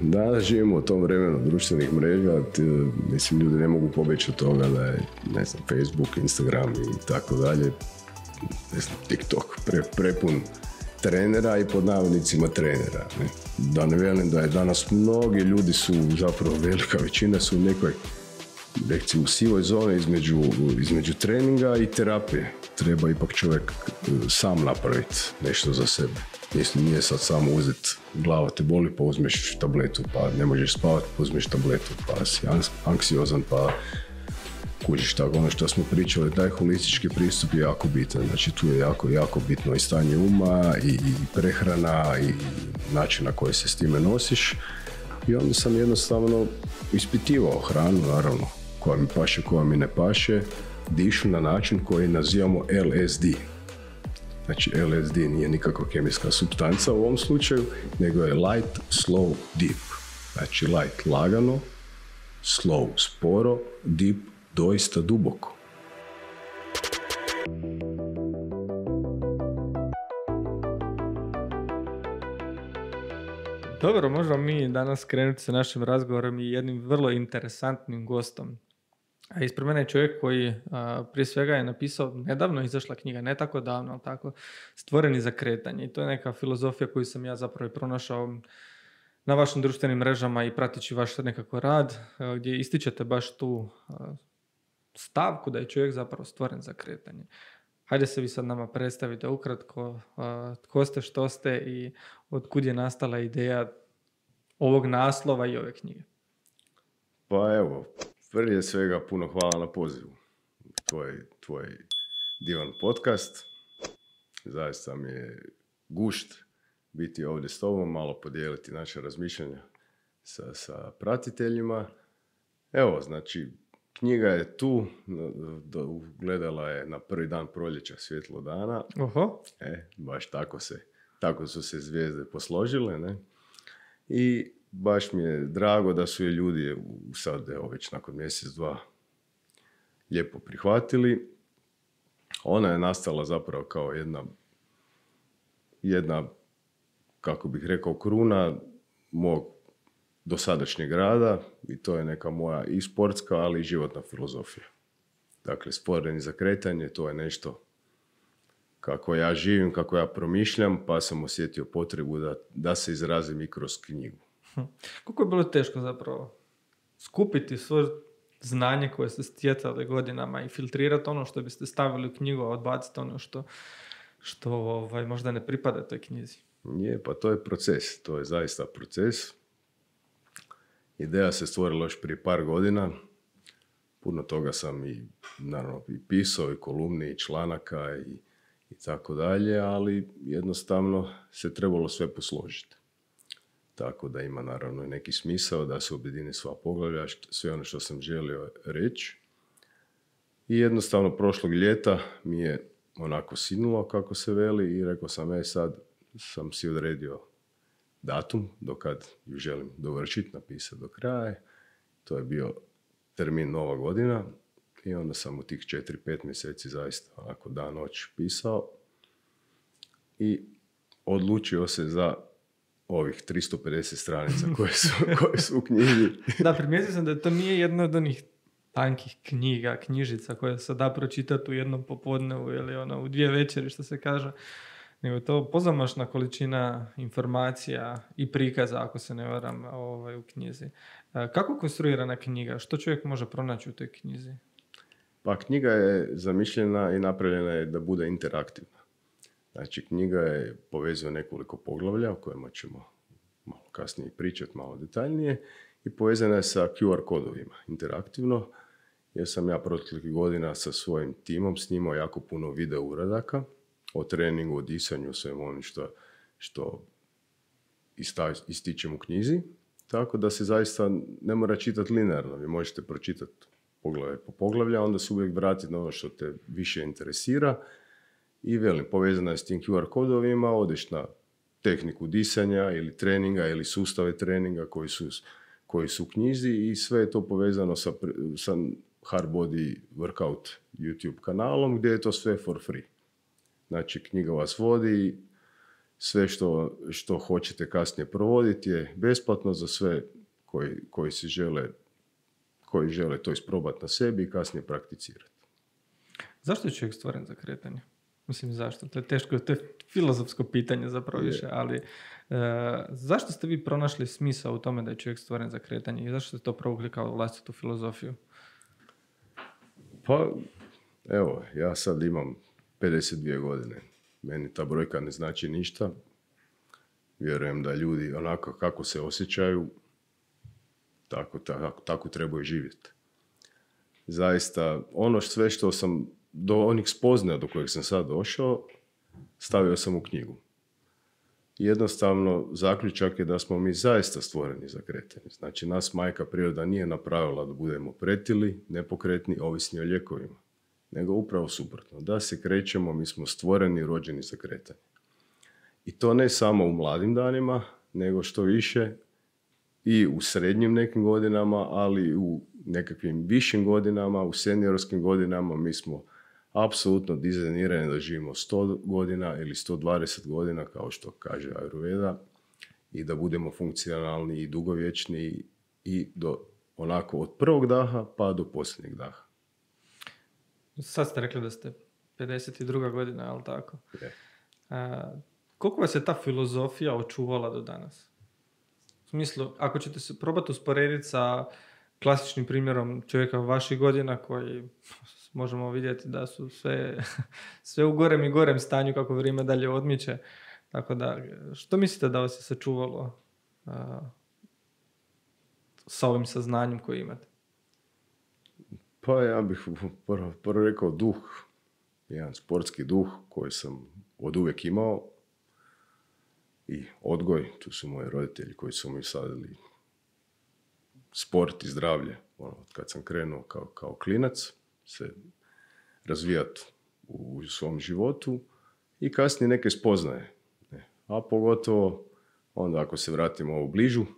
Danas živimo u tom vremenu društvenih mreža, mislim, ljudi ne mogu pobjeći od toga da je, ne znam, Facebook, Instagram i tako dalje, ne znam, TikTok prepun trenera i pod navodnicima trenera. Ne? Da ne velim da je danas mnogi ljudi su, zapravo velika većina su u nekoj, recimo, sivoj zoni između treninga i terapije. Treba ipak čovjek sam napraviti nešto za sebe. Mislim, nije sad samo uzeti, glava te boli pa uzmeš tabletu, pa ne možeš spavati pa uzmeš tabletu, pa si anksiozan pa kužiš. Tako, ono što smo pričali, taj holistički pristup je jako bitan. Znači tu je jako bitno i stanje uma i prehrana i način na koji se s time nosiš. I onda sam jednostavno ispitivao hranu, naravno, koja mi paše, koja mi ne paše, dišu na način koji nazivamo LSD. Znači LSD nije nikakva kemijska supstanca u ovom slučaju, nego je light, slow, deep. Znači light lagano, slow sporo, deep doista duboko. Dobro, možemo mi danas krenuti sa našim razgovorom i jednim vrlo interesantnim gostom. A ispred mene je čovjek koji prije svega je napisao, nedavno izašla knjiga, ne tako davno, ali tako, Stvoreni za kretanje. I to je neka filozofija koju sam ja zapravo pronašao na vašim društvenim mrežama i pratići vaš nekako rad, gdje ističete baš tu stavku da je čovjek zapravo stvoren za kretanje. Hajde se vi sad nama predstavite ukratko tko ste, što ste i otkud je nastala ideja ovog naslova i ove knjige. Pa evo, prije svega puno hvala na pozivu. Tvoj divan podcast. Zaista mi je gušt biti ovdje s tobom, malo podijeliti naše razmišljanja sa pratiteljima. Evo, znači, knjiga je tu, gledala je na prvi dan proljeća svjetlo dana. Oho. Baš tako su se zvijezde posložile, ne? I baš mi je drago da su je ljudi sad, evo, već nakon mjesec, dva lijepo prihvatili. Ona je nastala zapravo kao jedna, kako bih rekao, kruna mog dosadašnjeg rada i to je neka moja i sportska, ali i životna filozofija. Dakle, Stvoreni za kretanje, to je nešto kako ja živim, kako ja promišljam, pa sam osjetio potrebu da se izrazim i kroz knjigu. Koliko je bilo teško zapravo skupiti svo znanje koje ste stjecali godinama i filtrirati ono što biste stavili u knjigu, a odbaciti ono što možda ne pripada toj knjizi? Je, pa to je proces, to je zaista proces. Ideja se stvorila još prije par godina. Puno toga sam i pisao, i kolumni, i članaka, i tako dalje, ali jednostavno se trebalo sve posložiti. Tako da ima naravno i neki smisao da se objedini sva poglavlja, sve ono što sam želio reći. I jednostavno prošlog ljeta mi je onako sinulo, kako se veli, i rekao sam, sad sam si odredio datum do kad ju želim dovršiti, napisati do kraja. To je bio termin Nova godina i onda sam u tih 4-5 mjeseci zaista onako dan noć pisao i odlučio se za ovih 350 stranica koje su u knjizi. Da, primijetio sam da to nije jedna od onih tankih knjižica koje se da pročitati u jednom popodnevu ili u 2 večeri, što se kaže, nego je to pozamašna količina informacija i prikaza, ako se ne varam, u knjizi. Kako konstruirana knjiga? Što čovjek može pronaći u toj knjizi? Pa knjiga je zamišljena i napravljena je da bude interaktivna. Znači, knjiga je povezuje nekoliko poglavlja o kojima ćemo malo kasnije pričati, malo detaljnije, i povezana je sa QR kodovima interaktivno, jer sam ja proteklih godina sa svojim timom snimao jako puno video uradaka o treningu, o disanju, svemu onim što ističem u knjizi, tako da se zaista ne mora čitati linearno. Vi možete pročitati poglavlje po poglavlja, onda se uvijek vratiti na ono što te više interesira. I velim, povezana je s tim QR kodovima, odeš na tehniku disanja ili treninga ili sustave treninga koji su u knjizi, i sve je to povezano sa Hard Body Workout YouTube kanalom, gdje je to sve for free. Znači, knjiga vas vodi sve što hoćete kasnije provoditi je besplatno za sve koji žele to isprobati na sebi i kasnije prakticirati. Zašto je čovjek stvoren za kretanje? Mislim, zašto? To je teško, to je filozofsko pitanje zapravo više, ali zašto ste vi pronašli smisao u tome da je čovjek stvoren za kretanje i zašto ste to provukli kao vlastitu filozofiju? Pa, evo, ja sad imam 52 godine. Meni ta brojka ne znači ništa. Vjerujem da ljudi onako kako se osjećaju, tako trebaju živjeti. Zaista, sve što sam do onih spoznaja do kojeg sam sad došao, stavio sam u knjigu. Jednostavno, zaključak je da smo mi zaista stvoreni za kretanje. Znači, nas majka priroda nije napravila da budemo pretili, nepokretni, ovisni o lijekovima. Nego upravo suprotno. Da se krećemo, mi smo stvoreni i rođeni za kretanje. I to ne samo u mladim danima, nego što više i u srednjim nekim godinama, ali u nekakvim višim godinama, u seniorskim godinama mi smo apsolutno dizajnirani da živimo 100 godina ili 120 godina, kao što kaže Ayurveda, i da budemo funkcionalni i dugovječni i onako od prvog daha pa do posljednjeg daha. Sad ste rekli da ste 52. godina, ali tako? Je. Koliko vas je ta filozofija očuvala do danas? U smislu, ako ćete se probati usporediti sa klasičnim primjerom čovjeka vaših godina koji možemo vidjeti da su sve u gorem i gorem stanju kako vrijeme dalje odmiče. Tako da, što mislite da vas je sačuvalo sa ovim saznanjem koji imate? Pa ja bih prvo rekao duh, jedan sportski duh koji sam od uvijek imao i odgoj, tu su moji roditelji koji su mi sadili sport i zdravlje, kad sam krenuo kao klinac se razvijati u svom životu i kasnije neke spoznaje. A pogotovo onda ako se vratimo u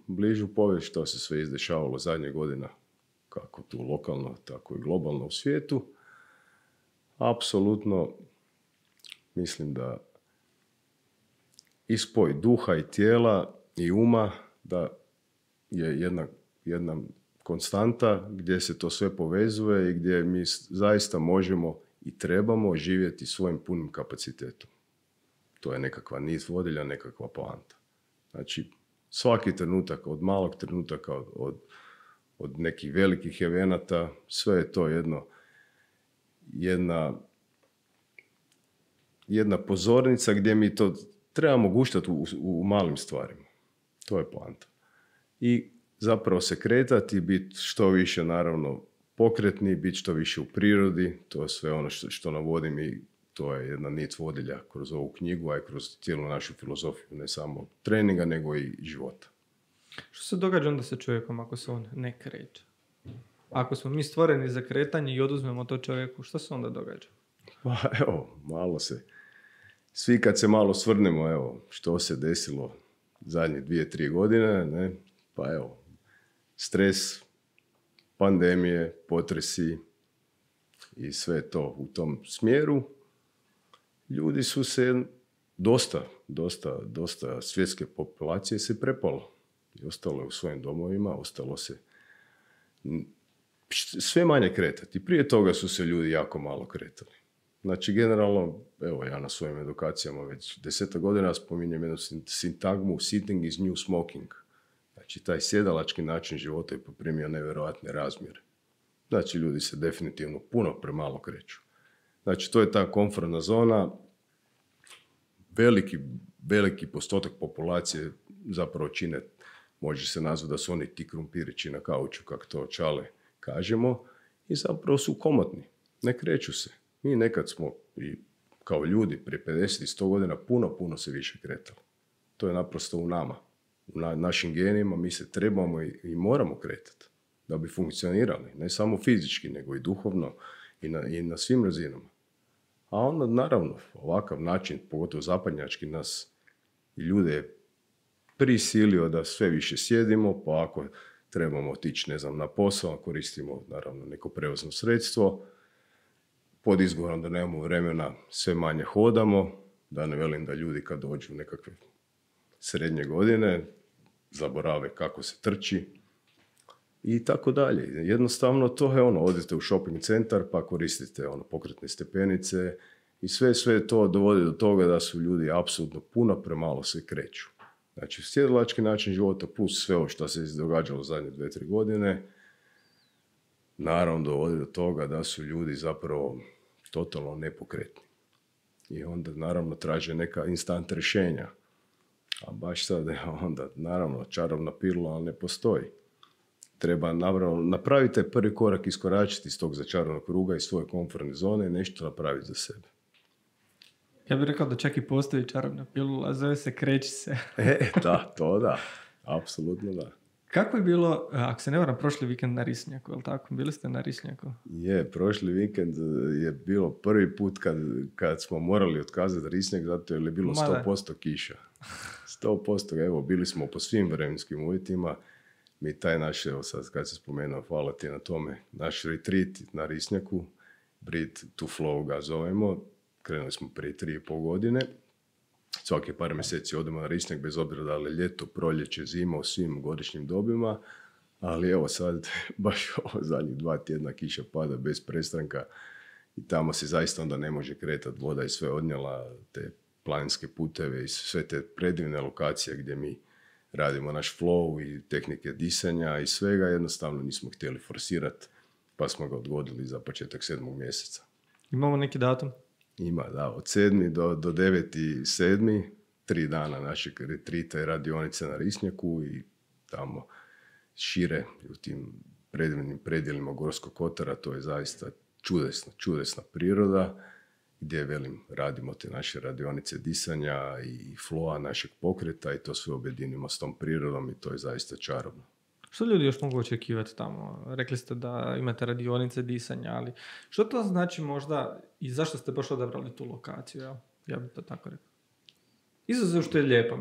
bližu povijest što se sve izdešavalo zadnjih godina, kako tu lokalno, tako i globalno u svijetu, apsolutno mislim da i spoj duha i tijela i uma da je jedna konstanta gdje se to sve povezuje i gdje mi zaista možemo i trebamo živjeti svojim punim kapacitetom. To je nekakva nit vodilja, nekakva poanta. Znači, svaki trenutak, od malog trenutaka, od nekih velikih evenata, sve je to jedna pozornica gdje mi to trebamo guštati u malim stvarima. To je poanta. I zapravo se kretati, biti što više naravno pokretni, biti što više u prirodi, to je sve ono što navodim i to je jedna nit vodilja kroz ovu knjigu, a i kroz cijelu našu filozofiju, ne samo treninga, nego i života. Što se događa onda sa čovjekom ako se on ne kreće? Ako smo mi stvoreni za kretanje i oduzmemo to čovjeku, što se onda događa? Pa evo, svi kad se malo svrnemo, evo, što se desilo zadnje 2-3 godine, ne? Pa evo, stres, pandemije, potresi i sve to u tom smjeru. Ljudi su se dosta svjetske populacije se prepalo. I ostalo je u svojim domovima, ostalo se sve manje kretati. Prije toga su se ljudi jako malo kretali. Znači, generalno, evo, ja na svojim edukacijama već 10 godina spominjem jednu sintagmu sitting is new smoking. Znači, taj sjedalački način života je poprimio nevjerojatne razmjere. Znači, ljudi se definitivno puno premalo kreću. Znači, to je ta komfortna zona. Veliki postotak populacije zapravo čine, može se nazvati da su oni ti krumpirići na kauču, kako to čale kažemo, i zapravo su komotni, ne kreću se. Mi nekad smo i kao ljudi prije 50 i 100 godina puno se više kretali. To je naprosto u nama. U našim genima mi se trebamo i moramo kretati da bi funkcionirali, ne samo fizički, nego i duhovno i na svim razinama. A onda, naravno, ovakav način, pogotovo zapadnjački, nas i ljude je prisilio da sve više sjedimo, pa ako trebamo otići, na posao, koristimo, naravno, neko prevozno sredstvo, pod izgovorom da nemamo vremena, sve manje hodamo, Da ne velim da ljudi kad dođu u nekakve srednje godine, zaborave kako se trči i tako dalje. Jednostavno to je odete u shopping centar pa koristite pokretne stepenice i sve to dovodi do toga da su ljudi apsolutno puno premalo se kreću. Znači, sjedilački način života plus sve ovo što se događalo u zadnje 2-3 godine, naravno dovodi do toga da su ljudi zapravo totalno nepokretni. I onda naravno traže neka instant rješenja. A baš sad onda naravno čarobna pilula ne postoji. Treba napraviti taj prvi korak, iskoračiti iz tog začaranog kruga, iz svoje komfortne zone i nešto napraviti za sebe. Ja bih rekao da čak i postoji čarobna pilula, zove se kreći se. Da. Apsolutno da. Kako je bilo, ako se ne varam, prošli vikend na Risnjaku, je li tako? Bili ste na Risnjaku? Prošli vikend je bilo prvi put kad smo morali otkazati Risnjak zato jer je bilo 100% kiša. 100%, evo, bili smo po svim vremenskim uvjetima. Mi taj naš, evo sad kad se spomenuo, hvala ti na tome, naš retreat na Risnjaku, Breathe to Flow ga zovemo, krenuli smo prije 3,5 godine. Svake par mjeseci odemo na Risnjak, bez obzira da li ljeto, proljeće, zima, u svim godišnjim dobima, ali evo sad, baš ovo zadnjih 2 tjedna kiša pada bez prestanka i tamo se zaista onda ne može kretati, voda i sve odnijela, te planinske puteve i sve te predivne lokacije gdje mi radimo naš flow i tehnike disanja i svega, jednostavno nismo htjeli forsirati, pa smo ga odgodili za početak 7. mjeseca. Imamo neki datum? Ima, da, od 7. do 9.7. 3 dana našeg retrita i radionice na Risnjaku i tamo šire u tim predivnim predjelima Gorskog kotara, to je zaista čudesna priroda, gdje, radimo te naše radionice disanja i flowa našeg pokreta i to sve objedinimo s tom prirodom i to je zaista čarobno. Što ljudi još mogu očekivati tamo? Rekli ste da imate radionice disanja, ali što to znači možda i zašto ste baš odabrali tu lokaciju? Ja bih to tako rekao. Izuzev što je lijepo,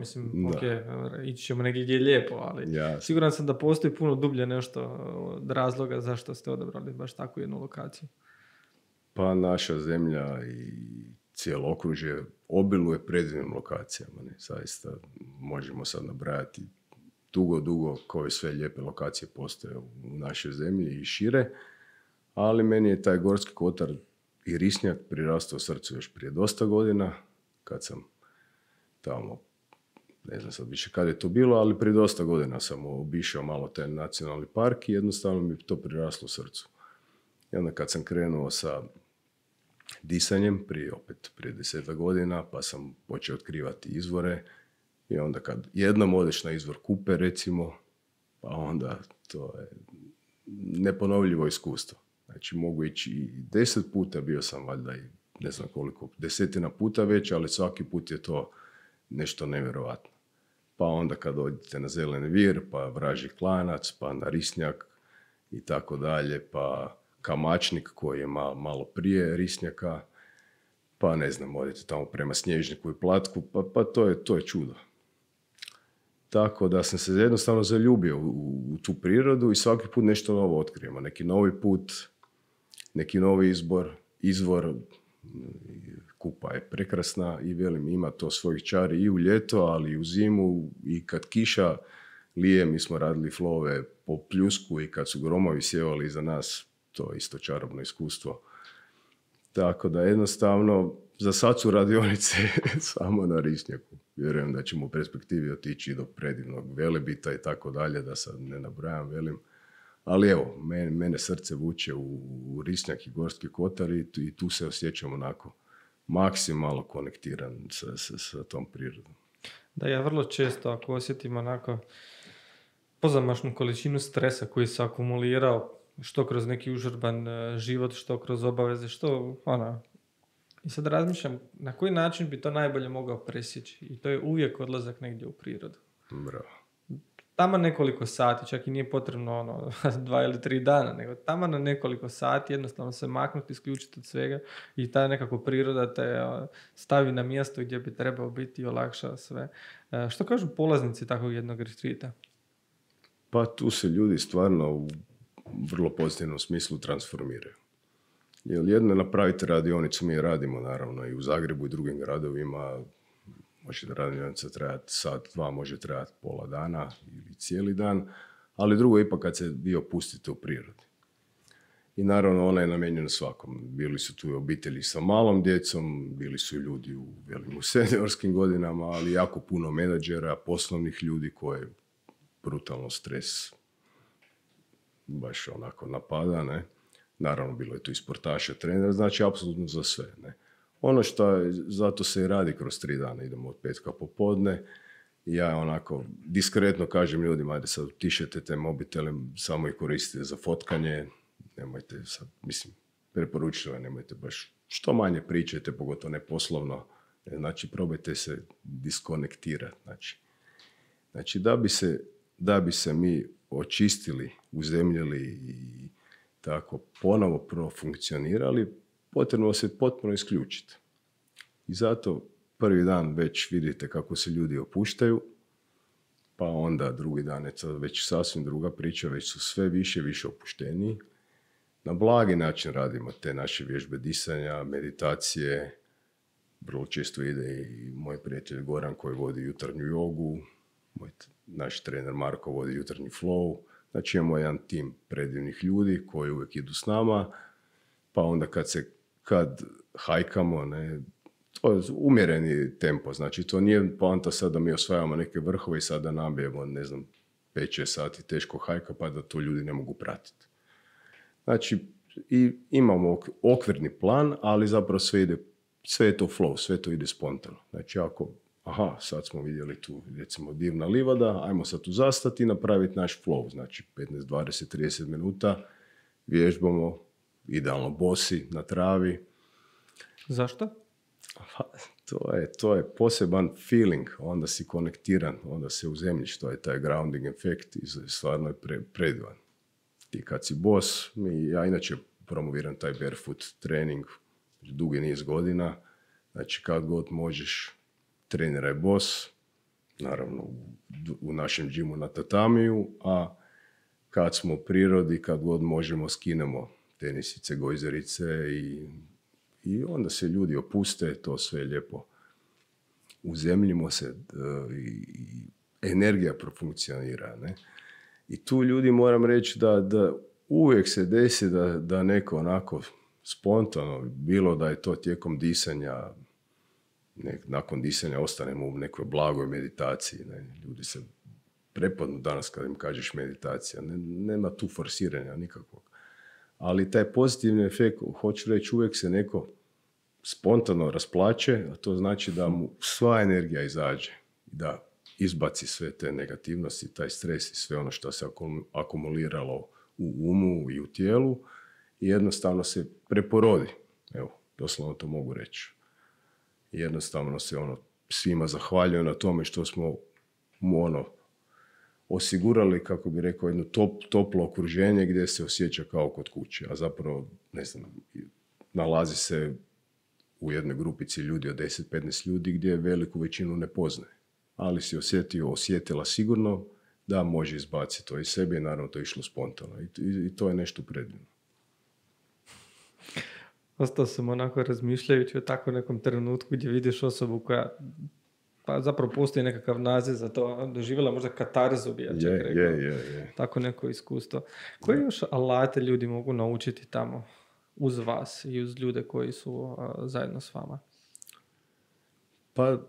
ići ćemo negdje gdje je lijepo, ali siguran sam da postoji puno dublje nešto od razloga zašto ste odabrali baš takvu jednu lokaciju. Pa naša zemlja i cijelo okružje obiluje predivnim lokacijama. Zaista možemo sad nabrajati dugo koje sve lijepe lokacije postoje u našoj zemlji i šire, ali meni je taj Gorski kotar i Risnjak prirastao srcu još prije dosta godina, kad sam tamo, ne znam sad više kad je to bilo, ali prije dosta godina sam obišao malo taj nacionalni park i jednostavno mi je to priraslo srcu. I onda kad sam krenuo sa disanjem, prije 10 godina, pa sam počeo otkrivati izvore i onda kad jednom odeš na izvor Kupe, recimo, pa onda to je neponovljivo iskustvo. Znači mogu ići i 10 puta, bio sam valjda i ne znam koliko, 10 puta već, ali svaki put je to nešto nevjerovatno. Pa onda kad dođete na Zeleni vir, pa Vražji klanac, pa na Risnjak i tako dalje, pa Kamačnik koji je malo prije Risnjaka, pa ne znam, odete tamo prema Snježniku i Platku, pa to je čudo. Tako da sam se jednostavno zaljubio u tu prirodu i svaki put nešto novo otkrijemo. Neki novi put, neki novi izvor, Kupa je prekrasna i ima to svojih čari i u ljeto, ali i u zimu i kad kiša lije, mi smo radili flove po pljusku i kad su gromovi sjevali iza nas, to je isto čarobno iskustvo. Tako da jednostavno, za sad su radionice samo na Risnjaku. Vjerujem da ćemo u perspektivi otići do predivnog Velebita i tako dalje, da sad ne nabrajam, velim. Ali evo, mene srce vuče u Risnjak i Gorski kotar i tu se osjećam onako maksimalno konektiran sa tom prirodom. Da, ja vrlo često ako osjetim onako pozamašnu količinu stresa koji se akumulirao, što kroz neki užurban život, što kroz obaveze, I sad razmišljam na koji način bi to najbolje mogao presjeći. I to je uvijek odlazak negdje u prirodu. Bravo. Tamo nekoliko sati, čak i nije potrebno 2 ili 3 dana, nego tamo na nekoliko sati jednostavno se maknuti, isključiti od svega i ta nekako priroda te stavi na mjesto gdje bi trebao biti i olakša sve. Što kažu polaznici takvog jednog retreata? Pa tu se ljudi stvarno u vrlo pozitivnom smislu transformiraju. Jer jedno je napraviti radionicu, mi je radimo naravno i u Zagrebu i drugim gradovima, može da radionica trajati sat, dva, može trajati pola dana ili cijeli dan, ali drugo je ipak kad se vi opustite u prirodi. I naravno ona je namijenjena svakom. Bili su tu i obitelji sa malom djecom, bili su i ljudi u seniorskim godinama, ali jako puno menadžera, poslovnih ljudi koje brutalno stres baš onako napada, ne. Naravno, bilo je tu i sportaša, trenera, znači apsolutno za sve, ne. Ono što je, zato se i radi kroz 3 dana, idemo od petka popodne, i ja onako diskretno kažem ljudima, ajde sad utišajte te mobitele, samo ih koristite za fotkanje, nemojte sad, mislim, preporučujem, nemojte baš, što manje pričajte, pogotovo ne poslovno, znači probajte se diskonektirati, znači da bi se mi očistili, uzemljili i tako ponovo profunkcionirali, potrebno se potpuno isključiti. I zato prvi dan već vidite kako se ljudi opuštaju, pa onda drugi dan je to već sasvim druga priča, već su sve više opušteniji. Na blagi način radimo te naše vježbe disanja, meditacije, vrlo često ide i moj prijatelj Goran koji vodi jutarnju jogu, naš trener Marko vodi jutarnji flow, znači imamo jedan tim predivnih ljudi koji uvijek idu s nama, pa onda kad hajkamo, ne, to je umjereni tempo, znači to nije poanta sad da mi osvajamo neke vrhove i sad da nabijemo, 5-6 sati teško hajka pa da to ljudi ne mogu pratiti. Znači, i imamo okvirni plan, ali zapravo sve je to flow, sve to ide spontano. Znači, sad smo vidjeli tu, recimo, divna livada, ajmo sad tu zastati i napraviti naš flow. Znači, 15, 20, 30 minuta vježbamo, idealno bosi, na travi. Zašto? To je poseban feeling, onda si konektiran, onda se uzemljiš, to je taj grounding efekt i stvarno je predivan. Ti kad si bos, ja inače promoviram taj barefoot trening dugi niz godina, znači kad god možeš treniraj bos, naravno u našem džimu na tatamiju, a kad smo u prirodi, kad god možemo skinemo tenisice, gojzerice i onda se ljudi opuste, to sve lijepo uzemljimo se i energija profunkcionira, ne? I tu ljudi moram reći da uvijek se desi da neko onako spontano, bilo da je to tijekom disanja, nakon disanja ostanemo u nekoj blagoj meditaciji. Ne? Ljudi se prepadnu danas kad im kažeš meditacija. Nema tu forsiranja nikakvog. Ali taj pozitivni efekt, hoću reći, uvijek se neko spontano rasplače, a to znači da mu sva energija izađe, da izbaci sve te negativnosti, taj stres i sve ono što se akumuliralo u umu i u tijelu i jednostavno se preporodi. Evo, doslovno to mogu reći. Jednostavno se svima zahvaljujem na tome što smo mu osigurali, kako bi rekao, jedno toplo okruženje gdje se osjeća kao kod kuće, a zapravo, nalazi se u jednoj grupici ljudi od 10-15 ljudi gdje veliku većinu ne poznaje. Ali si osjetila sigurno da može izbaciti to iz sebe i naravno to je išlo spontano. I to je nešto predivno. Ostao sam onako razmišljajući o tako nekom trenutku gdje vidiš osobu koja, pa zapravo postoji nekakav naziv za to, doživjela možda katarzu, bi ja čak rekao. Je. Tako neko iskustvo. Koje još alate ljudi mogu naučiti tamo uz vas i uz ljude koji su zajedno s vama? Pa,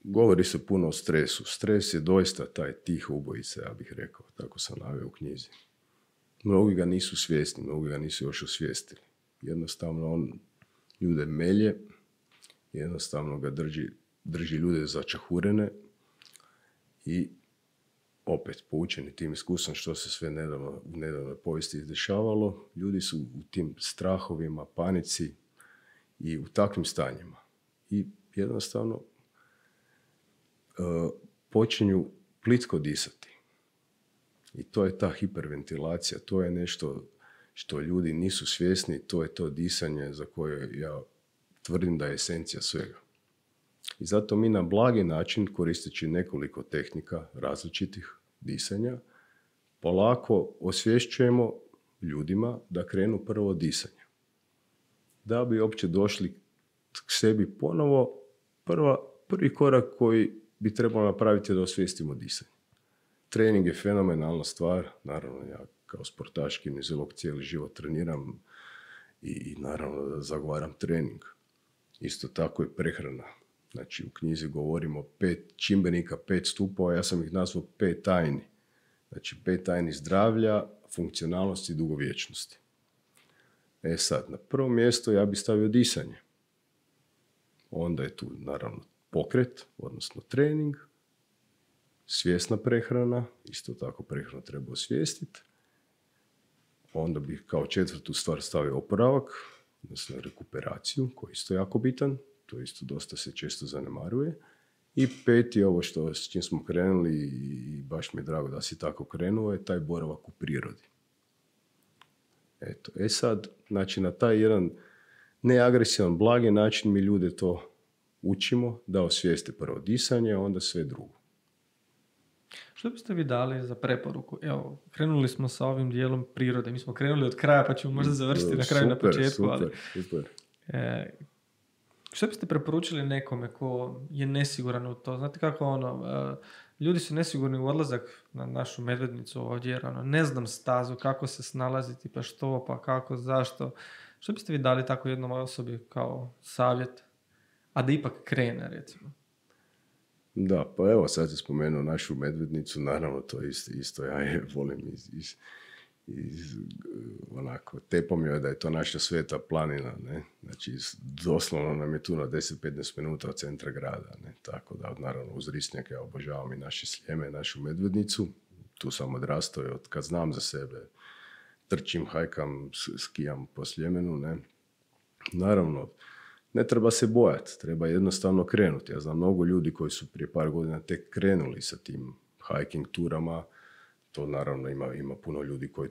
govori se puno o stresu. Stres je doista taj tih ubojica, ja bih rekao. Tako sam naveo u knjizi. Mnogi ga nisu svjesni, mnogi ga nisu još osvijestili. Jednostavno on ljude melje, jednostavno ga drži ljude začahurene i opet poučeni tim iskustvom što se sve u nedavnoj povijesti izdešavalo, ljudi su u tim strahovima, panici i u takvim stanjima. I jednostavno počinju plitko disati. I to je ta hiperventilacija, to je nešto što ljudi nisu svjesni, to je to disanje za koje ja tvrdim da je esencija svega. I zato mi na blagi način, koristeći nekoliko tehnika različitih disanja, polako osvješćujemo ljudima da krenu prvo disanje. da bi uopće došli k sebi ponovo. Prvi korak koji bi trebalo napraviti je da osvijestimo disanje. Trening je fenomenalna stvar, naravno ja kao sportaš kineziolog cijeli život treniram i naravno da zagovaram trening. Isto tako i prehrana. Znači u knjizi govorimo 5 čimbenika, 5 stupova, ja sam ih nazvao 5 tajni. Znači 5 tajni zdravlja, funkcionalnosti i dugovječnosti. Sad, na prvo mjesto ja bih stavio disanje. Onda je tu naravno pokret, odnosno trening, svjesna prehrana, isto tako prehranu treba osvijestiti. Onda bih kao 4. stvar stavio oporavak, odnosno rekuperaciju, koji je isto jako bitan, to isto dosta se često zanemaruje. I 5. ovo što s čim smo krenuli i baš mi je drago da si tako krenuo, je taj boravak u prirodi. Eto, sad, znači na taj jedan neagresivan, blagi način mi ljude to učimo da osvijeste prvo disanje, a onda sve drugo. Što biste vi dali za preporuku? Evo, krenuli smo sa ovim dijelom prirode. Mi smo krenuli od kraja, pa ćemo možda završiti na kraju, na početku. Super. Što biste preporučili nekome ko je nesiguran u to? Znate kako ljudi su nesigurni u odlazak na našu Medvednicu ovdje, jer ne znam stazu, kako se snalaziti, pa što, pa kako, zašto. Što biste vi dali tako jednom osobi kao savjet, a da ipak krene, recimo? Da, pa evo sad je spomenuo našu Medvednicu, naravno to isto ja je volim onako, tepom joj da je to naša sveta planina, ne? Znači doslovno nam je tu na 10-15 minuta od centra grada, ne? Tako da naravno uz Risnjak ja obožavam i naše Sljeme, našu Medvednicu, tu sam odrastao i od kad znam za sebe trčim, hajkam, skijam po Sljemenu, ne? Naravno, ne treba se bojati, treba jednostavno krenuti. Ja znam mnogo ljudi koji su prije par godina tek krenuli sa tim hiking turama. To naravno ima puno ljudi koji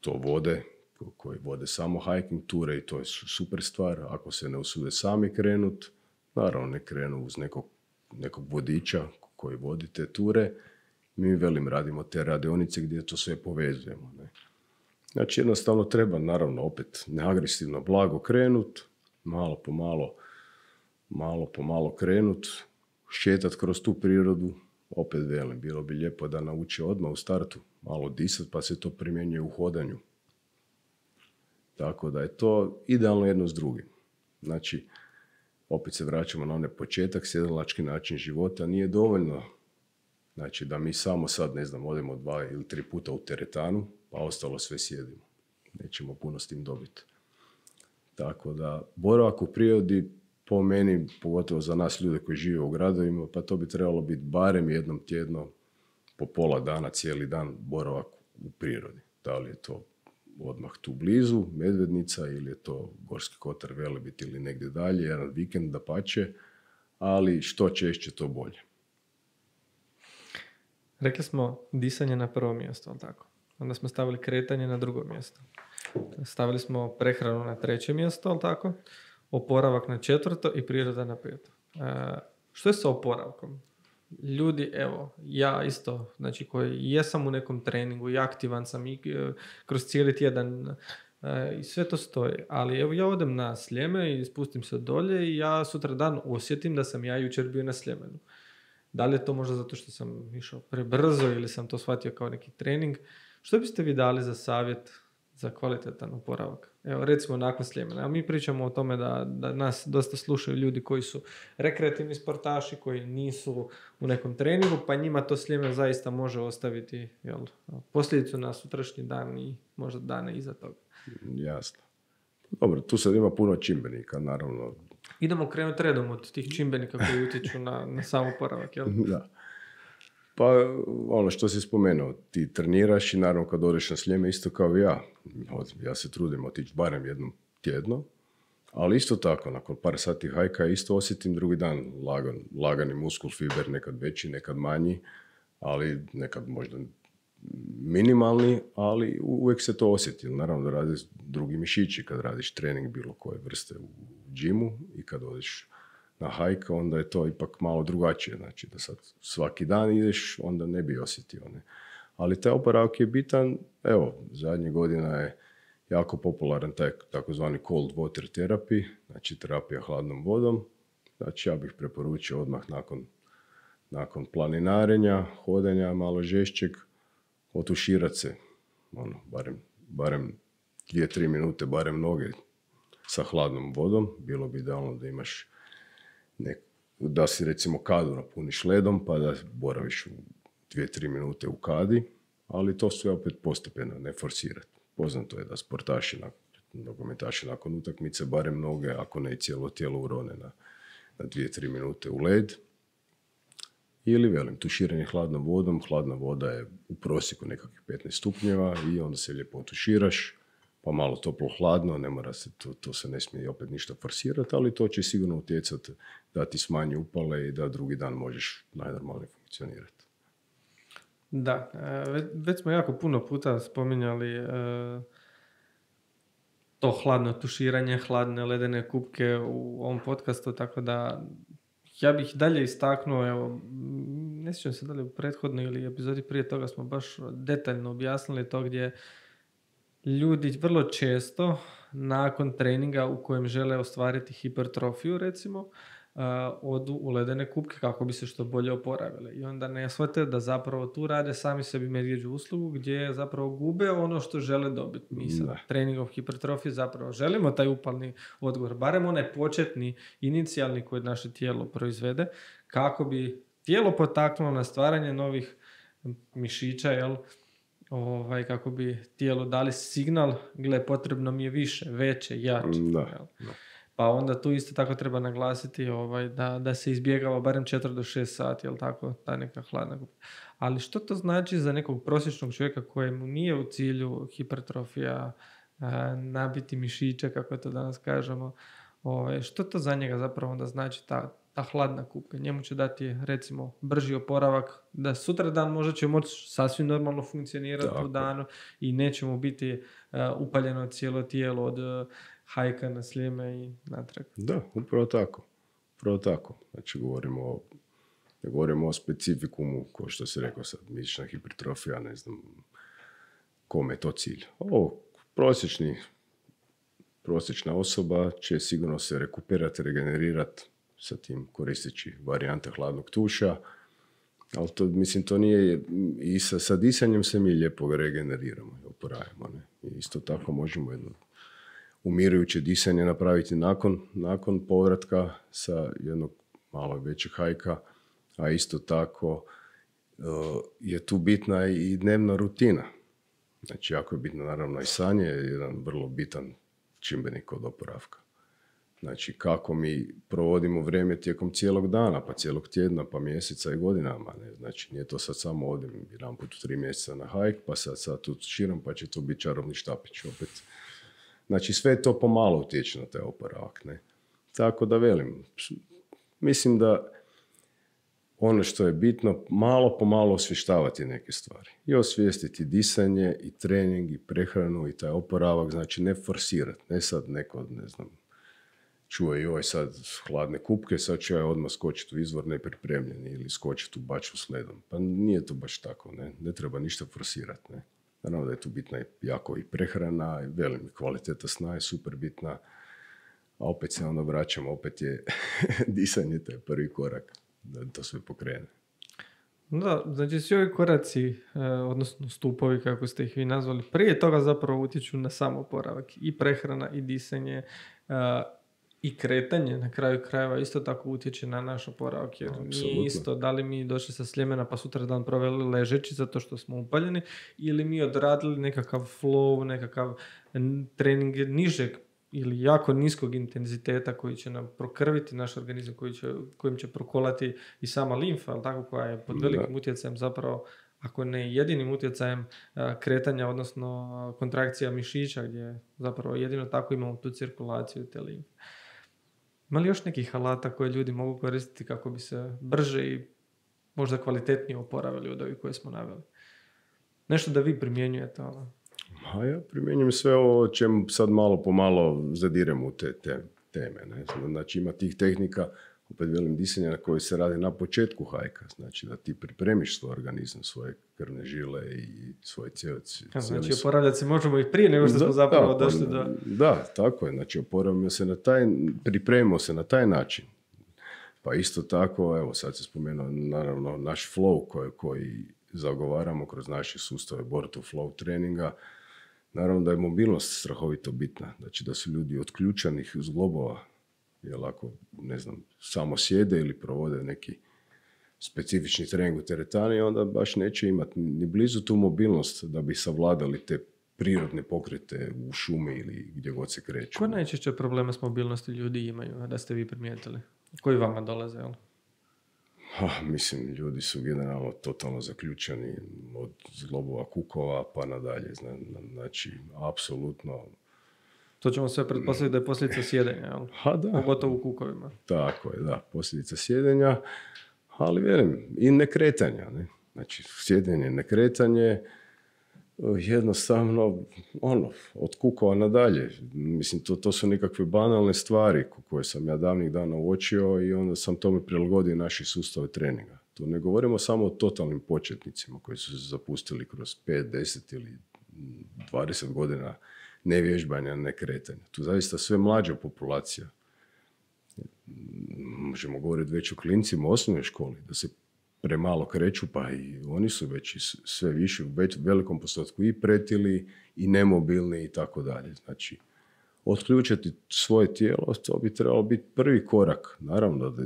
to vode, koji vode samo hiking ture i to je super stvar. Ako se ne usude sami krenut, naravno ne krenu uz nekog vodiča koji vodi te ture. Mi radimo te radionice gdje to sve povezujemo. Ne? Znači jednostavno treba naravno opet neagresivno, blago krenut, malo po malo krenut, šetat kroz tu prirodu, opet velim, bilo bi lijepo da nauči odmah u startu malo disat, pa se to primjenjuje u hodanju. Tako da je to idealno jedno s drugim. Znači, opet se vraćamo na onaj početak, sjedalački način života nije dovoljno. Znači, da mi samo sad, odemo 2 ili 3 puta u teretanu, pa ostalo sve sjedimo. Nećemo puno s tim dobiti. Tako da, boravak u prirodi, po meni, pogotovo za nas ljude koji žive u gradovima, pa to bi trebalo biti barem jednom tjedno, po pola dana, cijeli dan boravak u prirodi. Da li je to odmah tu blizu, Medvednica, ili je to Gorski kotar, Velebit ili negdje dalje, jedan vikend dapače, ali što češće to bolje. Rekli smo disanje na prvo mjesto, ali tako? Onda smo stavili kretanje na drugo mjesto. Stavili smo prehranu na 3. mjesto, ali tako? Oporavak na 4. i priroda na 5. Što je sa oporavkom? Ljudi, evo, ja isto, znači koji jesam u nekom treningu i aktivan sam i kroz cijeli tjedan i sve to stoji, ali evo ja odem na Sljeme i spustim se dolje i ja sutra dan osjetim da sam ja jučer bio na Sljemenu. Da li je to možda zato što sam išao prebrzo ili sam to shvatio kao neki trening? Što biste vi dali za savjet za kvalitetan oporavak? Evo, recimo nakon Sljemena. A mi pričamo o tome da nas dosta slušaju ljudi koji su rekreativni sportaši, koji nisu u nekom treningu, pa njima to Sljemen zaista može ostaviti posljedicu na sutrašnji dan i možda dane iza toga. Jasno. Dobro, tu sad ima puno čimbenika, naravno. Idemo krenuti redom od tih čimbenika koji utječu na sam oporavak, jel? Da. Pa ono što si spomenuo, ti treniraš i naravno kad odeš na Sljeme isto kao i ja. Ja se trudim otići barem jednom tjedno, ali isto tako, nakon par sati hajka isto osjetim drugi dan lagani muskul fiber, nekad veći, nekad manji, ali nekad možda minimalni, ali uvijek se to osjeti. Naravno da radiš drugi mišići kad radiš trening bilo koje vrste u džimu i kad odeš na hajka, onda je to ipak malo drugačije. Znači da sad svaki dan ideš, onda ne bi osjetio. Ne? Ali taj oporavak je bitan. Evo, zadnjih godina jako popularan taj takozvani cold water therapy, znači terapija hladnom vodom. Znači ja bih preporučio odmah nakon planinarenja, hodanja malo žešćeg, otuširati se, barem 2-3 minute, barem noge sa hladnom vodom. Bilo bi idealno da imaš da si recimo kadu napuniš ledom pa da boraviš u 2-3 minute u kadi, ali to sve opet postepeno, ne forsirati. Poznato je da sportaši, nogometaši nakon utakmice barem noge, ako ne i cijelo tijelo urone na 2-3 minute u led. Ili, velim, tuširanje hladnom vodom. Hladna voda je u prosjeku nekakvih 15 stupnjeva i onda se lijepo tuširaš, pa malo toplo-hladno, ne mora se, to se ne smije opet ništa forsirati, ali to će sigurno utjecati da ti smanji upale i da drugi dan možeš najnormalnije funkcionirati. Da, već smo jako puno puta spominjali to hladno tuširanje, hladne ledene kupke u ovom podcastu, tako da ja bih dalje istaknuo, evo, ne sjećam se da li u prethodnoj ili epizodi prije toga smo baš detaljno objasnili to gdje ljudi vrlo često nakon treninga u kojem žele ostvariti hipertrofiju, recimo, odu u ledene kupke kako bi se što bolje oporavili. I onda ne shvate da zapravo tu rade sami sebi medvjeđu uslugu gdje zapravo gube ono što žele dobiti. Mi sa treningom hipertrofije zapravo želimo taj upalni odgovor, barem onaj početni, inicijalni koji naše tijelo proizvede, kako bi tijelo potaknulo na stvaranje novih mišića, jel? Kako bi tijelo dali signal, gle, potrebno mi je više, veće, jače. Da. Pa onda tu isto tako treba naglasiti da se izbjegava barem 4 do 6 sati, jel tako, ta neka hladna kupka. Ali što to znači za nekog prosječnog čovjeka kojemu nije u cilju hipertrofija, nabiti mišiće, kako to danas kažemo, što to za njega zapravo onda znači ta hladna kupka? Njemu će dati, recimo, brži oporavak, da sutra dan možda će moći sasvim normalno funkcionirati u danu i neće mu biti upaljeno cijelo tijelo od hajka na Sljeme i natrag. Da, upravo tako. Znači, govorimo o specifikumu, ko što si rekao sad, mišićna hipertrofija, ne znam kome je to cilj. Prosječna osoba će sigurno se regenerirati sa tim koristeći varijante hladnog tuša, ali to nije, i sa disanjem se mi lijepo regeneriramo i oporavimo. I isto tako možemo jedno umirujuće disanje napraviti nakon povratka sa jednog malo većeg hajka, a isto tako je tu bitna i dnevna rutina. Znači, jako je bitno naravno i sanje, je jedan vrlo bitan čimbenik od oporavka. Znači, kako mi provodimo vrijeme tijekom cijelog dana, pa cijelog tjedna, pa mjeseca i godinama. Ne? Znači, nije to sad samo odim jedan put u 3 mjeseca na hajk, pa sad tu širom, pa će to biti čarobni štapić opet. Znači, sve to pomalo utječe na taj oporavak. Ne? Tako da velim, mislim da ono što je bitno, malo po malo osvještavati neke stvari. I osvijestiti disanje, i trening, i prehranu, i taj oporavak, znači ne forsirati. Ne sad neko, ne znam, čuje joj sad hladne kupke, sad će ja odmah skočiti u izvor nepripremljeni ili skočiti u baču s ledom. Pa nije to baš tako, ne treba ništa forsirati. Ne? Naravno da je tu bitna jako i prehrana, i velim, kvaliteta sna je super bitna, a opet se onda vraćamo, opet je disanje taj prvi korak da to sve pokrene. Da, znači svi ovi koraci, odnosno stupovi, kako ste ih vi nazvali, prije toga zapravo utječu na sam oporavak. I prehrana, i disanje, i kretanje na kraju krajeva isto tako utječe na naš oporavak. Jer nije isto da li mi došli sa Sljemena pa sutra dan proveli ležeći zato što smo upaljeni, ili mi odradili nekakav flow, nekakav trening nižeg ili jako niskog intenziteta koji će nam prokrviti naš organizam, kojim će prokolati i sama limfa, ali tako, koja je pod velikim utjecajem zapravo, ako ne jedinim utjecajem kretanja, odnosno kontrakcija mišića, gdje zapravo jedino tako imamo tu cirkulaciju te limfe. Ima li još nekih alata koje ljudi mogu koristiti kako bi se brže i možda kvalitetnije oporavili od ovih koje smo naveli? Nešto da vi primjenjujete? A ja primjenjujem sve ovo o čemu sad malo po malo zadirem u te teme. Ne? Znači ima tih tehnika, opet velim disanja na koje se radi na početku hajka. Znači da ti pripremiš svoj organizam, svoje krvne žile i svoje cijeli. Znači oporavljati se možemo i prije nego što smo zapravo došli do... Da, tako je. Znači pripremimo se na taj način. Pa isto tako, evo sad se spomenuo naravno naš flow koji zagovaramo kroz naše sustave Born to Flow treninga. Naravno da je mobilnost strahovito bitna. Znači da su ljudi od ključanih zglobova, jer ako, ne znam, samo sjede ili provode neki specifični trening u teretani, onda baš neće imati ni blizu tu mobilnost da bi savladali te prirodne pokrete u šumi ili gdje god se kreću. Koje najčešće probleme s mobilnosti ljudi imaju, da ste vi primijetili? Koji vama dolaze, jel? Mislim, ljudi su generalno totalno zaključani od zglobova kukova pa nadalje. Znači, apsolutno... To ćemo sve pretpostaviti da je posljedica sjedenja, jel? Da. Pogotovo u kukovima. Tako je, da, posljedica sjedenja, ali velim, i nekretanja. Ne? Znači, sjedenje, nekretanje, jednostavno, od kukova nadalje. Mislim, to su nekakve banalne stvari koje sam ja davnih dana uočio i onda sam tome prilagodio naši sustave treninga. Tu ne govorimo samo o totalnim početnicima koji su se zapustili kroz 5, 10 ili 20 godina nevježbanja, nekretanja. Tu zaista sve mlađa populacija. Možemo govoriti već o klincima u osnovnoj školi, da se premalo kreću, pa i oni su već sve više, u velikom postotku i pretili, i nemobilni i tako dalje. Znači, otključati svoje tijelo, to bi trebalo biti prvi korak. Naravno da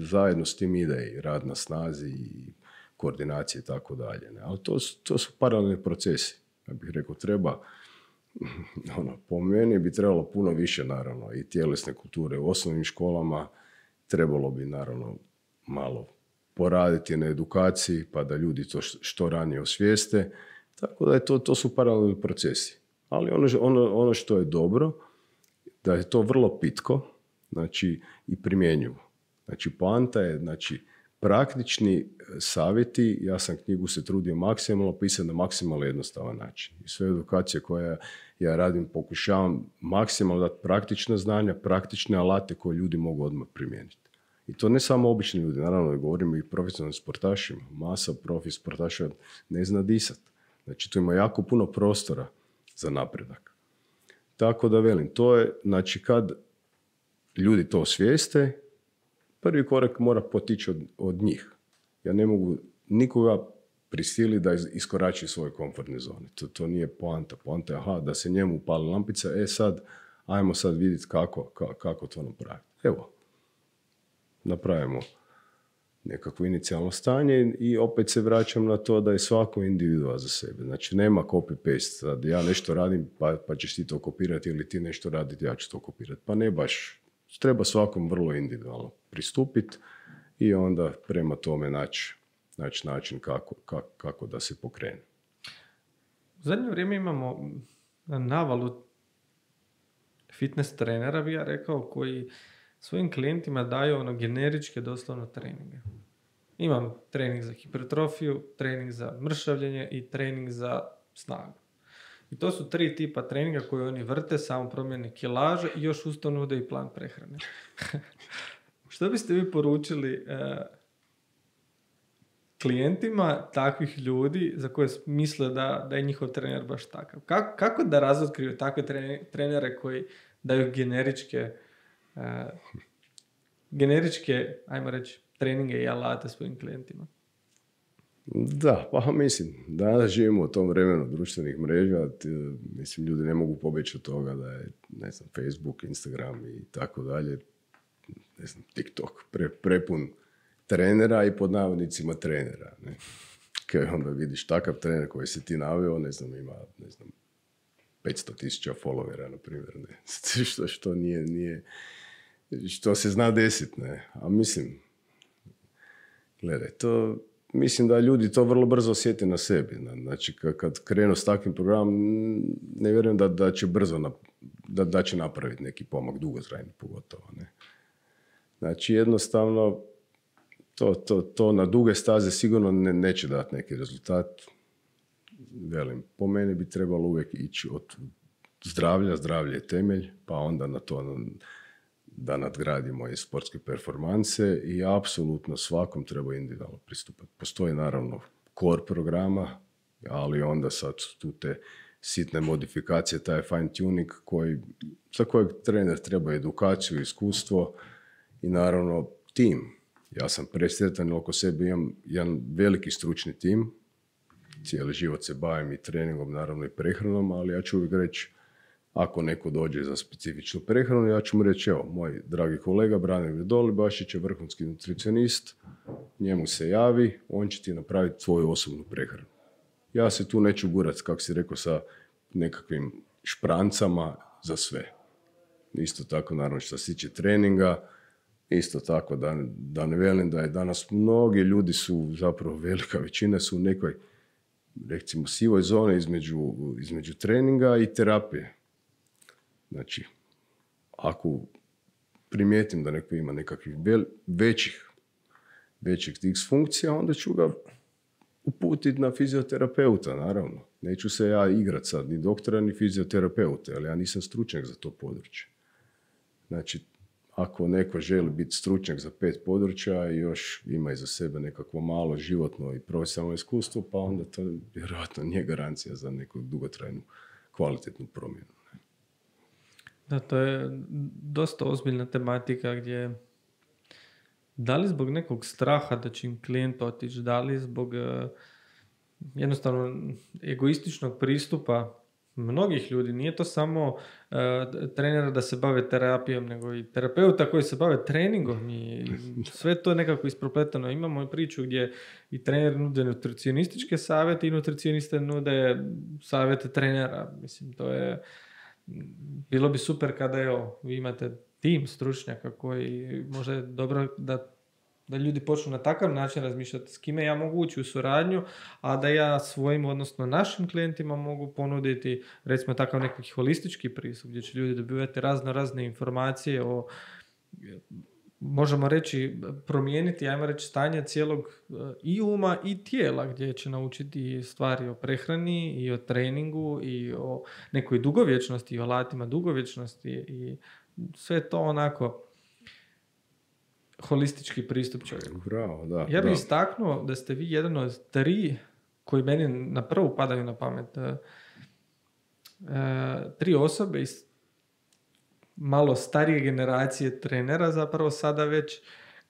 zajedno s tim ide i rad na snazi i koordinacije i tako dalje. Ali to su paralelni procesi. Ja bih rekao, treba, po meni bi trebalo puno više, naravno, i tjelesne kulture u osnovnim školama. Trebalo bi, naravno, malo poraditi na edukaciji, pa da ljudi to što ranije osvijeste. Tako da to su paralelni procesi. Ali ono što je dobro, da je to vrlo pitko, znači, i primjenjivo. Znači, poanta je, znači, praktični savjeti, ja sam knjigu se trudio maksimalno pisati na maksimalno jednostavan način. I sve edukacije koje ja radim, pokušavam maksimalno dati praktična znanja, praktične alate koje ljudi mogu odmah primijeniti. I to ne samo obični ljudi, naravno, govorimo i profesionalnim sportašima. Masa profi sportaša ne zna disat. Znači, tu ima jako puno prostora za napredak. Tako da velim, to je, znači, kad ljudi to osvijeste, prvi korak mora potići od njih. Ja ne mogu nikoga prisiliti da iskorači svoje komfortne zone. To nije poanta. Poanta je, da se njemu upali lampica, ajmo sad vidjeti kako to napraviti. Evo, napravimo nekakvo inicijalno stanje i opet se vraćam na to da je svako individual za sebe. Znači, nema copy-paste. Sad ja nešto radim, pa ćeš ti to kopirati, ili ti nešto raditi, ja ću to kopirati. Pa ne baš. Treba svakom vrlo individualno pristupiti i onda prema tome naći način kako da se pokrene. U zadnje vrijeme imamo navalu fitness trenera, bi ja rekao, koji svojim klijentima daju generičke doslovno treninge. Imam trening za hipertrofiju, trening za mršavljenje i trening za snagu. I to su 3 tipa treninga koje oni vrte, samo promjene kilaže i još uz to nude i plan prehrane. Što biste vi poručili klijentima takvih ljudi za koje misle da je njihov trener baš takav? Kako da razotkriju takve trenere koji daju generičke, ajmo reći, treninge i alate svojim klijentima? Da, pa mislim, danas živimo u tom vremenu društvenih mreža, mislim, ljudi ne mogu pobjeći od toga da je, ne znam, Facebook, Instagram i tako dalje, ne znam, TikTok, prepun trenera i pod navodnicima trenera. Ne? Kaj onda vidiš takav trener koji se ti naveo, ne znam, ima, 500,000 followera, na primjer, ne? što nije, što se zna desiti, ne? A mislim, gledaj, mislim da ljudi to vrlo brzo osjete na sebi. Znači, kad krenu s takvim programom, ne vjerujem da će brzo da će napraviti neki pomak, dugotrajni pogotovo. Ne? Znači, jednostavno, to na duge staze sigurno neće dati neki rezultat. Velim, po meni bi trebalo uvijek ići od zdravlje je temelj, pa onda na to da nadgradi moje sportske performanse i apsolutno svakom treba individualno pristupati. Postoji naravno core programa, ali onda sad tu te sitne modifikacije, taj fine tuning za kojeg trener treba edukaciju, iskustvo i naravno tim. Ja sam presretan jer oko sebe imam jedan veliki stručni tim, cijeli život se bavim i treningom, naravno i prehranom, ali ja ću uvijek reći, ako neko dođe za specifičnu prehranu, ja ću mu reći, evo, moj dragi kolega Branimir Dolibašić je vrhunski nutricionist, njemu se javi, on će ti napraviti tvoju osobnu prehranu. Ja se tu neću gurati, kako si rekao, sa nekakvim šprancama za sve. Isto tako, naravno, što se tiče treninga, isto tako da ne velim da je danas mnogi ljudi su, zapravo velika većina su u nekoj, recimo, sivoj zoni između treninga i terapije. Znači, ako primijetim da neko ima nekakvih većih disfunkcija, onda ću ga uputiti na fizioterapeuta, naravno. Neću se ja igrati sad, ni doktora, ni fizioterapeuta, ali ja nisam stručnjak za to područje. Znači, ako neko želi biti stručnjak za 5 područja i još ima iza sebe nekakvo malo životno i profesionalno iskustvo, pa onda to vjerojatno nije garancija za neku dugotrajnu kvalitetnu promjenu. Da, to je dosta ozbiljna tematika gdje da li zbog nekog straha da će im klijent otići, da li zbog jednostavno egoističnog pristupa mnogih ljudi, nije to samo trenera da se bave terapijom, nego i terapeuta koji se bave treningom i sve to je nekako isprepletano. Imamo i priču gdje i trener nude nutricionističke savjete i nutricioniste nude savjete trenera. Mislim, to je bilo bi super kada vi imate tim stručnjaka koji može dobro da ljudi počnu na takav način razmišljati s kime ja mogu ući u suradnju, a da ja svojim, odnosno našim klijentima mogu ponuditi, recimo, takav neki holistički pristup gdje će ljudi dobivati razne informacije o, možemo reći, promijeniti, ajmo reći, stanje cijelog i uma i tijela, gdje će naučiti stvari o prehrani i o treningu i o nekoj dugovječnosti i o alatima dugovječnosti i sve to onako holistički pristup čovjeku. Bravo, da. Ja bih istaknuo da ste vi jedan od 3 koji meni na prvu padaju na pamet. 3 osobe iz malo starije generacije trenera zapravo sada već,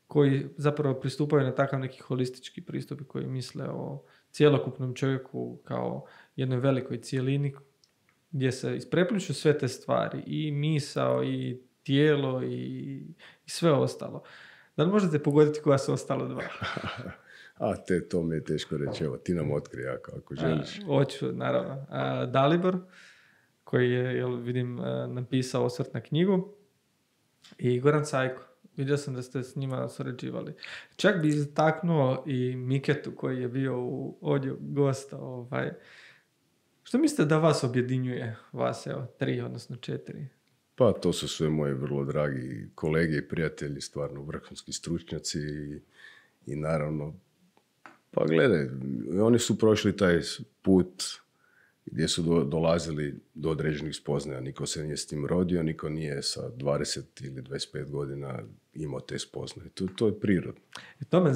koji zapravo pristupaju na takav neki holistički pristup i koji misle o cjelokupnom čovjeku kao jednoj velikoj cijelini gdje se isprepliču sve te stvari, i misao, i tijelo, i sve ostalo. Da li možete pogoditi koja su ostala 2? To mi je teško reći. Evo, ti nam otkrij ako želiš. Hoću, naravno. Dalibor, koji je, vidim, napisao osvrt na knjigu, i Goran Cajko. Vidio sam da ste s njima surađivali. Čak bi istaknuo i Miketu, koji je bio ovdje gosta. Što mislite da vas objedinjuje? Vas, 3, odnosno 4? Pa to su sve moji vrlo dragi kolege i prijatelji, stvarno vrhunski stručnjaci i naravno, pa gledaj, oni su prošli taj put gdje su dolazili do određenih spoznaja. Niko se nije s tim rodio, niko nije sa 20 ili 25 godina imao te spoznaje. To je prirodno. To me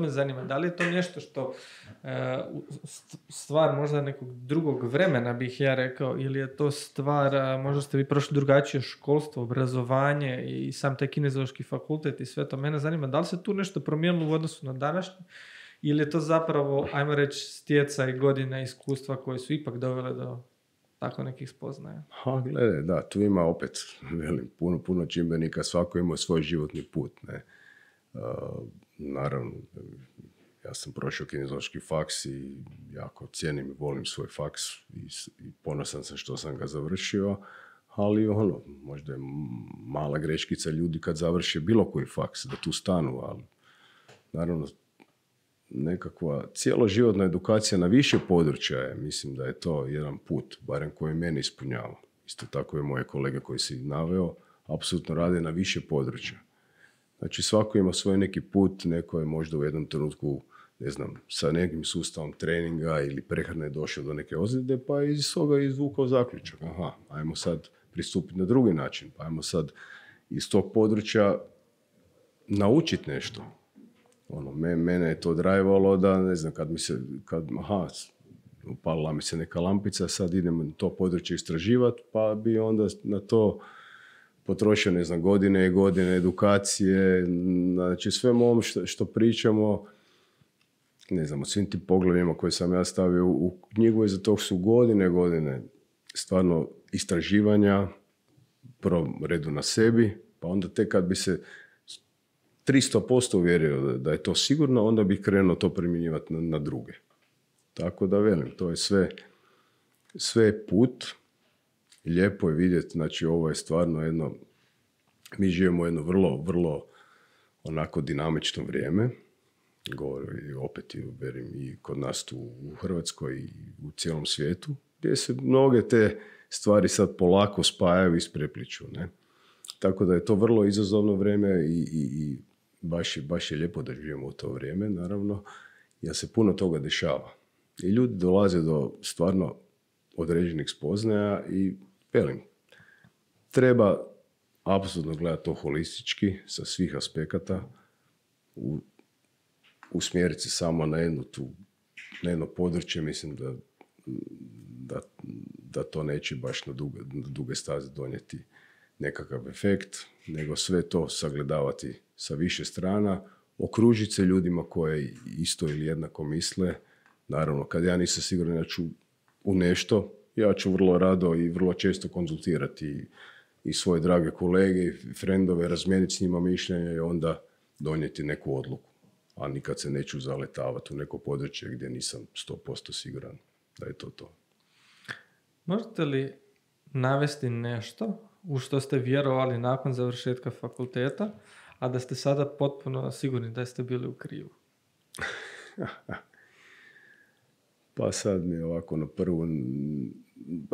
zanima. Da li je to nešto što stvar možda nekog drugog vremena, bih ja rekao, ili je to stvar, možda ste vi prošli drugačije školstvo, obrazovanje i sam taj kineziološki fakultet i sve to. Mene zanima, da li se tu nešto promijenilo u odnosu na današnje, ili je to zapravo, ajmo reći, stjecaj godina iskustva koje su ipak dovele do tako nekih spoznaja? Gledaj, da, tu ima opet, puno čimbenika, svako ima svoj životni put, ne. Naravno, ja sam prošao kineziološki faks i jako cijenim i volim svoj faks i ponosan sam što sam ga završio, ali možda je mala greškica ljudi kad završe bilo koji faks, da tu stanu, ali naravno, nekakva cijeloživotna edukacija na više područja je, mislim da je to jedan put, barem koji mene ispunjava. Isto tako je moje kolege koji si naveo, apsolutno rade na više područja. Znači svako ima svoj neki put, neko je možda u jednom trenutku, ne znam, sa nekim sustavom treninga ili prehrane došao do neke ozljede, pa je iz toga izvukao zaključak. Ajmo sad pristupiti na drugi način, pa ajmo sad iz tog područja naučiti nešto. Mene je to drajvalo da, ne znam, upalila mi se neka lampica, sad idem to područje istraživati, pa bi onda na to potrošio, ne znam, godine i godine edukacije, znači sve ovom što pričamo, ne znam, o svim tim poglavljima koje sam ja stavio u knjigu, iza tog su godine stvarno istraživanja, prvom redu na sebi, pa onda tek kad bi se 300% uvjerio da je to sigurno, onda bih krenuo to primjenjivati na druge. Tako da velim, to je sve put. Lijepo je vidjeti, znači ovo je stvarno jedno, mi živimo jedno vrlo, vrlo onako dinamično vrijeme. Govorim opet i kod nas tu u Hrvatskoj i u cijelom svijetu, gdje se mnoge te stvari sad polako spajaju i isprepliču. Ne? Tako da je to vrlo izazovno vrijeme i baš je lijepo da živimo u to vrijeme, naravno, jer se puno toga dešava. I ljudi dolaze do stvarno određenih spoznaja i velim, treba apsolutno gledati to holistički, sa svih aspekata, usmjeriti se samo na jedno područje, mislim da to neće baš na duge staze donijeti nekakav efekt, nego sve to sagledavati sa više strana, okružiti se ljudima koje isto ili jednako misle. Naravno, kad ja nisam siguran da ću u nešto, ja ću vrlo rado i vrlo često konzultirati i svoje drage kolege i frendove, razmijeniti s njima mišljenja i onda donijeti neku odluku. A nikad se neću zaletavati u neko područje gdje nisam 100% siguran da je to. Možete li navesti nešto u što ste vjerovali nakon završetka fakulteta, a da ste sada potpuno sigurni da ste bili u krivu? Pa sad mi je ovako na prvu,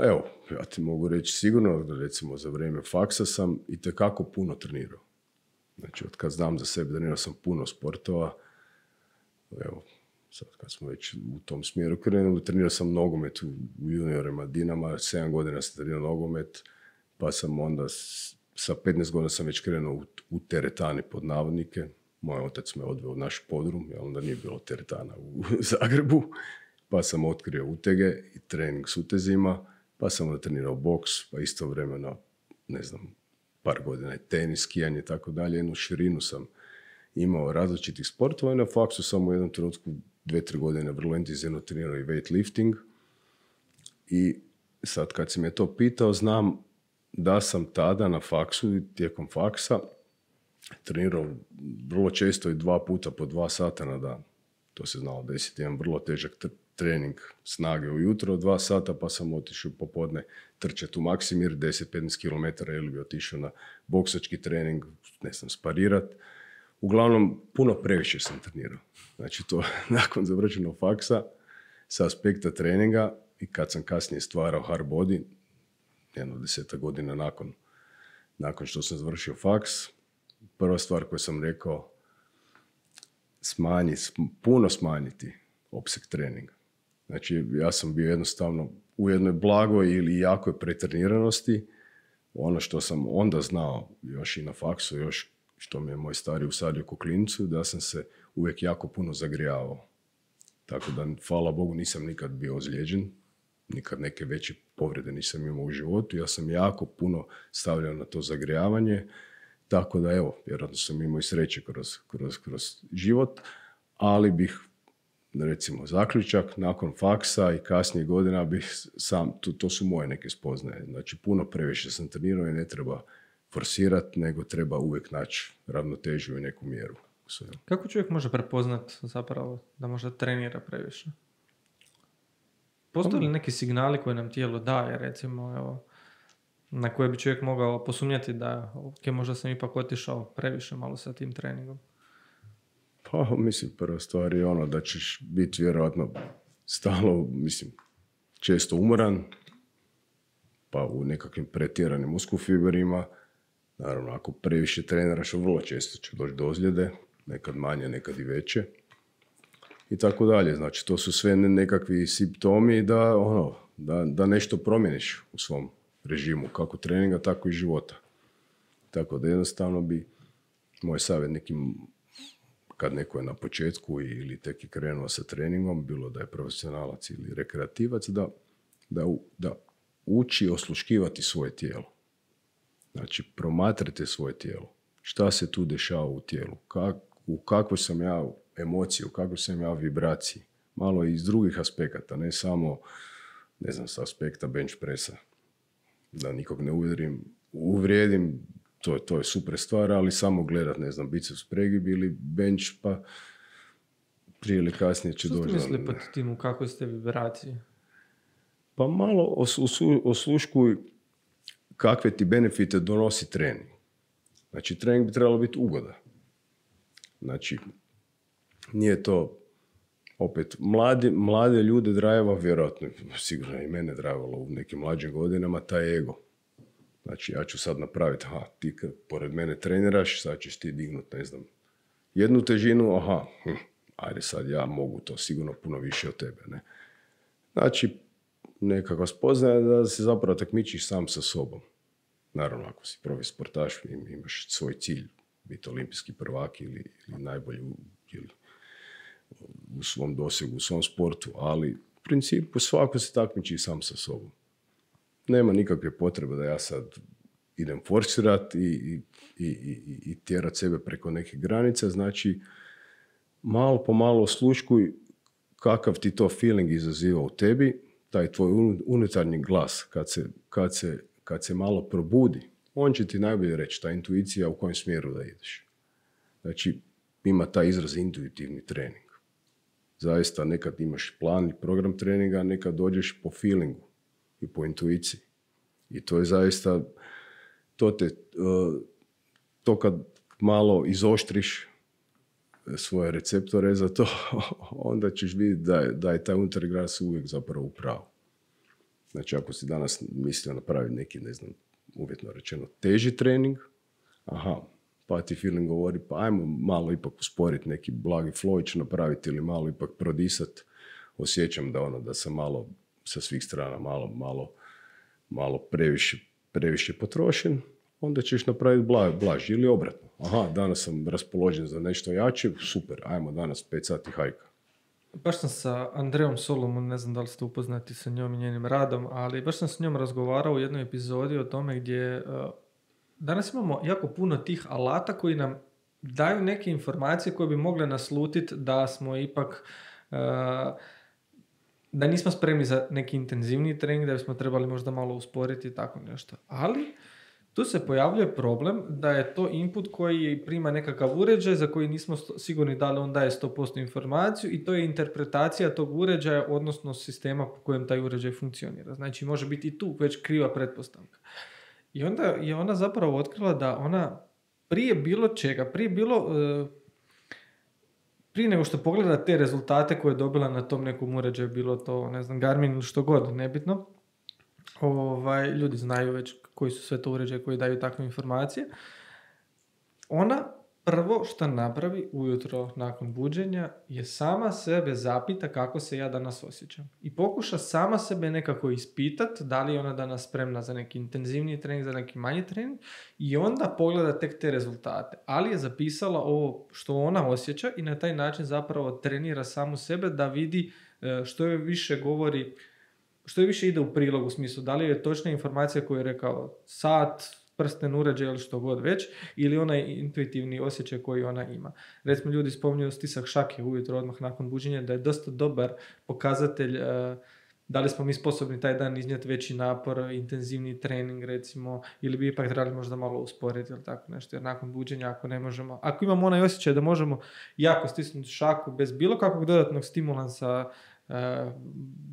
evo, ja ti mogu reći sigurno da recimo za vrijeme faksa sam itekako puno trenirao. Znači, od kad znam za sebe, trenirao sam puno sportova. Evo, sad kad smo već u tom smjeru krenuli, trenirao sam nogomet u juniorima Dinama, 7 godina sam trenirao nogomet, pa sam onda sa 15 godina sam već krenuo u teretani pod navodnike. Moj otac me odveo u naš podrum, jer onda nije bilo teretana u Zagrebu. Pa sam otkrio utege i trening s utezima, pa sam onda trenirao boks, pa istovremeno, ne znam, par godina i tenis, skijanje i tako dalje. Jednu širinu sam imao različitih sportova i na faksu sam u jednom trenutku 2-3 godine vrlo intenzivno trenirao i weightlifting. I sad kad si me to pitao, znam da sam tada na faksu i tijekom faksa trenirao vrlo često i 2 puta po 2 sata na dan. To se znalo desiti, jedan vrlo težak trening snage ujutro, 2 sata, pa sam otišao popodne trčati u Maksimir, 10-15 km ili bi otišao na boksački trening, ne znam, sparirat. Uglavnom, puno previše sam trenirao. Znači, to nakon završenog faksa, sa aspekta treninga i kad sam kasnije stvarao hard body, 10 godina nakon što sam završio faks, prva stvar koju sam rekao, puno smanjiti opseg treninga. Znači, ja sam bio jednostavno u jednoj blagoj ili jakoj pretreniranosti. Ono što sam onda znao, još i na faksu, još što mi je moj stari usadio ko klincu, da sam se uvijek jako puno zagrijavao. Tako da, hvala Bogu, nisam nikad bio ozlijeđen, nikad neke veće povrede nisam imao u životu. Ja sam jako puno stavljao na to zagrijavanje, tako da, evo, vjerojatno sam imao i sreće kroz život, ali bih, recimo, zaključak, nakon faksa i kasnije godina bih sam, to su moje neke spoznaje. Znači, puno previše sam trenirao i ne treba forsirati, nego treba uvijek naći ravnotežu i neku mjeru. Kako čovjek može prepoznat zapravo da možda trenira previše? Postoje li neki signali koje nam tijelo daje, recimo, evo, na koje bi čovjek mogao posumnjati da, možda sam ipak otišao previše malo sa tim treningom? Pa, mislim, prva stvar je ono da ćeš biti vjerojatno stalno, često umoran, pa u nekakvim pretjeranim muskulfiberima. Naravno, ako previše treniraš, vrlo često će doći do ozljede, nekad manje, nekad i veće. I tako dalje. Znači, to su sve nekakvi simptomi da nešto promjeniš u svom režimu, kako treninga, tako i života. Tako da jednostavno bi moj savjet nekim, kad neko je na početku ili tek je krenuo sa treningom, bilo da je profesionalac ili rekreativac, da uči osluškivati svoje tijelo. Znači, promatrajte svoje tijelo. Šta se tu dešava u tijelu? U kakvoj sam ja emociji, u kakvoj sam ja vibraciji? Malo iz drugih aspekata, ne samo, ne znam, s aspekta bench pressa. Da nikog ne uvrijedim, to je super stvar, ali samo gledat, ne znam, biceps pregib ili bench, pa prije ili kasnije će doći. Što ste misli pod tim, u kakvoj ste vibraciji? Pa malo osluškuj kakve ti benefite donosi trening. Znači, trening bi trebalo biti ugoda. Znači, nije to opet, mlade ljude drajeva, vjerojatno, sigurno i mene drajevalo u nekim mlađim godinama, taj ego. Znači, ja ću sad napraviti, ti kad pored mene treniraš, sad ćeš ti dignut, ne znam, jednu težinu, ajde sad ja mogu to sigurno puno više od tebe, ne. Znači, nekakva spoznaja da se zapravo takmičiš sam sa sobom. Naravno, ako si profi sportaš, imaš svoj cilj, biti olimpijski prvak ili najbolji ili u svom dosegu, u svom sportu, ali u principu svako se takmiči sam sa sobom. Nema nikakve potrebe da ja sad idem forsirati i tjerat sebe preko neke granice, znači malo po malo osluškuj kakav ti to feeling izaziva u tebi, taj tvoj unutarnji glas, kad se malo probudi, on će ti najbolje reći, ta intuicija u kojem smjeru da ideš. Znači, ima taj izraz intuitivni trening. Zaista, nekad imaš plan i program treninga, nekad dođeš po feelingu i po intuiciji. I to je zaista, to kad malo izoštriš svoje receptore za to, onda ćeš vidjeti da je taj unutarnji glas uvijek zapravo u pravu. Znači, ako si danas mislio napraviti neki, ne znam, uvjetno rečeno, teži trening, pa ti feeling govori, pa ajmo malo ipak usporiti neki blagi flow ću napraviti ili malo ipak prodisati. Osjećam da sam malo sa svih strana malo previše potrošen, onda ćeš napraviti blaži ili obratno. Danas sam raspoložen za nešto jače, super, ajmo danas 5 sati hajka. Baš sam sa Andreom Solomon, ne znam da li ste upoznati sa njom i njenim radom, ali baš sam s njom razgovarao u jednoj epizodi o tome gdje danas imamo jako puno tih alata koji nam daju neke informacije koje bi mogle naslutiti da smo ipak da nismo spremni za neki intenzivni trening, da bismo trebali možda malo usporiti i tako nešto. Ali tu se pojavljuje problem da je to input koji prima nekakav uređaj za koji nismo sigurni da li on daje 100% informaciju i to je interpretacija tog uređaja, odnosno sistema po kojem taj uređaj funkcionira. Znači, može biti i tu već kriva pretpostavka. I onda je ona zapravo otkrila da ona prije bilo čega, prije nego što pogleda te rezultate koje je dobila na tom nekom uređaju, bilo to, ne znam, Garmin ili što god, nebitno, ljudi znaju već koji su sve to uređaje koji daju takve informacije. Ona prvo što napravi ujutro nakon buđenja je sama sebe zapita kako se ja danas osjećam. I pokuša sama sebe nekako ispitati da li je ona danas spremna za neki intenzivniji trening, za neki manji trening i onda pogleda tek te rezultate. Ali je zapisala ovo što ona osjeća i na taj način zapravo trenira samu sebe da vidi što je više govori, što je više ide u prilog u smislu da li je točna informacija koju je rekao sat, prsten, uređaj ili što god već, ili onaj intuitivni osjećaj koji ona ima. Recimo, ljudi spominju stisak šake ujutro odmah nakon buđenja, da je dosta dobar pokazatelj da li smo mi sposobni taj dan iznijeti veći napor, intenzivni trening recimo, ili bi ipak trebali možda malo usporiti ili tako nešto, jer nakon buđenja ako ne možemo, ako imamo onaj osjećaj da možemo jako stisnuti šaku bez bilo kakvog dodatnog stimulansa,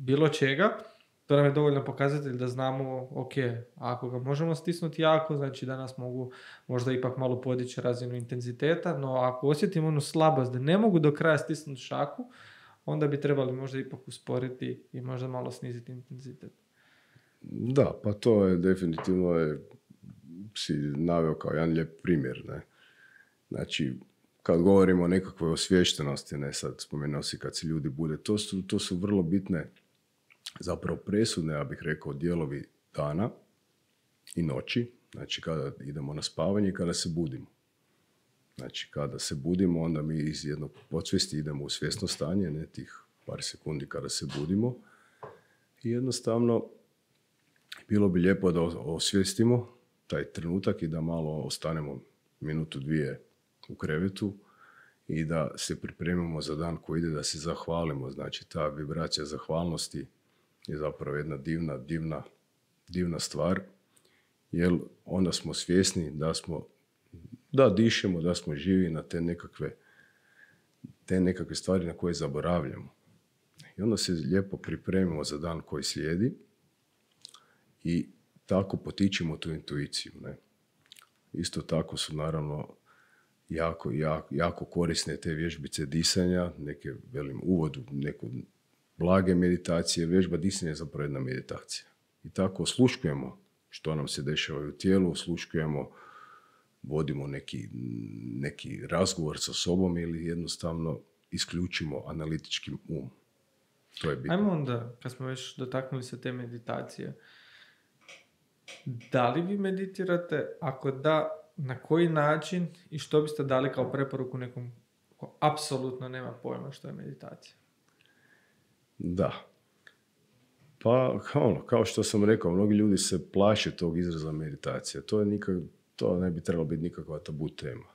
bilo čega, to nam je dovoljno pokazatelj da znamo, ok, ako ga možemo stisnuti jako, znači danas mogu možda ipak malo podići razinu intenziteta, no ako osjetim onu slabost da ne mogu do kraja stisnuti šaku, onda bi trebali možda ipak usporiti i možda malo sniziti intenzitet. Da, pa to je definitivno si naveo kao jedan lijep primjer, ne? Znači, kad govorimo o nekakvoj osviještenosti, ne sad spomenuo si kad se ljudi bude, to su vrlo bitne, zapravo presudne, ja bih rekao, dijelovi dana i noći, Znači kada idemo na spavanje i kada se budimo. Znači kada se budimo, onda mi iz jednog podsvijesti idemo u svjesno stanje, ne tih par sekundi kada se budimo. I jednostavno bilo bi lijepo da osvijestimo taj trenutak i da malo ostanemo minutu, dvije u krevetu i da se pripremimo za dan koji ide, da se zahvalimo. Znači ta vibracija zahvalnosti je zapravo jedna divna stvar, jer onda smo svjesni da dišemo, da smo živi na te nekakve stvari na koje zaboravljamo. I onda se lijepo pripremimo za dan koji slijedi i tako potičemo tu intuiciju. Ne? Isto tako su naravno jako korisne te vježbice disanja, neke, uvodu, neko blage meditacije. Vježba disanja je zapravo jedna meditacija. I tako osluškujemo što nam se dešava u tijelu, osluškujemo, vodimo neki razgovor sa sobom ili jednostavno isključimo analitički um. To je bitno. Ajmo onda, kad smo već dotaknuli se te meditacije, da li vi meditirate? Ako da, na koji način i što biste dali kao preporuku nekom ko apsolutno nema pojma što je meditacija? Da. Pa, kao što sam rekao, mnogi ljudi se plaše tog izraza meditacija. To ne bi trebalo biti nikakva tabu tema.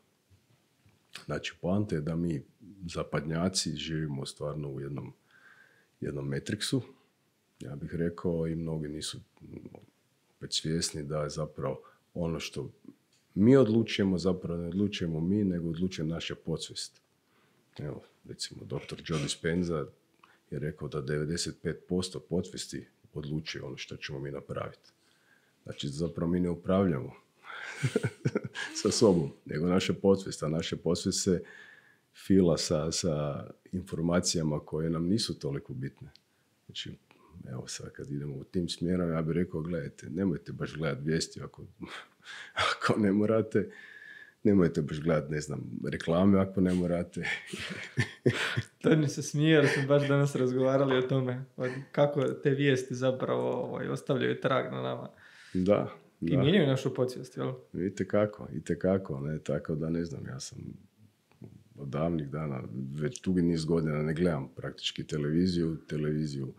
Znači, poanta je da mi zapadnjaci živimo stvarno u jednom matrixu, ja bih rekao, i mnogi nisu opet svjesni da je zapravo ono što mi odlučujemo, zapravo ne odlučujemo mi, nego odlučuje naša podsvijest. Evo, recimo, dr. Joe Dispenza je rekao da 95% podsvijesti odlučuje ono što ćemo mi napraviti. Znači, zapravo mi ne upravljamo sa sobom, nego naša podsvijest, a naša podsvijest se fila sa informacijama koje nam nisu toliko bitne. Znači, evo sad kad idemo u tim smjerom, ja bih rekao, gledajte, nemojte baš gledati vijesti ako ne morate, nemojte baš gledati, ne znam, reklame ako ne morate. To mi se smije, jer smo baš danas razgovarali o tome, kako te vijesti zapravo ostavljaju trag na nama. Da. I mijenjaju našu podsvijest, jel? Itekako, ne, tako da ne znam, ja sam od davnih dana, već dugi niz godina ne gledam praktički televiziju,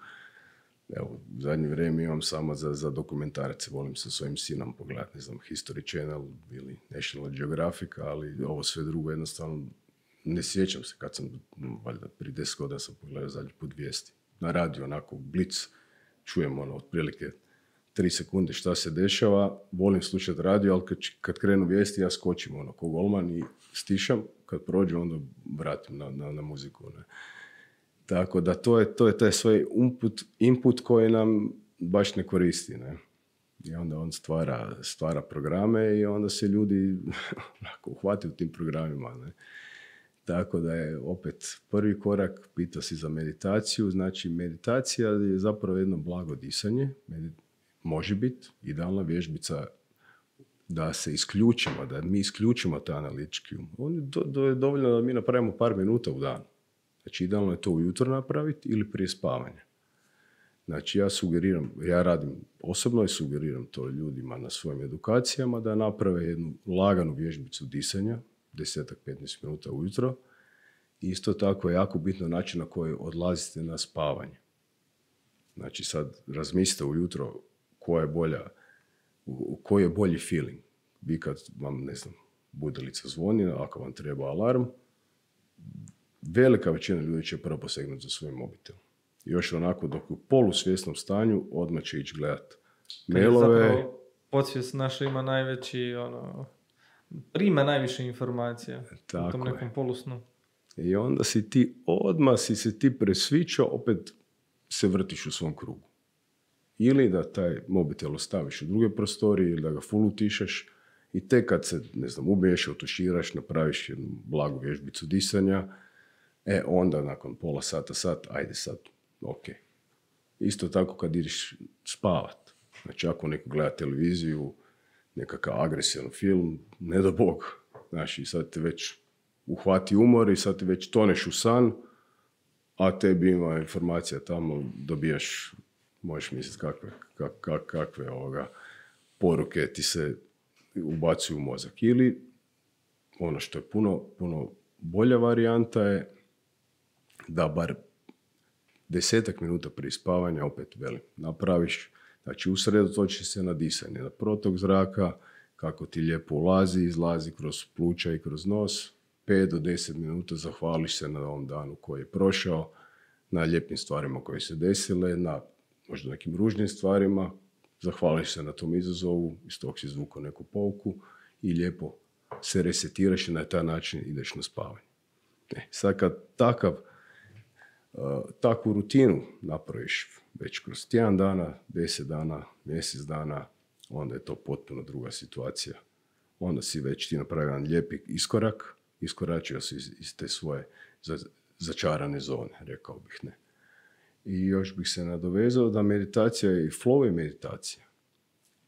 evo, u zadnje vrijeme imam samo za dokumentarace, volim sa svojim sinom pogledati, ne znam, History Channel ili National Geographic, ali ovo sve drugo jednostavno ne sjećam se kad sam, valjda prije 10 godina sam pogledao zadnji put vijesti. Na radiju, onako, blic, čujem otprilike 3 sekunde šta se dešava, volim slušati radio, ali kad krenu vijesti, ja skočim ko golman i stišam, kad prođe, onda vratim na muziku. Ne. Tako da to je taj svoj input koji nam baš ne koristi. Ne. I onda on stvara programe i onda se ljudi uhvati u tim programima. Ne. Tako da je opet prvi korak, pitao si za meditaciju, znači meditacija je zapravo jedno blago disanje, može biti idealna vježbica da se isključimo, da mi isključimo taj analitički um. Je dovoljno da mi napravimo par minuta u danu. Znači, idealno je to ujutro napraviti ili prije spavanja. Znači, ja radim osobno i sugeriram to ljudima na svojim edukacijama da naprave jednu laganu vježbicu disanja, 10-15 minuta ujutro. Isto tako je jako bitno način na koji odlazite na spavanje. Znači, sad razmislite ujutro koji je bolji feeling. Vi kad vam, ne znam, budilica zvoni, ako vam treba alarm, velika većina ljudi će prvo posegnuti za svoj mobitel. Još onako, dok u polusvjesnom stanju, odmah će ići gledati mailove. Zapravo, podsvijest naša ima prima najviše informacija u tom nekom polusnu. I onda si se ti presvičao, opet se vrtiš u svom krugu. Ili da taj mobitel ostaviš u druge prostorije, ili da ga full utišaš i tek kad se, ne znam, ubiješ, otuširaš, napraviš jednu blagu vježbicu disanja, onda nakon pola sat, ajde sad, ok. Isto tako kad ideš spavat. Znači, ako neko gleda televiziju, nekakav agresivan film, ne da Bog, znači, sad te već uhvati umor i sad te već toneš u san, a tebi ima informacija tamo, dobijaš, možeš misliti kakve poruke ti se ubacuju u mozak. Ili ono što je puno bolja varijanta je da bar 10 minuta prije spavanja, opet velim, napraviš, znači usredotočiš se na disanje, na protok zraka, kako ti lijepo ulazi, izlazi kroz pluća i kroz nos, 5 do 10 minuta zahvališ se na ovom danu koji je prošao, na lijepim stvarima koje se desile, na možda nekim ružnim stvarima, zahvališ se na tom izazovu, iz tog si izvukao neku pouku i lijepo se resetiraš i na taj način ideš na spavanje. Sad kad takvu rutinu napraviš već kroz tjedan dana, 10 dana, mjesec dana, onda je to potpuno druga situacija. Onda si već ti napravio jedan lijepi iskorak, iskoračio si iz te svoje začarane zone, rekao bih, ne. I još bih se nadovezao da meditacija i flow je meditacija.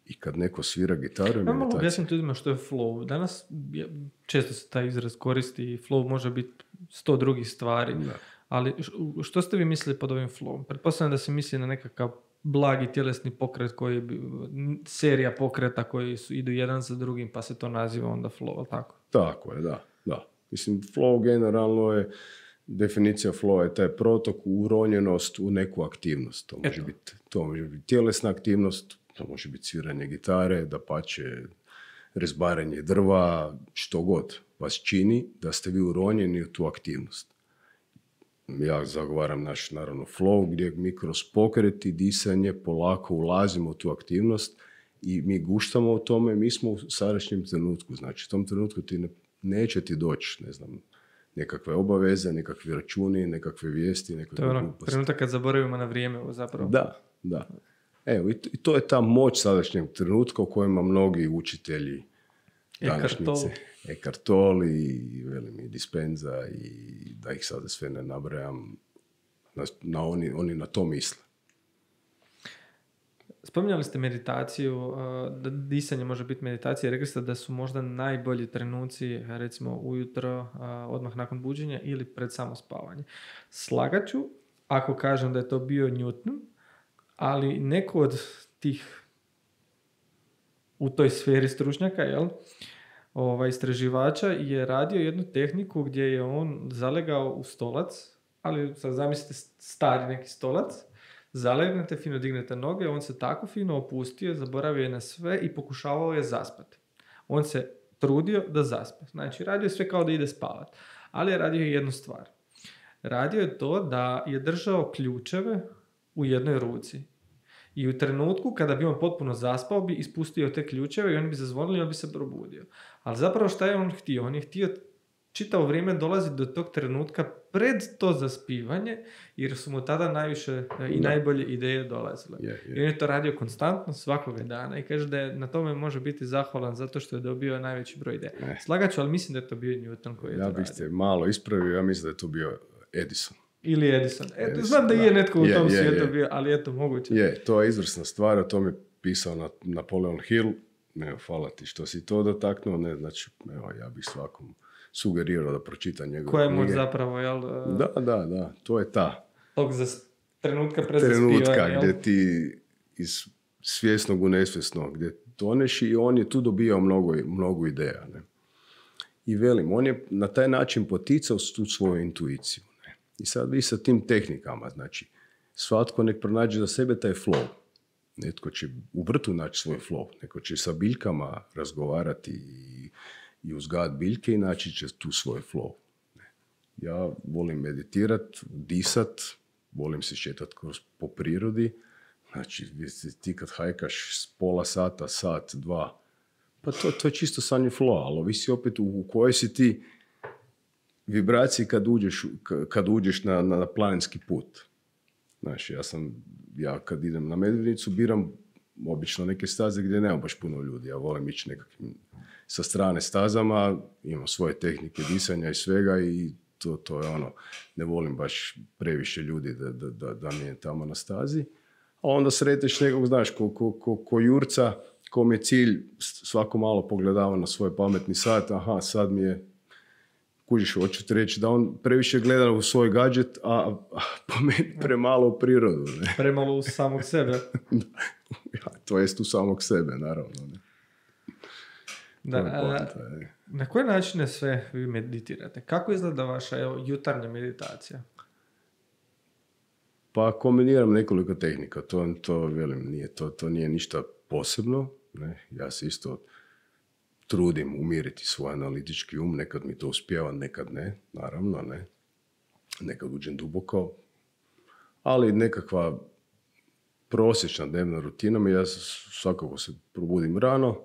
I kad neko svira gitaru je meditacija. Mogu objasniti ljudima što je flow. Danas često se taj izraz koristi i flow može biti 100 drugih stvari. Da. Ali što ste vi mislili pod ovim flowom? Pretpostavljam da se misli na nekakav blagi tjelesni pokret, serija pokreta koji idu jedan za drugim, pa se to naziva onda flow, tako? Tako je, da. Mislim, flow generalno je, definicija flowa je taj protok, uronjenost u neku aktivnost. To može biti tjelesna aktivnost, to može biti sviranje gitare, dapače, rezbaranje drva, što god vas čini da ste vi uronjeni u tu aktivnost. Ja zagovaram naš, naravno, flow, gdje mi kroz pokret i disanje polako ulazimo u tu aktivnost i mi guštamo u tome, mi smo u sadašnjem trenutku. Znači, u tom trenutku neće ti doći, ne znam, nekakve obaveze, nekakvi računi, nekakve vijesti, nekakve gluposti. To je gluposti. Trenutak kad zaboravimo na vrijeme, zapravo. Da. Evo, i to je ta moć sadašnjeg trenutka u kojima mnogi učitelji današnjice, Eckhart Tolle i velim, Dispenza i da ih sada sve ne nabrajam, oni na to misle. Spominjali ste meditaciju, da disanje može biti meditacija. Rekli ste da su možda najbolji trenuci, recimo ujutro, odmah nakon buđenja ili pred samo spavanje. Slagat ću ako kažem da je to bio Newton, ali neko od tih u toj sferi stručnjaka, istraživača je radio jednu tehniku gdje je on zalegao u stolac, ali sad zamislite stari neki stolac, zalegnete, fino dignete noge, on se tako fino opustio, zaboravio je na sve i pokušavao je zaspati. On se trudio da zaspe. Znači, radio je sve kao da ide spavati. Ali je radio jednu stvar. Radio je to da je držao ključeve u jednoj ruci. I u trenutku kada bi on potpuno zaspao, bi ispustio te ključeve i oni bi zazvonili i on bi se probudio. Ali zapravo šta je on htio? On je htio čitavo vrijeme dolaziti do tog trenutka pred to zaspivanje, jer su mu tada najviše i najbolje ideje dolazile. I on je to radio konstantno svakoga dana i kaže da je na tome može biti zahvalan zato što je dobio najveći broj ideja. Slagat ću, ali mislim da je to bio Newton koji je to radio. Ja bih se malo ispravio, ja mislim da je to bio Edison. Ili Edison. Znam da je netko u tom svijetu bio, ali eto, moguće. To je izvrsna stvar, o tom je pisao Napoleon Hill. Hvala ti što si to dotaknuo. Ne, znači, ja bih svakom sugerirao da pročita njegove knjige. Koja je moć zapravo, jel? Da, to je ta. Tog trenutka pred zaspivanja, gdje ti iz svjesnog u nesvjesno, gdje toneš i on je tu dobijao mnogo ideja. Ne? I velim, on je na taj način poticao tu svoju intuiciju. Ne? I sad vi sa tim tehnikama, znači, svatko nek pronađe za sebe taj flow. Netko će u vrtu naći svoj flow, neko će sa biljkama razgovarati i uzgajati biljke i naći će tu svoj flow. Ja volim meditirati, disat, volim se šetati po prirodi. Znači, ti kad hajkaš pola sata, sat, dva, pa to je čisto sanje flow, ali ovisi opet u kojoj si ti vibraciji kad uđeš na planinski put. Znači, ja kad idem na Medvednicu biram obično neke staze gdje nema baš puno ljudi. Ja volim ići nekakvim sa strane stazama, imam svoje tehnike disanja i svega i to je ne volim baš previše ljudi da mi je tamo na stazi. A onda sreteš nekog, znaš, ko jurca, kom je cilj, svako malo pogledava na svoj pametni sat, sad mi je, kužiš, hoću ti reći da on previše gleda u svoj gadget, a po meni premalo u prirodu. Ne? Premalo u samog sebe. To jest u samog sebe, naravno. Ne? To je poanta. Na koje načine sve vi meditirate? Kako izgleda vaša jutarnja meditacija? Pa kombiniram nekoliko tehnika, to velim, to nije ništa posebno, ne? Ja se isto trudim umiriti svoj analitički nekad mi to uspijeva, nekad ne, naravno, ne. Nekad uđem duboko, ali nekakva prosječna dnevna rutina, ja svakako se probudim rano,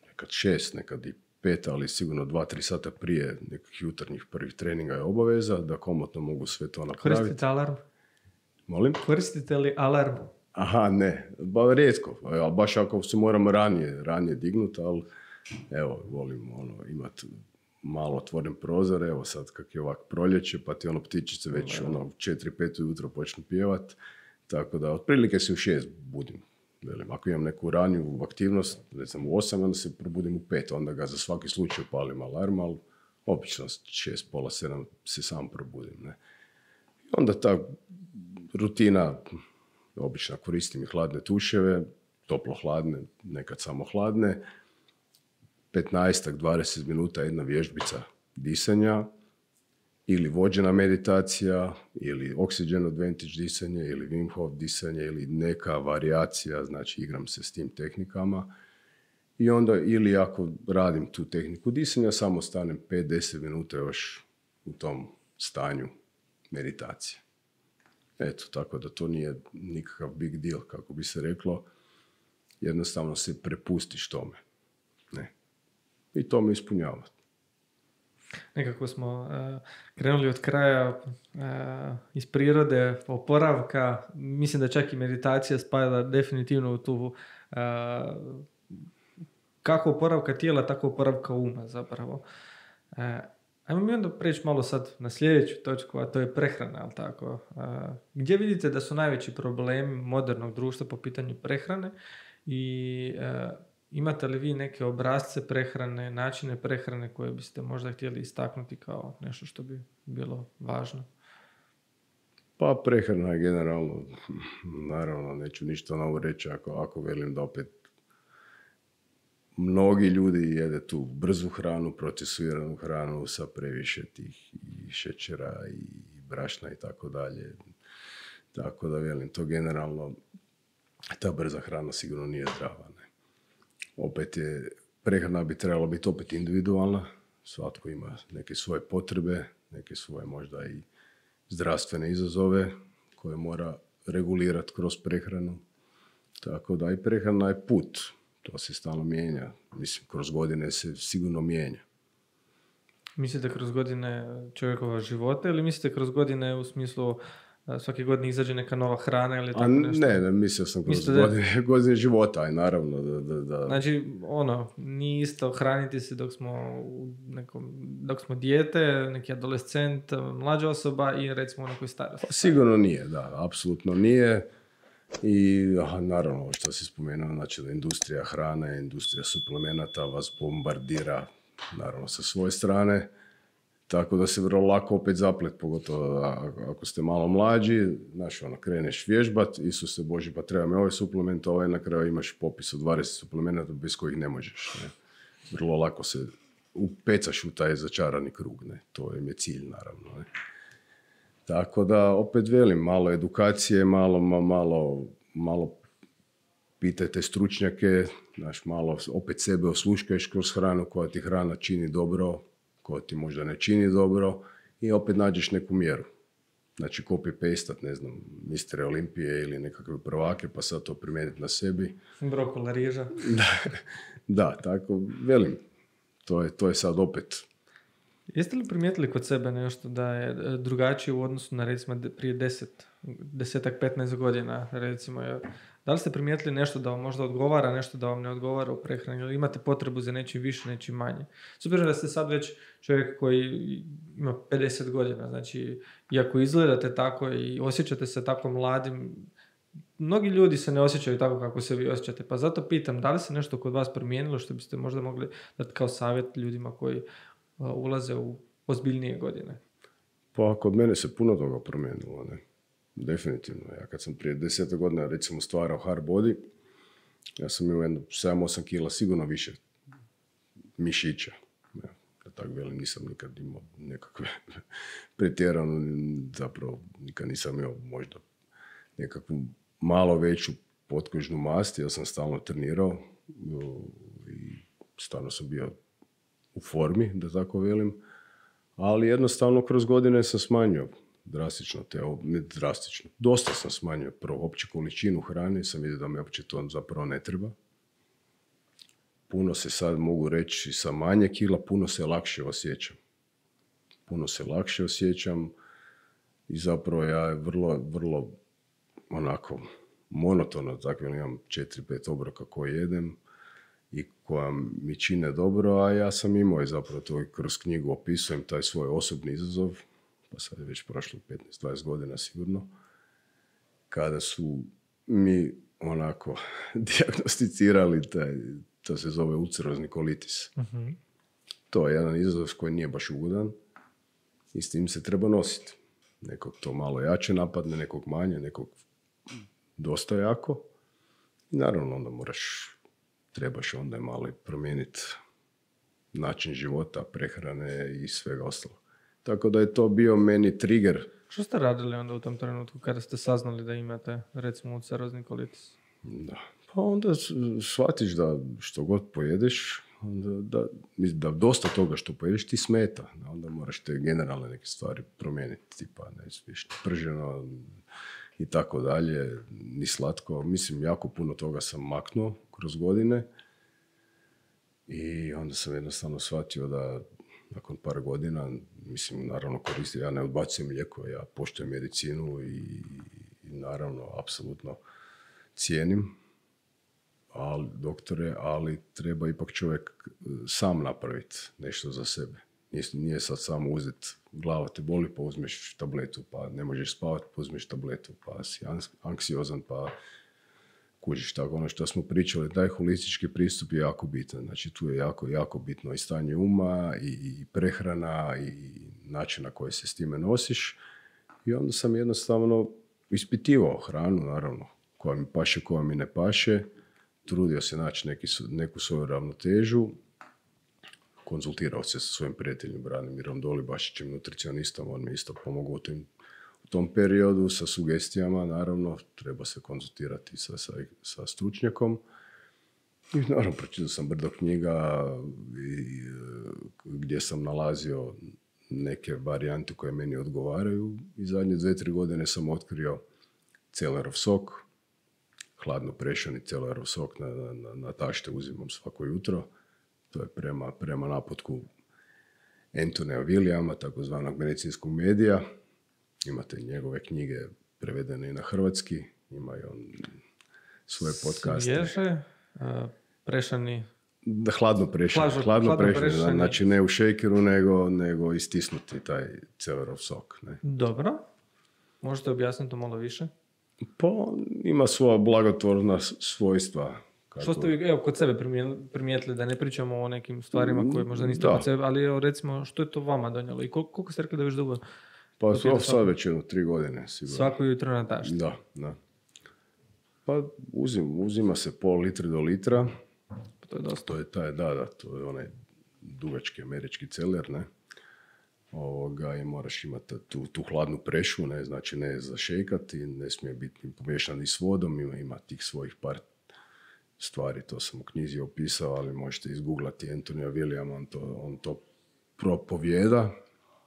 nekad 6, nekad i 5, ali sigurno 2-3 sata prije nekih jutarnjih prvih treninga je obaveza, da komotno mogu sve to napraviti. Koristite alarm? Molim? Koristite li alarm? Aha, ne, rijetko, baš ako se moram ranije dignuti, ali evo, volim imati malo otvoren prozor, evo sad kak je ovak proljeće, pa ti ptičice već 4-5 ujutro počnu pjevat, tako da otprilike se u 6 budim. Velim, ako imam neku raniju aktivnost, recimo u 8, onda se probudim u 5, onda ga za svaki slučaj palim alarm, ali obično 6, pola 7 se sam probudim. Ne? I onda ta rutina, obično koristim i hladne tuševe, toplo-hladne, nekad samo hladne, 15-20 minuta jedna vježbica disanja, ili vođena meditacija, ili oxygen advantage disanje, ili Wim Hof disanje, ili neka varijacija, znači igram se s tim tehnikama. I onda, ili ako radim tu tehniku disanja, samo stanem 5-10 minuta još u tom stanju meditacije. Eto, tako da to nije nikakav big deal, kako bi se reklo. Jednostavno se prepustiš tome. Ne. I to me ispunjava. Nekako smo krenuli od kraja iz prirode, oporavka. Mislim da čak i meditacija spada definitivno u tu kako oporavka tijela, tako oporavka uma zapravo. Ajmo mi onda preći malo sad na sljedeću točku, a to je prehrana, ali tako? Gdje vidite da su najveći problemi modernog društva po pitanju prehrane i imate li vi neke obrasce prehrane, načine prehrane koje biste možda htjeli istaknuti kao nešto što bi bilo važno? Pa prehrana je generalno, naravno neću ništa novo reći ako velim da opet mnogi ljudi jede tu brzu hranu, procesuiranu hranu sa previše tih i šećera i brašna i tako dalje. Tako da velim, to generalno, ta brza hrana sigurno nije zdrava. Ne? Opet prehrana bi trebala biti opet individualna, svatko ima neke svoje potrebe, neke svoje možda i zdravstvene izazove koje mora regulirati kroz prehranu. Tako da i prehrana je put, to se stalno mijenja. Mislim, kroz godine se sigurno mijenja. Mislite kroz godine čovjekova života ili mislite kroz godine u smislu svake godine izađe neka nova hrana ili tako nešto? Ne, mislio sam kroz godine života, aj naravno. Da. Znači, nije isto hraniti se dok smo dijete, neki adolescent, mlađa osoba i recimo u nekoj starosti. Sigurno nije, da, apsolutno nije. I naravno, što si spomenuo, znači da industrija hrane, industrija suplemenata vas bombardira, naravno, sa svoje strane. Tako da se vrlo lako opet zaplet, pogotovo ako ste malo mlađi, znaš, kreneš vježbat, Isuse Bože, pa treba mi ovaj suplement, ovaj na kraju imaš popis od 20 suplemenata bez kojih ne možeš. Ne? Vrlo lako se upecaš u taj začarani krug, ne? To je cilj, naravno. Ne? Tako da, opet velim, malo edukacije, malo pitajte stručnjake, znaš, malo opet sebe osluškaješ kroz hranu koja ti hrana čini dobro, koja ti možda ne čini dobro i opet nađeš neku mjeru. Znači, copy-pastat, ne znam, Mistere Olimpije ili nekakve prvake, pa sad to primijeniti na sebi. Brokola, riža. Da, tako, velim, to je sad opet. Jeste li primijetili kod sebe nešto da je drugačije u odnosu na recimo prije 10-15 godina, recimo? Da li ste primijetili nešto da vam možda odgovara, nešto da vam ne odgovara u prehrani, ili imate potrebu za nečim više, nečim manje? S obzirom da ste sad već čovjek koji ima 50 godina, znači, iako izgledate tako i osjećate se tako mladim, mnogi ljudi se ne osjećaju tako kako se vi osjećate, pa zato pitam, da li se nešto kod vas promijenilo što biste možda mogli dati kao savjet ljudima koji ulaze u ozbiljnije godine? Pa kod mene se puno toga promijenilo, ne? Definitivno. Ja kad sam prije 10 godina recimo stvarao hard body, ja sam imao 7-8 kila sigurno više mišića. Da tako velim, nisam nikad imao nekakve pretjerano, zapravo nikad nisam imao možda nekakvu malo veću potkožnu mast, ja sam stalno trenirao i stvarno sam bio u formi, da tako velim, ali jednostavno kroz godine sam smanjio drastično, dosta sam smanjio prvo opće količinu hrane, sam vidio da mi uopće to zapravo ne treba. Puno se sad mogu reći sa manje kila, puno se lakše osjećam i zapravo ja vrlo onako monotono, tako imam 4-5 obroka koje jedem i koja mi čine dobro, a ja sam imao i zapravo to kroz knjigu opisujem taj svoj osobni izazov, pa sad je već prošlo 15-20 godina sigurno, kada su mi onako dijagnosticirali to se zove ulcerozni kolitis. Uh-huh. To je jedan izazov koji nije baš ugodan i s tim se treba nositi. Nekog to malo jače napadne, nekog manje, nekog dosta jako. I naravno onda trebaš onda malo promijeniti način života, prehrane i svega ostalo. Tako da je to bio meni trigger. Što ste radili onda u tom trenutku kada ste saznali da imate recimo ulcerozni kolitis? Da. Pa onda shvatiš da što god pojedeš, da dosta toga što pojedeš ti smeta. Onda moraš te generalne neke stvari promijeniti, tipa ne smiješ prženo i tako dalje, ni slatko. Mislim, jako puno toga sam maknuo kroz godine i onda sam jednostavno shvatio da nakon par godina, mislim, naravno koristim, ja ne odbacujem lijekove, ja poštujem medicinu i naravno, apsolutno cijenim doktore, ali treba ipak čovjek sam napraviti nešto za sebe. Nije sad samo uzeti, glava te boli pa uzmeš tabletu, pa ne možeš spavati pa uzmeš tabletu, pa si anksiozan pa kužiš. Tako ono što smo pričali, taj holistički pristup je jako bitan. Znači tu je jako bitno i stanje uma i prehrana i način na koji se s time nosiš. I onda sam jednostavno ispitivao hranu, naravno, koja mi paše, koja mi ne paše. Trudio se naći neku svoju ravnotežu. Konzultirao se sa svojim prijateljem Branimirom Dolibašićem, nutricionistom. On mi isto pomogao u tom periodu sa sugestijama. Naravno, treba se konzultirati sa stručnjakom. I naravno, pročitao sam brdo knjiga gdje sam nalazio neke varijante koje meni odgovaraju. I zadnje 2-3 godine sam otkrio celerov sok, hladno prešani celerov sok na tašte uzimam svako jutro. To je prema naputku Antonia Williama, takozvanog medicinskog medija. Imate njegove knjige prevedene i na hrvatski. Ima i on svoje podcaste. Svježe, prešani... Hladno prešani. Znači ne u šejkeru, nego istisnuti taj celerov sok. Ne. Dobro. Možete objasniti to malo više? Pa ima svoja blagotvorna svojstva. Što ste vi kod sebe primijetili, da ne pričamo o nekim stvarima koje možda niste kod sebe, ali recimo što je to vama donijelo i koliko ste rekli da već dugo? Pa sad već 3 godine sigurno. Svako jutro na tašti? Da. Pa uzima se pol litra do litra. Pa to je dosta. To je onaj dugački američki celer, ne? I moraš imati tu hladnu prešu, ne, znači ne zašejkati, ne smije biti pomiješan ni s vodom, ima tih svojih par stvari, to sam u knjizi opisao, ali možete izgooglati Antonia Williama, on to propovijeda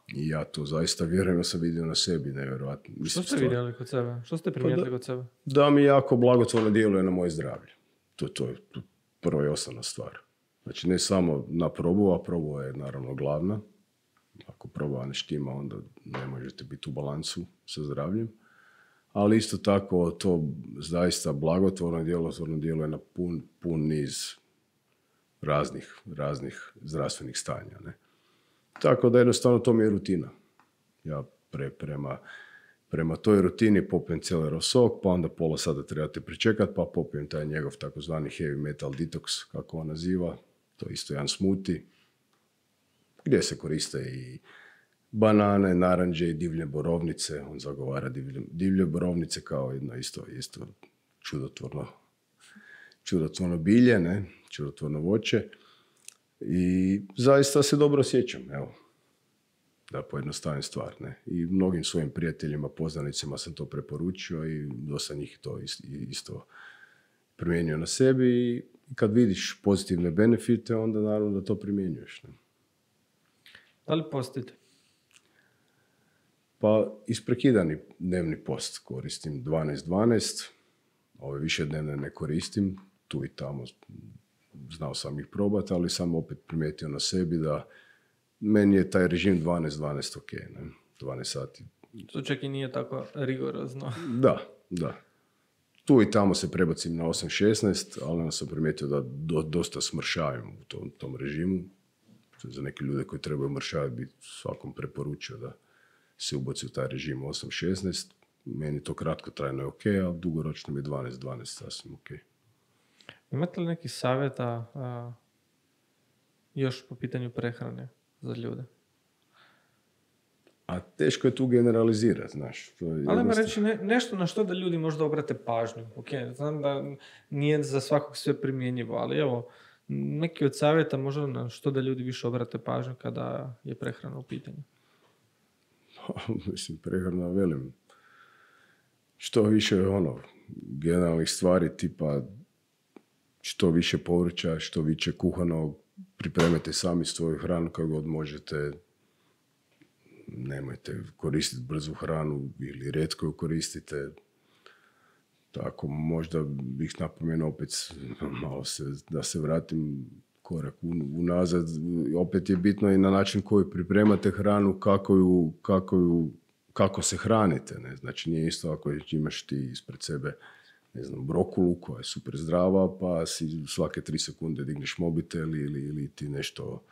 i ja to zaista vjerujem, ja sam vidio na sebi, nevjerojatno. Što ste vidjeli kod sebe? Što ste primijetili kod sebe? Da mi jako blagotvorno djeluje na moje zdravlje. To je prva i osnovna stvar. Znači ne samo na probu, a proba je naravno glavna. Ako proba ne štima, onda ne možete biti u balansu sa zdravljem. Ali isto tako to zaista blagotvorno djeluje na pun niz raznih zdravstvenih stanja. Ne? Tako da jednostavno to mi je rutina. Ja prema toj rutini popijem celerov sok, pa onda pola sata trebate pričekati, pa popijem taj njegov takozvani heavy metal detox, kako on naziva. To je isto jedan smoothie, gdje se koriste i banane, naranđe i divlje borovnice. On zagovara divlje borovnice kao jedno isto čudotvorno bilje, ne? Čudotvorno voće. I zaista se dobro osjećam, evo, da pojednostavim stvar, ne. I mnogim svojim prijateljima, poznanicima sam to preporučio i dosta njih to isto primijenio na sebi i kad vidiš pozitivne benefite, onda naravno da to primjenjuješ. Ne? Da li postite? Pa isprekidani dnevni post koristim 12-12, ove višednevne ne koristim, tu i tamo znao sam ih probati, ali sam opet primijetio na sebi da meni je taj režim 12-12 ok, ne? 12 sati. To čak i nije tako rigorozno. Da. Tu i tamo se prebacim na 8-16, ali onda sam primijetio da dosta smršavam u tom režimu. Za neke ljude koji trebaju mršavati bi svakom preporučio da se ubaci u taj režim 8-16. Meni to kratkotrajno je ok, a dugoročno mi je 12-12 sasvim ok. Imate li neki savjeta još po pitanju prehrane za ljude? A teško je tu generalizirati, znaš. Ali ima reći nešto na što da ljudi možda obrate pažnju. Ok, znam da nije za svakog sve primjenjivo, ali evo, neki od savjeta možda na što da ljudi više obrate pažnju kada je prehrana u pitanju. Mislim, prehrana, velim, što više generalnih stvari tipa što više povrća, što više kuhanog, pripremite sami svoju hranu kako god možete, nemojte koristiti brzu hranu ili rijetko ju koristite. Tako, možda bih napomenuo opet malo da se vratim korak unazad. Opet je bitno i na način koji pripremate hranu, kako se hranite. Ne? Znači nije isto ako imaš ti ispred sebe brokulu koja je super zdrava, pa si svake 3 sekunde digneš mobitel ili ti nešto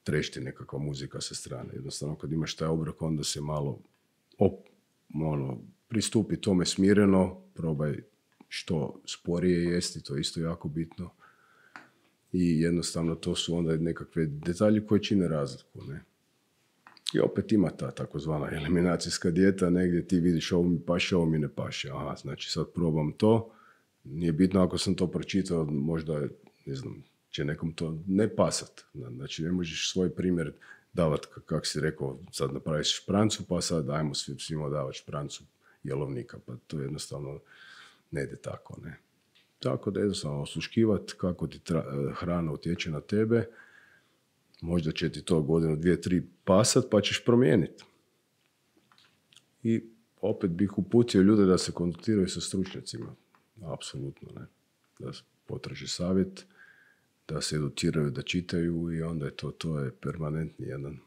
trešti nekakva muzika sa strane. Jednostavno kad imaš taj obrok, onda se malo pristupi tome smireno, probaj što sporije jesti, to je isto jako bitno. I jednostavno to su onda nekakve detalji koje čine razliku. Ne? I opet ima ta takozvana eliminacijska dijeta, negdje ti vidiš ovo mi paše, ovo mi ne paše. Aha, znači sad probam to. Nije bitno ako sam to pročitao, možda, će nekom to ne pasat. Znači ne možeš svoj primjer davati, kako si rekao, sad napraviš šprancu, pa sad ajmo svima davati šprancu jelovnika. Pa to jednostavno ne ide tako, ne. Tako da jednostavno osluškivati kako ti hrana utječe na tebe. Možda će ti to godinu, 2, 3 pasat, pa ćeš promijeniti. I opet bih uputio ljude da se kontaktiraju sa stručnjacima. Apsolutno, ne. Da potraže savjet, da se educiraju, da čitaju i onda je to je permanentni jedan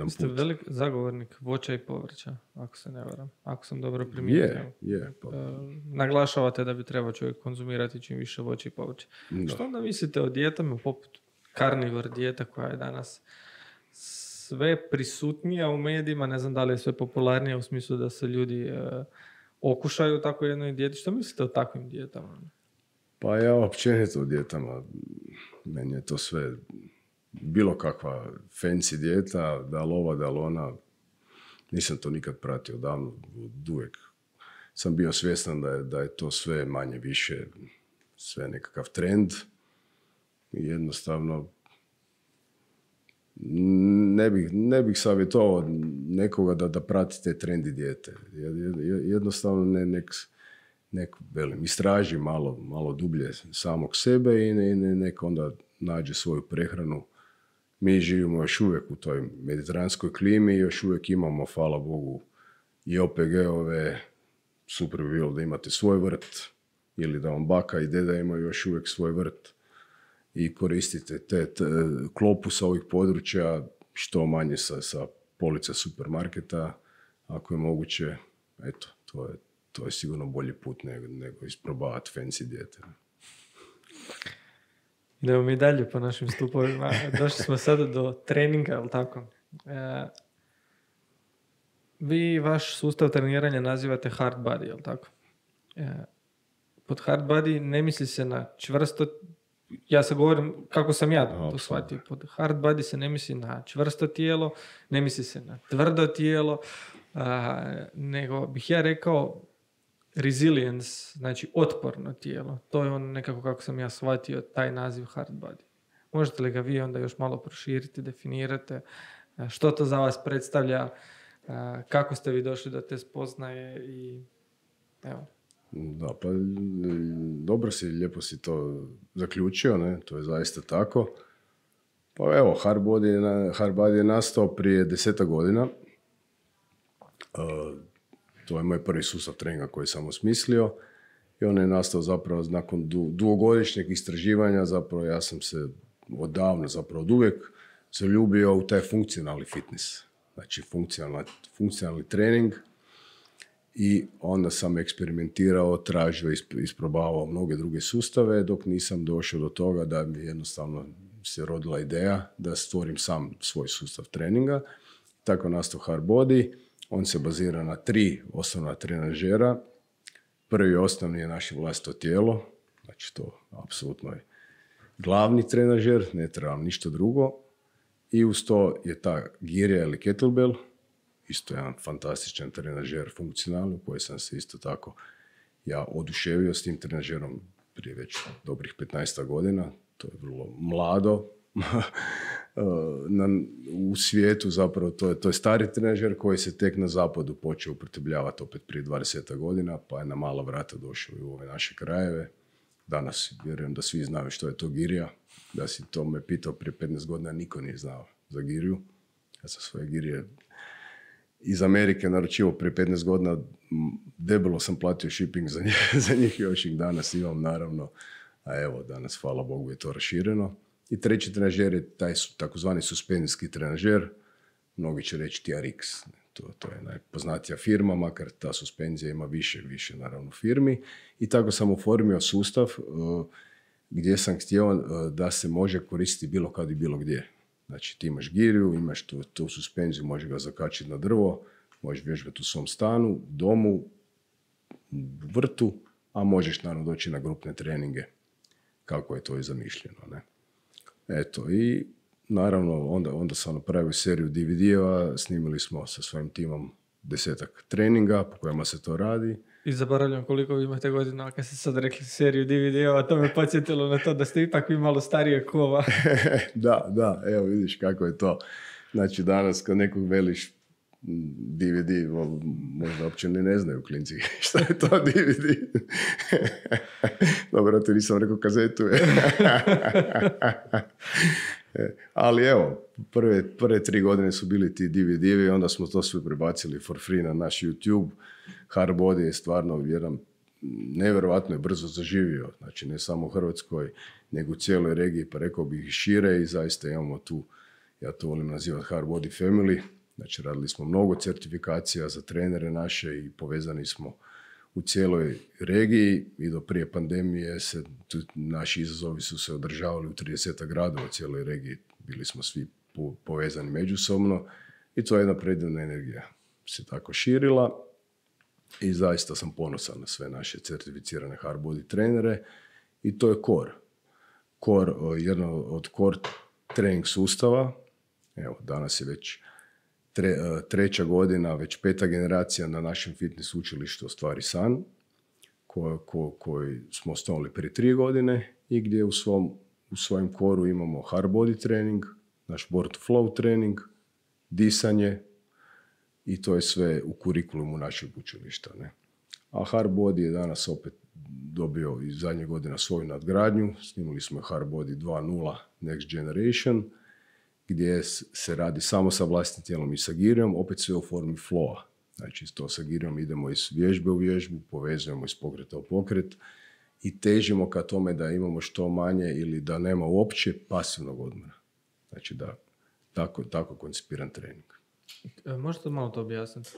put. Ste velik zagovornik voća i povrća, ako se ne varam. Ako sam dobro primijetio. Je. Naglašavate da bi trebao čovjek konzumirati čim više voća i povrća. Da. Što onda mislite o dijetama poput carnivore dijeta koja je danas sve prisutnija u medijima, ne znam da li je sve popularnija u smislu da se ljudi okušaju u takvoj jednoj dijeti. Što mislite o takvim dijetama? Pa ja općenito o dijetama, meni je to sve bilo kakva fancy dijeta, da li ova, da li ona, nisam to nikad pratio davno, uvijek sam bio svjestan da je to sve manje više, sve nekakav trend i jednostavno ne bih savjetovao nekoga da prati te trendi dijete. Jednostavno nek istraži malo dublje samog sebe i nek onda nađe svoju prehranu. Mi živimo još uvijek u toj mediteranskoj klimi i još uvijek imamo, hvala Bogu, i OPG-ove. Super bi bilo da imate svoj vrt ili da vam baka i deda imaju još uvijek svoj vrt i koristite te klopu sa ovih područja što manje sa polica supermarketa, ako je moguće. Eto, to je sigurno bolji put nego isprobavati fancy dijete. Idemo mi dalje po našim stupovima. Došli smo sada do treninga, je li tako? Vi vaš sustav treniranja nazivate hard body, je li tako? Pod hard body ne misli se na čvrsto, ja se govorim kako sam ja to shvatio. Pod hard body se ne misli na čvrsto tijelo, ne misli se na tvrdo tijelo, nego bih ja rekao resilience, znači otporno tijelo. To je on nekako kako sam ja shvatio taj naziv hard body. Možete li ga vi onda još malo proširiti, definirate što to za vas predstavlja, kako ste vi došli do te spoznaje i evo. Da, pa dobro si, lijepo si to zaključio, ne? To je zaista tako. Pa evo, Hardbody je nastao prije 10 godina. To je moj prvi sustav treninga koji sam osmislio i on je nastao zapravo nakon dugogodišnjeg istraživanja. Zapravo ja sam se odavno, zapravo od uvijek zaljubio u taj funkcionalni fitness. Znači funkcionalni trening i onda sam eksperimentirao, tražio, isprobavao mnoge druge sustave dok nisam došao do toga da mi jednostavno se rodila ideja da stvorim sam svoj sustav treninga. Tako je nastao Hardbody. On se bazira na 3 osnovna trenažera. Prvi osnovni je naše vlastito tijelo. Znači to apsolutno je glavni trenažer, ne trebam ništa drugo. I uz to je ta girja ili kettlebell. Isto jedan fantastičan trenažer funkcionalni u koji sam se isto tako ja oduševio s tim trenažerom prije već dobrih 15 godina. To je vrlo mlado u svijetu, zapravo to je stari trenažer koji se tek na zapadu počeo upotrebljavati opet prije 20 godina, pa je na mala vrata došao i u ove naše krajeve. Danas vjerujem da svi znaju što je to girja. Da si to me pitao prije 15 godina, niko nije znao za girju. Ja sam svoje girje iz Amerike naručio prije 15 godina, debelo sam platio shipping za njih, još ih danas imam naravno, a evo danas hvala Bogu je to rašireno. I treći trenažer je taj takozvani suspenzijski trenažer, mnogi će reći TRX, to je najpoznatija firma, makar ta suspenzija ima više naravno firmi. I tako sam oformio sustav gdje sam htio da se može koristiti bilo kad i bilo gdje. Znači ti imaš giriju, imaš tu suspenziju, možeš ga zakačiti na drvo, možeš vježbati u svom stanu, domu, vrtu, a možeš naravno doći na grupne treninge, kako je to i zamišljeno. Ne? Eto, i naravno onda sam napravio seriju DVD-eva, snimili smo sa svojim timom 10 treninga po kojima se to radi. I zaboravljam koliko vi imate godina, kad ste sad rekli seriju DVD-ova, to me podsjetilo na to da ste ipak vi malo starije kova. Da, evo vidiš kako je to. Znači danas kad nekog veliš DVD, možda uopće ne znaju klinci šta je to DVD. Dobro, to nisam rekao kazetu. Ali evo, prve 3 godine su bili ti DVD-evi, onda smo to sve prebacili for free na naš YouTube. Hardbody je stvarno jedan nevjerovatno je brzo zaživio, znači ne samo u Hrvatskoj, nego u cijeloj regiji, pa rekao bih i šire i zaista imamo tu, ja to volim nazivati Hardbody Family, znači radili smo mnogo certifikacija za trenere naše i povezani smo u cijeloj regiji i do prije pandemije naši izazovi su se održavali u 30 gradova u cijeloj regiji, bili smo svi povezani međusobno i to je jedna predivna energija se tako širila. I zaista sam ponosan na sve naše certificirane Hardbody trenere i to je core, jedno od core trening sustava. Evo, danas je već 3. godina, već 5. generacija na našem fitness učilištu Ostvari san, koji smo osnovali prije 3 godine i gdje u svojem koru imamo Hardbody trening, naš Born to Flow trening, disanje, i to je sve u kurikulumu našeg učilišta. Ne? A Hardbody je danas opet dobio iz zadnje godina svoju nadgradnju. Snimili smo Hardbody 2.0 Next Generation, gdje se radi samo sa vlastitim tijelom i sa girijom, opet sve u formi flowa. Znači, to sa girijom idemo iz vježbe u vježbu, povezujemo iz pokreta u pokret i težimo ka tome da imamo što manje ili da nema uopće pasivnog odmora. Znači, da tako koncipiran trening. Možete malo to objasniti?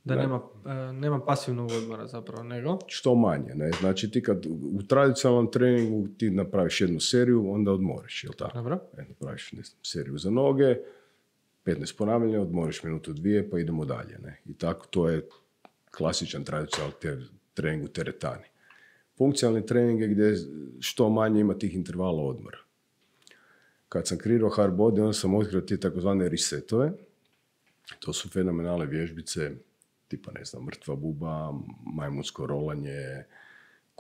Da nema pasivnog odmora zapravo, nego? Što manje, ne? Znači ti kad u tradicionalnom treningu ti napraviš jednu seriju, onda odmoriš, jel tako? Dobro. Napraviš seriju za noge, 15 ponavljanja, odmoriš minutu 2, pa idemo dalje, ne? I tako to je klasičan tradicionalni trening u teretani. Funkcionalni trening je gdje što manje ima tih intervala odmora. Kad sam kreirao Hardbody, onda sam otkrio ti takozvane resetove. To su fenomenalne vježbice, tipa, ne znam, mrtva buba, majmunsko rolanje,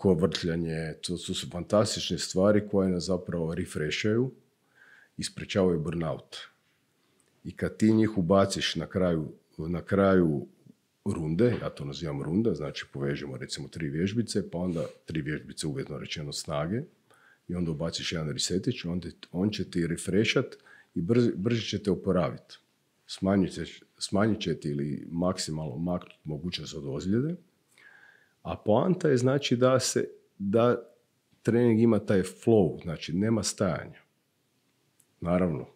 ko vrtljanje, to su fantastične stvari koje nas zapravo refreshaju i sprečavaju burnout. I kad ti njih ubaciš na kraju runde, ja to nazivam runda, znači povežemo recimo 3 vježbice, pa onda 3 vježbice uvjetno rečeno snage, i onda ubaciš jedan resetić, on će ti refreshat i brže će te oporaviti. Smanjit će ti ili maksimalno maknuti mogućnost od ozljede, a poanta je znači da trening ima taj flow, znači nema stajanja. Naravno,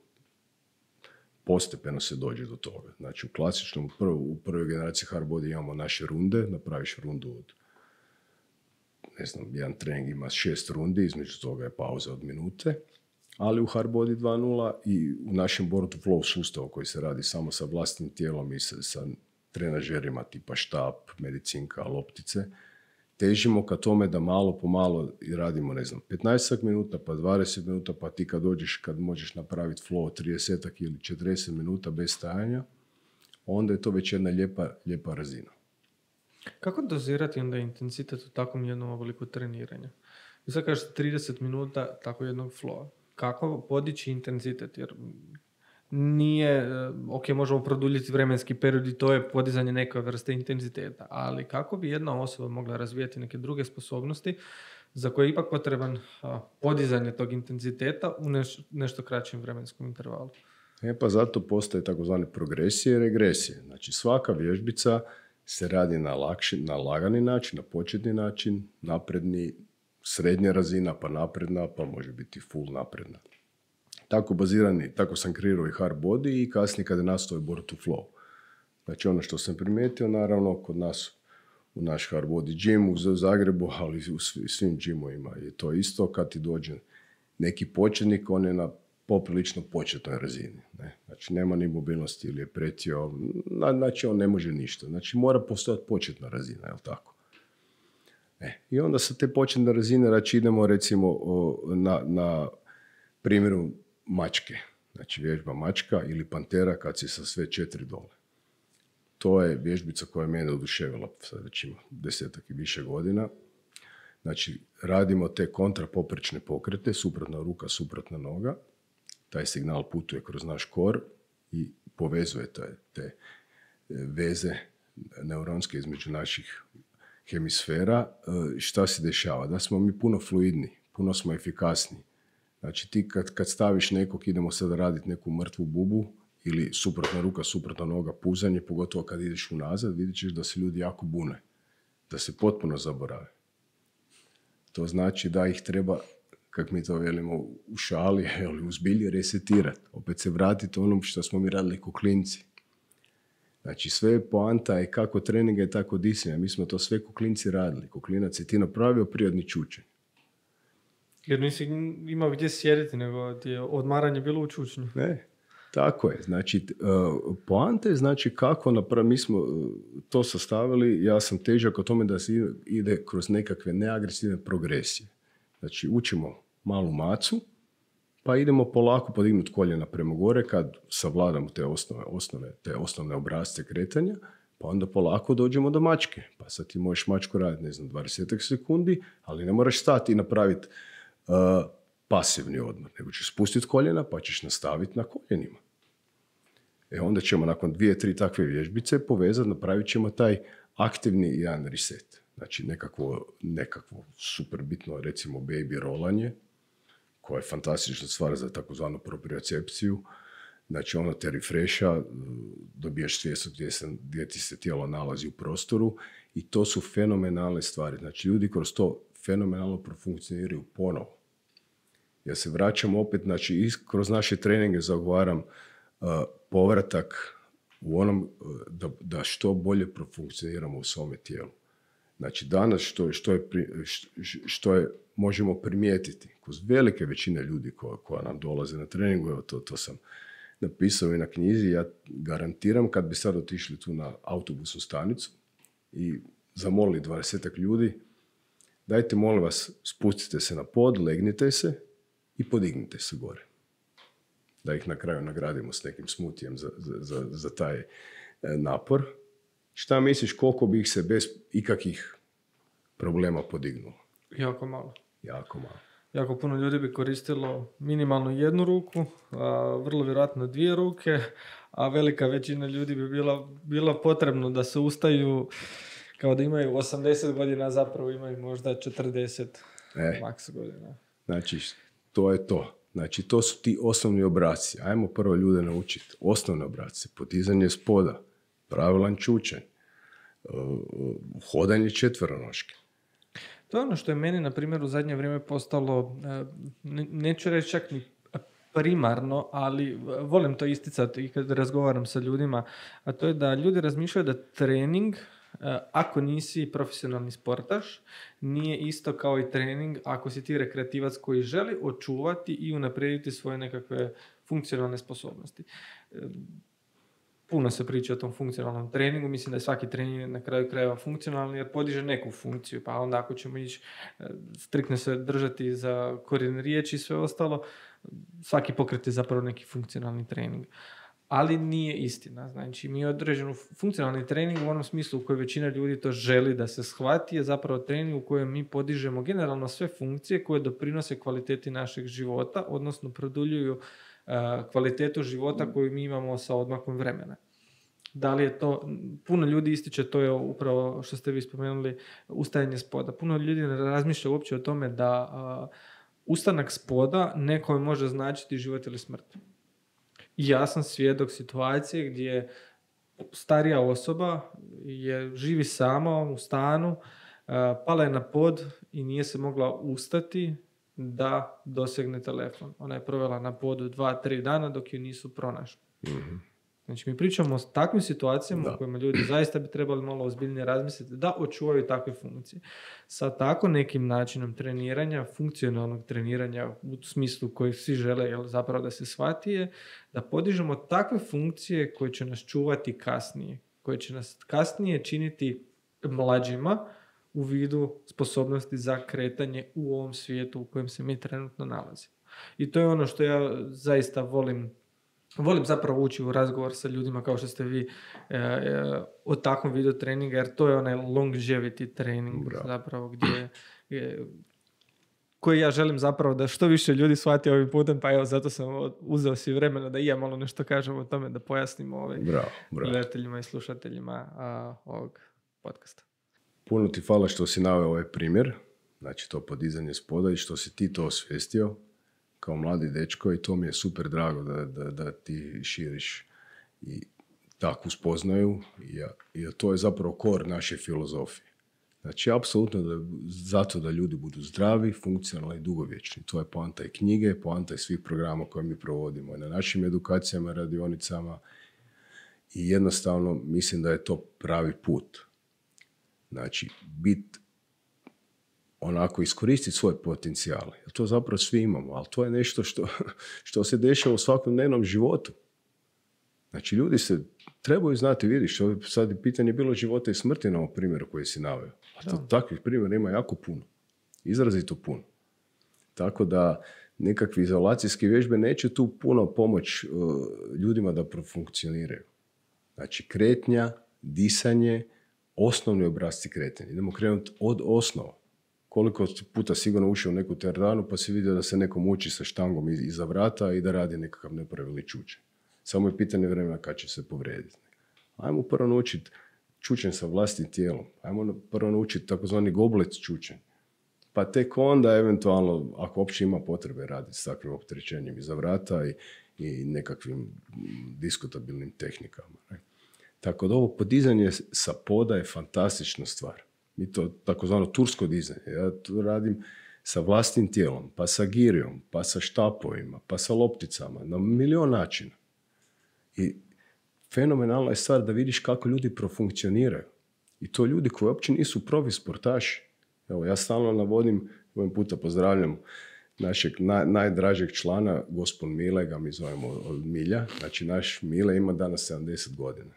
postepeno se dođe do toga. Znači, u prvoj generaciji hard body imamo naše runde, napraviš rundu od, jedan trening ima 6 rundi, između toga je pauza od minute, ali u hard body 2.0 i u našem born to flow sustavu koji se radi samo sa vlastnim tijelom i sa trenažerima tipa štap, medicinka, loptice, težimo ka tome da malo po malo radimo, 15 minuta, pa 20 minuta, pa ti kad možeš napraviti flow 30 ili 40 minuta bez stajanja, onda je to već jedna lijepa razina. Kako dozirati onda intenzitet u takvom jednom obliku treniranja? Vi sad kažete 30 minuta tako jednog flowa. Kako podići intenzitet? Jer nije, možemo produljiti vremenski period i to je podizanje neke vrste intenziteta, ali kako bi jedna osoba mogla razvijati neke druge sposobnosti za koje je ipak potreban podizanje tog intenziteta u nešto kraćem vremenskom intervalu? Pa zato postoje takozvane progresije i regresije. Znači svaka vježbica se radi na lagani način, na početni način, napredni, srednja razina, pa napredna, pa može biti full napredna. Tako sam kreirao i hard body i kasnije kada je nastao born to flow. Znači ono što sam primijetio, naravno, kod nas u naš hard body gym u Zagrebu, ali u svim gymovima je to isto. Kad ti dođe neki početnik, on je na poprilično početnoj razini. Ne? Znači nema ni mobilnosti ili je pretio, znači on ne može ništa. Znači mora postojati početna razina, jel tako? I onda sa te početne razine idemo recimo na primjeru mačke. Znači vježba mačka ili pantera kad si sa sve 4 dole. To je vježbica koja je mene oduševila, sad već ima 10 i više godina. Znači radimo te kontrapoprečne pokrete, suprotna ruka, suprotna noga. Taj signal putuje kroz naš kor i povezuje te veze neuronske između naših hemisfera. Šta se dešava? Da smo mi puno fluidni, puno smo efikasni. Znači ti kad staviš nekog, idemo sada raditi neku mrtvu bubu ili suprotna ruka, suprotna noga, puzanje, pogotovo kad ideš unazad, vidit ćeš da se ljudi jako bune, da se potpuno zaborave. To znači da ih treba, kako mi to velimo u šali, u zbilji resetirati. Opet se vratiti onom što smo mi radili ko klinci. Znači sve poanta je kako treninga i tako disanja. Mi smo to sve ko klinci radili. Ko klinac je ti napravio prirodni čučanj. Jer nisi imao gdje sjediti, nego ti je odmaranje bilo u čučnju. Ne, tako je. Znači, poanta je znači kako napraviti. Mi smo to sastavili, ja sam težak o tome da se ide kroz nekakve neagresivne progresije. Znači, učimo malu macu, pa idemo polako podignuti koljena prema gore kad savladamo te osnovne obrasce kretanja, pa onda polako dođemo do mačke. Pa sad ti možeš mačku raditi, 20 sekundi, ali ne moraš stati i napraviti pasivni odmor, nego ćeš spustiti koljena pa ćeš nastaviti na koljenima. Onda ćemo nakon 2-3 takve vježbice povezati, napravit ćemo taj aktivni jedan reset. Znači nekakvo super bitno, recimo baby rolanje, koja je fantastična stvar za takozvanu propriocepciju. Znači ono te refresha, dobijaš svijest gdje ti se tijelo nalazi u prostoru i to su fenomenalne stvari. Znači ljudi kroz to fenomenalno profunkcioniraju ponovo. Ja se vraćam opet, znači kroz naše treninge zagovaram povratak u onom da što bolje profunkcioniramo u svome tijelu. Znači danas što je možemo primijetiti kroz velike većine ljudi koja nam dolaze na treningu, evo to sam napisao i na knjizi, ja garantiram kad bi sad otišli tu na autobusnu stanicu i zamolili 20 ljudi, dajte molim vas spustite se na pod, legnite se i podignite se gore. Da ih na kraju nagradimo s nekim smutijem za taj napor. Šta misliš koliko bi ih se bez ikakvih problema podignulo? Jako malo. Jako malo. Jako puno ljudi bi koristilo minimalno jednu ruku, vrlo vjerojatno 2 ruke, a velika većina ljudi bi bila potrebno da se ustaju kao da imaju 80 godina, zapravo imaju možda 40 maks godina. Znači, to je to. Znači, to su ti osnovni obrasci. Ajmo prvo ljude naučiti. Osnovne obrasce, podizanje spoda, pravilan čučanj, hodanje četveronoške. To je ono što je meni, na primjer, u zadnje vrijeme postalo, neću reći čak ni primarno, ali volim to isticati i kad razgovaram sa ljudima, a to je da ljudi razmišljaju da trening, ako nisi profesionalni sportaš, nije isto kao i trening ako si ti rekreativac koji želi očuvati i unaprijediti svoje nekakve funkcionalne sposobnosti. Puno se priča o tom funkcionalnom treningu, mislim da je svaki trening na kraju krajeva funkcionalni jer podiže neku funkciju, pa onda ako ćemo ići striktno se držati za korijen riječi i sve ostalo, svaki pokret je zapravo neki funkcionalni trening. Ali nije istina. Znači, mi određenu funkcionalni trening u onom smislu u kojem većina ljudi to želi da se shvati je zapravo trening u kojem mi podižemo generalno sve funkcije koje doprinose kvaliteti našeg života, odnosno produljuju kvalitetu života koju mi imamo sa odmakom vremena. Da li je to, puno ljudi ističe, to je upravo što ste vi spomenuli, ustajanje spoda. Puno ljudi ne razmišlja uopće o tome da ustanak spoda nekome može značiti život ili smrt. I ja sam svjedok situacije gdje starija osoba živi sama u stanu, pala je na pod i nije se mogla ustati da dosegne telefon. Ona je provela na podu 2-3 dana dok ju nisu pronašli. Mm-hmm. Znači, mi pričamo o takvim situacijama u kojima ljudi zaista bi trebali malo ozbiljnije razmisliti da očuvaju takve funkcije. Sa tako nekim načinom treniranja, funkcionalnog treniranja u smislu koji svi žele zapravo da se shvati je da podižemo takve funkcije koje će nas čuvati kasnije, koje će nas kasnije činiti mlađima u vidu sposobnosti za kretanje u ovom svijetu u kojem se mi trenutno nalazimo. I to je ono što ja zaista volim zapravo ući u razgovor sa ljudima kao što ste vi o takvom vidu treninga, jer to je onaj longevity trening zapravo koji ja želim zapravo da što više ljudi shvati ovim putem, pa evo zato sam uzeo si vremena da i ja malo nešto kažem o tome, da pojasnimo gledateljima i slušateljima ovog podcasta. Puno ti hvala što si naveo ovaj primjer, znači to podizanje spoda i što si ti to osvijestio kao mladi dečko i to mi je super drago da ti širiš i takvu spoznaju i to je zapravo kor naše filozofije. Znači, apsolutno zato da ljudi budu zdravi, funkcionalni i dugovječni. To je poanta i knjige, poanta i svih programa koje mi provodimo i na našim edukacijama, radionicama i jednostavno mislim da je to pravi put. Znači, onako iskoristiti svoje potencijale. Jer to zapravo svi imamo, ali to je nešto što se dešava u svakodnevnom životu. Znači, ljudi se trebaju znati, vidiš, sad je pitanje bilo života i smrti na ovom primjeru koji si naveo. Takvih primjera ima jako puno. Izrazito puno. Tako da nekakve izolacijske vježbe neće tu puno pomoć ljudima da profunkcioniraju. Znači, kretnja, disanje, osnovni obrasci kretanja. Idemo krenuti od osnova. Koliko puta sigurno ušao u neku teretanu pa si vidio da se neko muči sa štangom iza vrata i da radi nekakav nepravilni čučanj. Samo je pitanje vremena kad će se povrijediti. Ajmo prvo naučiti čučanj sa vlastitim tijelom. Ajmo prvo naučiti takozvani goblet čučanj. Pa tek onda eventualno, ako uopće ima potrebe raditi s takvim opterećenjem iza vrata i nekakvim diskutabilnim tehnikama. Ne? Tako da ovo podizanje sa poda je fantastična stvar. Mi to takozvano tursko dizanje. Ja to radim sa vlastnim tijelom, pa sa girijom, pa sa štapovima, pa sa lopticama, na milion načina. I fenomenalna je stvar da vidiš kako ljudi profunkcioniraju. I to ljudi koji uopće nisu profi sportaši. Evo, ja stalno navodim, ovim puta pozdravljam našeg najdražeg člana, gospon Mile, ga mi zovemo od Milja. Znači, naš Mile ima danas 70 godina.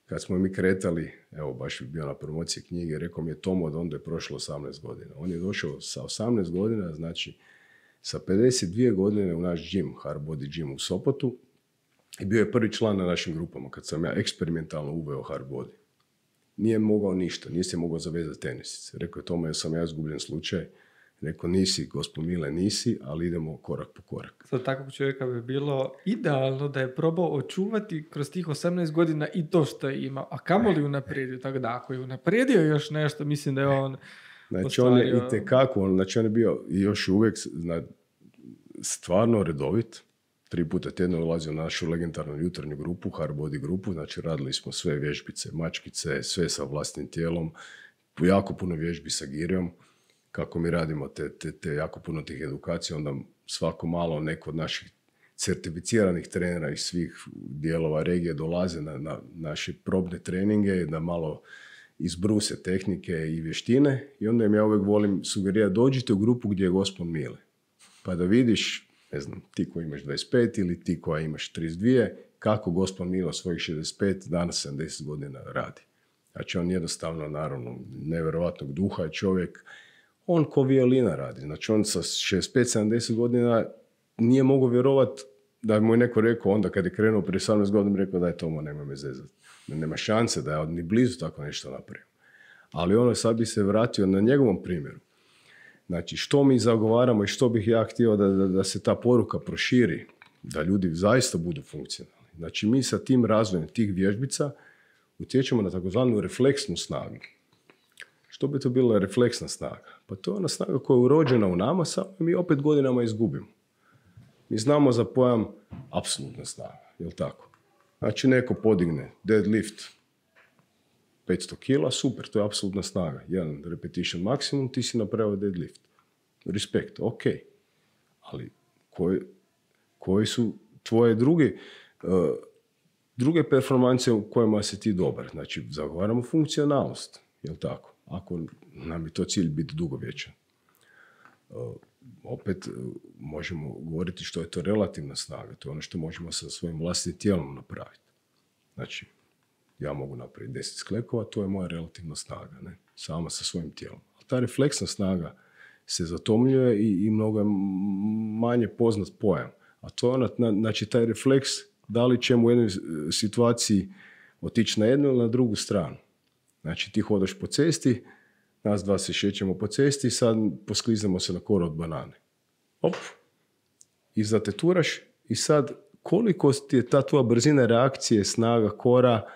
Kad smo mi kretali, evo, baš je bio na promociji knjige, rekao mi je Tomo da onda je prošlo 18 godina. On je došao sa 18 godina, znači sa 52 godine u naš gym, Hard Body Gym u Sopotu, i bio je prvi član na našim grupama kad sam ja eksperimentalno uveo Hard Body. nije mogao ništa, nije se mogao zavezati tenisice. Rekao je tome, sam ja izgubljen slučaj. Rekao, nisi, gospod Mile, nisi, ali idemo korak po korak. Za takvog čovjeka bi bilo idealno da je probao očuvati kroz tih 18 godina i to što je imao. A kamoli unaprijedio, tako da ako je unaprijedio još nešto, mislim da je on Znači, on je itekako, znači on je bio još uvijek stvarno redovit. 3 puta tjedno ulazio u našu legendarnu jutarnju grupu, Hard Body grupu, znači radili smo sve vježbice, mačkice, sve sa vlastnim tijelom, jako puno vježbi sa girijom. Kako mi radimo te jako puno tih edukacija, onda svako malo neko od naših certificiranih trenera iz svih dijelova regije dolaze na naše probne treninge, da malo izbruse tehnike i vještine i onda im ja uvijek volim sugerirati, dođite u grupu gdje je gospod Mile. Pa da vidiš, ne znam, ti koji imaš 25 ili ti koja imaš 32, kako gospod Milo svojih 65, danas 70 godina radi. Znači on jednostavno, naravno, nevjerovatnog duha je čovjek, on ko violina radi. Znači on sa 65-70 godina nije mogao vjerovati da mu je neko rekao onda kad je krenuo prije 18 godina, rekao daj Tomo, nema me zezati. Nema šanse da je ni blizu tako nešto napravio. Ali ono sad bi se vratio na njegovom primjeru. Znači što mi zagovaramo i što bih ja htio da se ta poruka proširi, da ljudi zaista budu funkcionalni. Znači mi sa tim razvojem tih vježbica utječemo na takozvanu refleksnu snagu. Što bi to bila refleksna snaga? Pa to je ona snaga koja je urođena u nama, samo mi opet godinama izgubimo. Mi znamo za pojam apsolutna snaga, je li tako? Znači neko podigne deadlift 500 kila, super, to je apsolutna snaga. Jedan repetition maksimum, ti si napravio deadlift. Respekt, ok. Ali koji su tvoje druge performanse u kojima si ti dobar? Znači, zagovaramo funkcionalnost, je li tako? Ako nam je to cilj biti dugovječan. Opet možemo govoriti što je to relativna snaga. To je ono što možemo sa svojim vlastnim tijelom napraviti. Znači, ja mogu napraviti 10 sklekova, to je moja relativna snaga, ne? Sama sa svojim tijelom. A ta refleksna snaga se zatomljuje i mnogo je manje poznat pojam. A to je ona, znači taj refleks, da li ćemo u jednoj situaciji otići na jednu ili na drugu stranu. Znači ti hodaš po cesti, nas dva se šećemo po cesti i sad poskliznemo se na koru od banane. Op, i zateturaš i sad koliko ti je ta tvoja brzina reakcije, snaga kora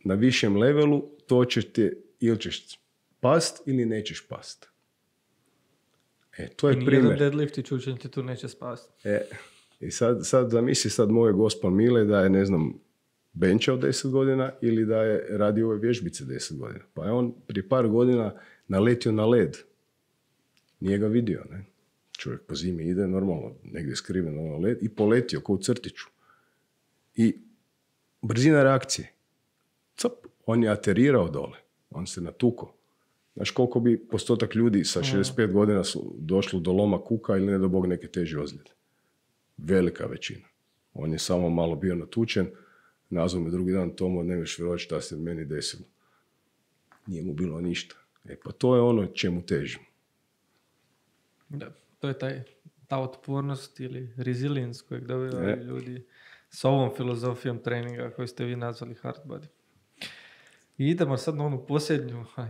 na višem levelu, to će te, ili ćeš past ili nećeš past. To je primjer. Nijedan deadlift i čučanj ti tu neće spasti. I sad zamisli sad moj gospod Mile da je, ne znam, benčao 10 godina ili da je radio ove vježbice 10 godina. Pa je on prije par godina naletio na led. Nije ga vidio, ne? Čovjek po zimi ide normalno, negdje skriven na led i poletio kao u crtiću. I brzina reakcije. Cap, on je aterirao dole. On se natukao. Znaš koliko bi postotak ljudi sa 65 godina su došlo do loma kuka ili ne do Bog neke teže ozljede? Velika većina. On je samo malo bio natučen. Nazvao me drugi dan, Tomo, ne veš vjerovati šta se meni desilo. Nije mu bilo ništa. Pa to je ono čemu težimo. Da, to je ta otpornost ili resilience kojeg dobivaju ljudi s ovom filozofijom treninga koju ste vi nazvali hard body. I idemo sad na onu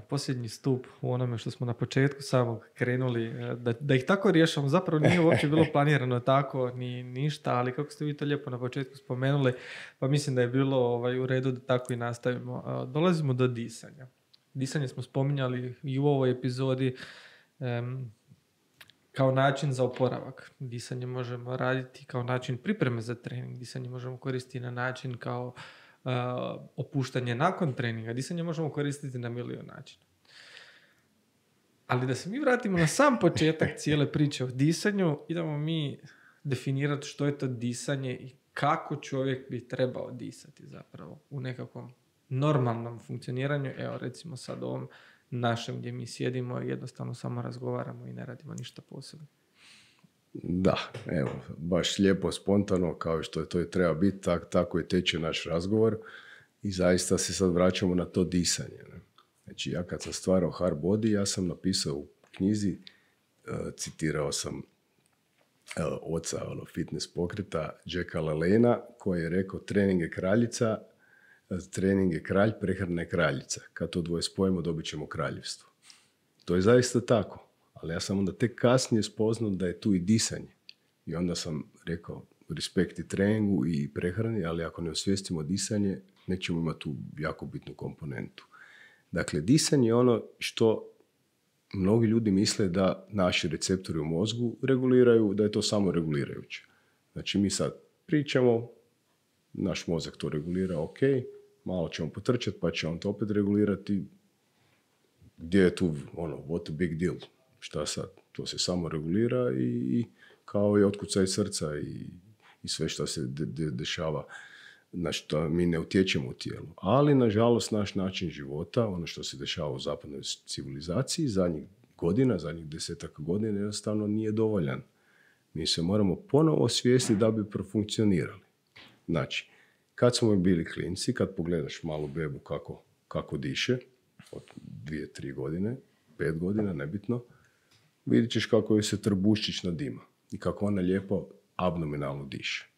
posljednji stup u onome što smo na početku samog krenuli, da ih tako riješamo. Zapravo nije uopće bilo planirano tako, ni ništa, ali kako ste vi to lijepo na početku spomenuli, pa mislim da je bilo u redu da tako i nastavimo. Dolazimo do disanja. Disanje smo spominjali i u ovoj epizodi kao način za oporavak. Disanje možemo raditi kao način pripreme za trening. Disanje možemo koristiti na način kao opuštanje nakon treninga. Disanje možemo koristiti na milion načina. Ali da se mi vratimo na sam početak cijele priče o disanju, idemo mi definirati što je to disanje i kako čovjek bi trebao disati zapravo u nekakvom normalnom funkcioniranju. Evo recimo sad ovom našem gdje mi sjedimo i jednostavno samo razgovaramo i ne radimo ništa posebno. Da, evo, baš lijepo, spontano, kao što je to i treba biti, tako je teče naš razgovor i zaista se sad vraćamo na to disanje. Ne? Znači, ja kad sam stvarao hard body, ja sam napisao u knjizi, citirao sam oca fitness pokreta Jacka LaLanea, koji je rekao trening je kraljica, trening je kralj, prehrana je kraljica. Kad to dvoje spojimo, dobit ćemo kraljevstvo. To je zaista tako. Ali ja sam onda tek kasnije spoznao da je tu i disanje. I onda sam rekao, respekt i treningu i prehrani, ali ako ne osvijestimo disanje, nećemo imati tu jako bitnu komponentu. Dakle, disanje je ono što mnogi ljudi misle da naši receptori u mozgu reguliraju, da je to samo regulirajuće. Znači, mi sad pričamo, naš mozak to regulira, ok, malo ćemo potrčati, pa će on to opet regulirati. Gdje je tu, what a big deal? Šta sad? To se samo regulira i kao i otkucaj srca i sve što se dešava, na što mi ne utječemo u tijelu. Ali, nažalost, naš način života, ono što se dešava u zapadnoj civilizaciji, zadnjih 10 godina, jednostavno nije dovoljan. Mi se moramo ponovo osvijestiti da bi profunkcionirali. Znači, kad smo bili klinci, kad pogledaš malu bebu kako diše, od 2-3 godine, 5 godina, nebitno, vidit ćeš kako joj se trbuščić nadima i kako ona lijepo abdominalno diše.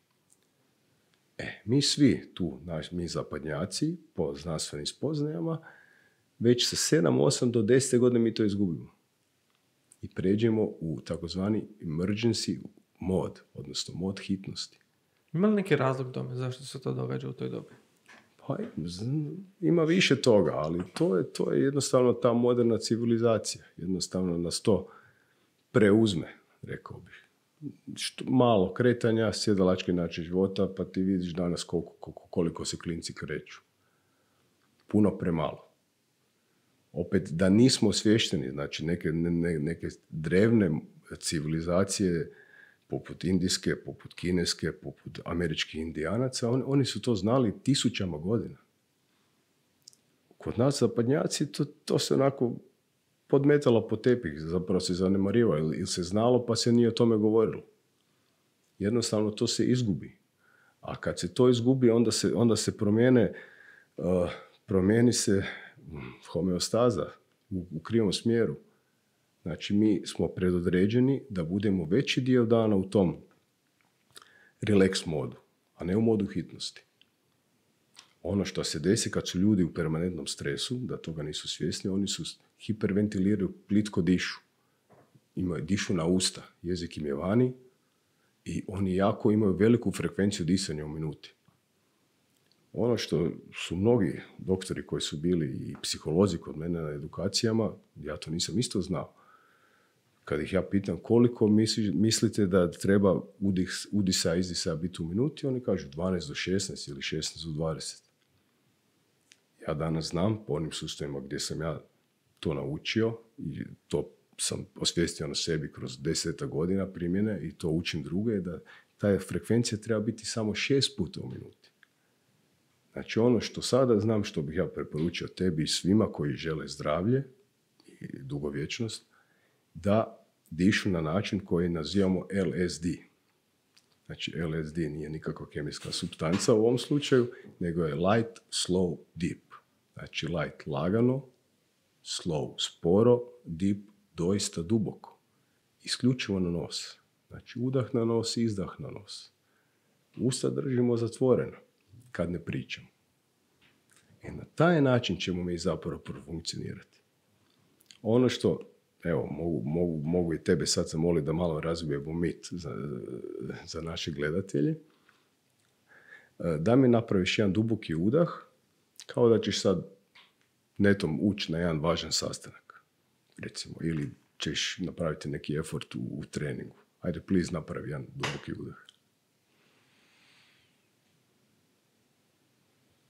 Mi svi tu, mi zapadnjaci, po znanstvenim spoznajama, već sa 7, 8 do 10 godina mi to izgubimo. I pređemo u takozvani emergency mod, odnosno mod hitnosti. Ima li neki razlog tome zašto se to događa u toj dobi? Pa ima više toga, ali to je jednostavno ta moderna civilizacija. Jednostavno nas to preuzme, rekao bih. Malo kretanja, sjedalački način života, pa ti vidiš danas koliko se klinci kreću. Puno premalo. Opet, da nismo osvješteni, znači neke drevne civilizacije, poput indijske, poput kineske, poput američkih indijanaca, oni su to znali 1000 godina. Kod nas zapadnjaci to se onako podmetalo po tepih, zapravo se zanemarivalo, ili se znalo pa se nije o tome govorilo. Jednostavno to se izgubi. A kad se to izgubi, onda se promijeni se homeostaza u krivom smjeru. Znači, mi smo predodređeni da budemo veći dio dana u tom relax modu, a ne u modu hitnosti. Ono što se desi kad su ljudi u permanentnom stresu, da toga nisu svjesni, oni su hiperventiliraju, plitko dišu. Dišu na usta, jezik im je vani i oni jako imaju veliku frekvenciju disanja u minuti. Ono što su mnogi doktori koji su bili i psiholozi kod mene na edukacijama, ja to nisam isto znao. Kad ih ja pitam koliko mislite da treba udisa i izdisa biti u minuti, oni kažu 12 do 16 ili 16 do 20. Ja danas znam po onim sustavima gdje sam ja to naučio i to sam osvijestio na sebi kroz 10 godina primjene i to učim druge, da ta frekvencija treba biti samo 6 puta u minuti. Znači ono što sada znam, što bih ja preporučio tebi i svima koji žele zdravlje i dugovječnost, da dišu na način koji nazivamo LSD. Znači LSD nije nikakva kemijska supstanca u ovom slučaju, nego je light, slow, deep. Znači light lagano, slow sporo, deep doista duboko. Isključivo na nos. Znači udah na nos, izdah na nos. Usta držimo zatvoreno kad ne pričamo. I na taj način ćemo mi zapravo profunkcionirati. Ono što, evo, mogu i tebe sad zamoliti da malo razbijemo mit za naše gledatelje, da mi napraviš jedan duboki udah, kao da ćeš sad netom ući na jedan važan sastanak, recimo, ili ćeš napraviti neki effort u treningu. Ajde, please, napravi jedan duboki udah.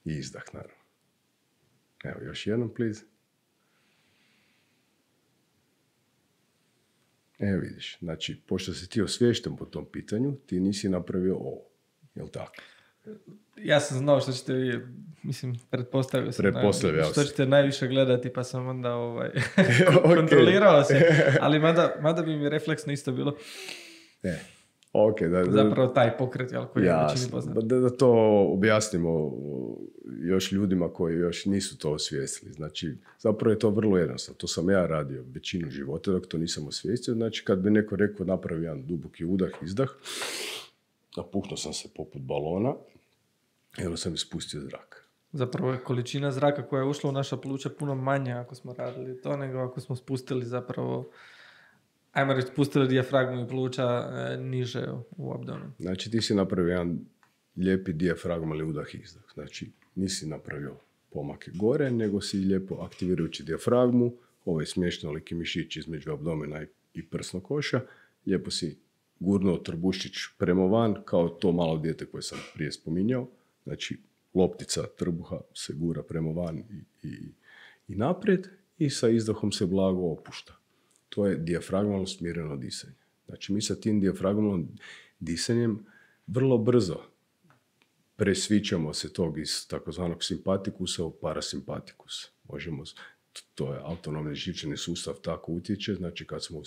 I izdah, naravno. Evo, još jednom, please. Evo vidiš, znači, pošto si ti osviješten po tom pitanju, ti nisi napravio ovo. Jel' tako? Ja sam znao što ćete vi, pretpostavio sam što ćete najviše gledati, pa sam onda kontrolirao se. Ali mada bi mi refleksno isto bilo. Okay, zapravo taj pokret, koji je većini poznat. Da to objasnimo još ljudima koji još nisu to osvijestili. Znači, zapravo je to vrlo jednostavno. To sam ja radio većinu života dok to nisam osvijestio. Znači, kad bi neko rekao napravi jedan duboki udah, izdah, napuhnuo sam se poput balona i onda sam ispustio zrak. Zapravo je količina zraka koja je ušla u naša pluća puno manja ako smo radili to, nego ako smo spustili zapravo, ajmo reći, spustili dijafragmu i pluća niže u abdomen. Znači ti si napravio jedan lijepi dijafragmalni udah i izdah. Znači nisi napravio pomake gore, nego si lijepo aktivirajući dijafragmu, ovaj smješnoliki mišić između abdomena i prsnog koša, lijepo si gurnuo trbušić prema van, kao to malo dijete koje sam prije spominjao. Znači loptica trbuha se gura prema van i naprijed i sa izdahom se blago opušta. To je dijafragmalno smireno disanje. Znači mi sa tim dijafragmalnim disanjem vrlo brzo presvićamo se tog iz takozvanog simpatikusa u parasimpatikus. To je autonomni živčani sustav, tako utječe. Znači kad smo u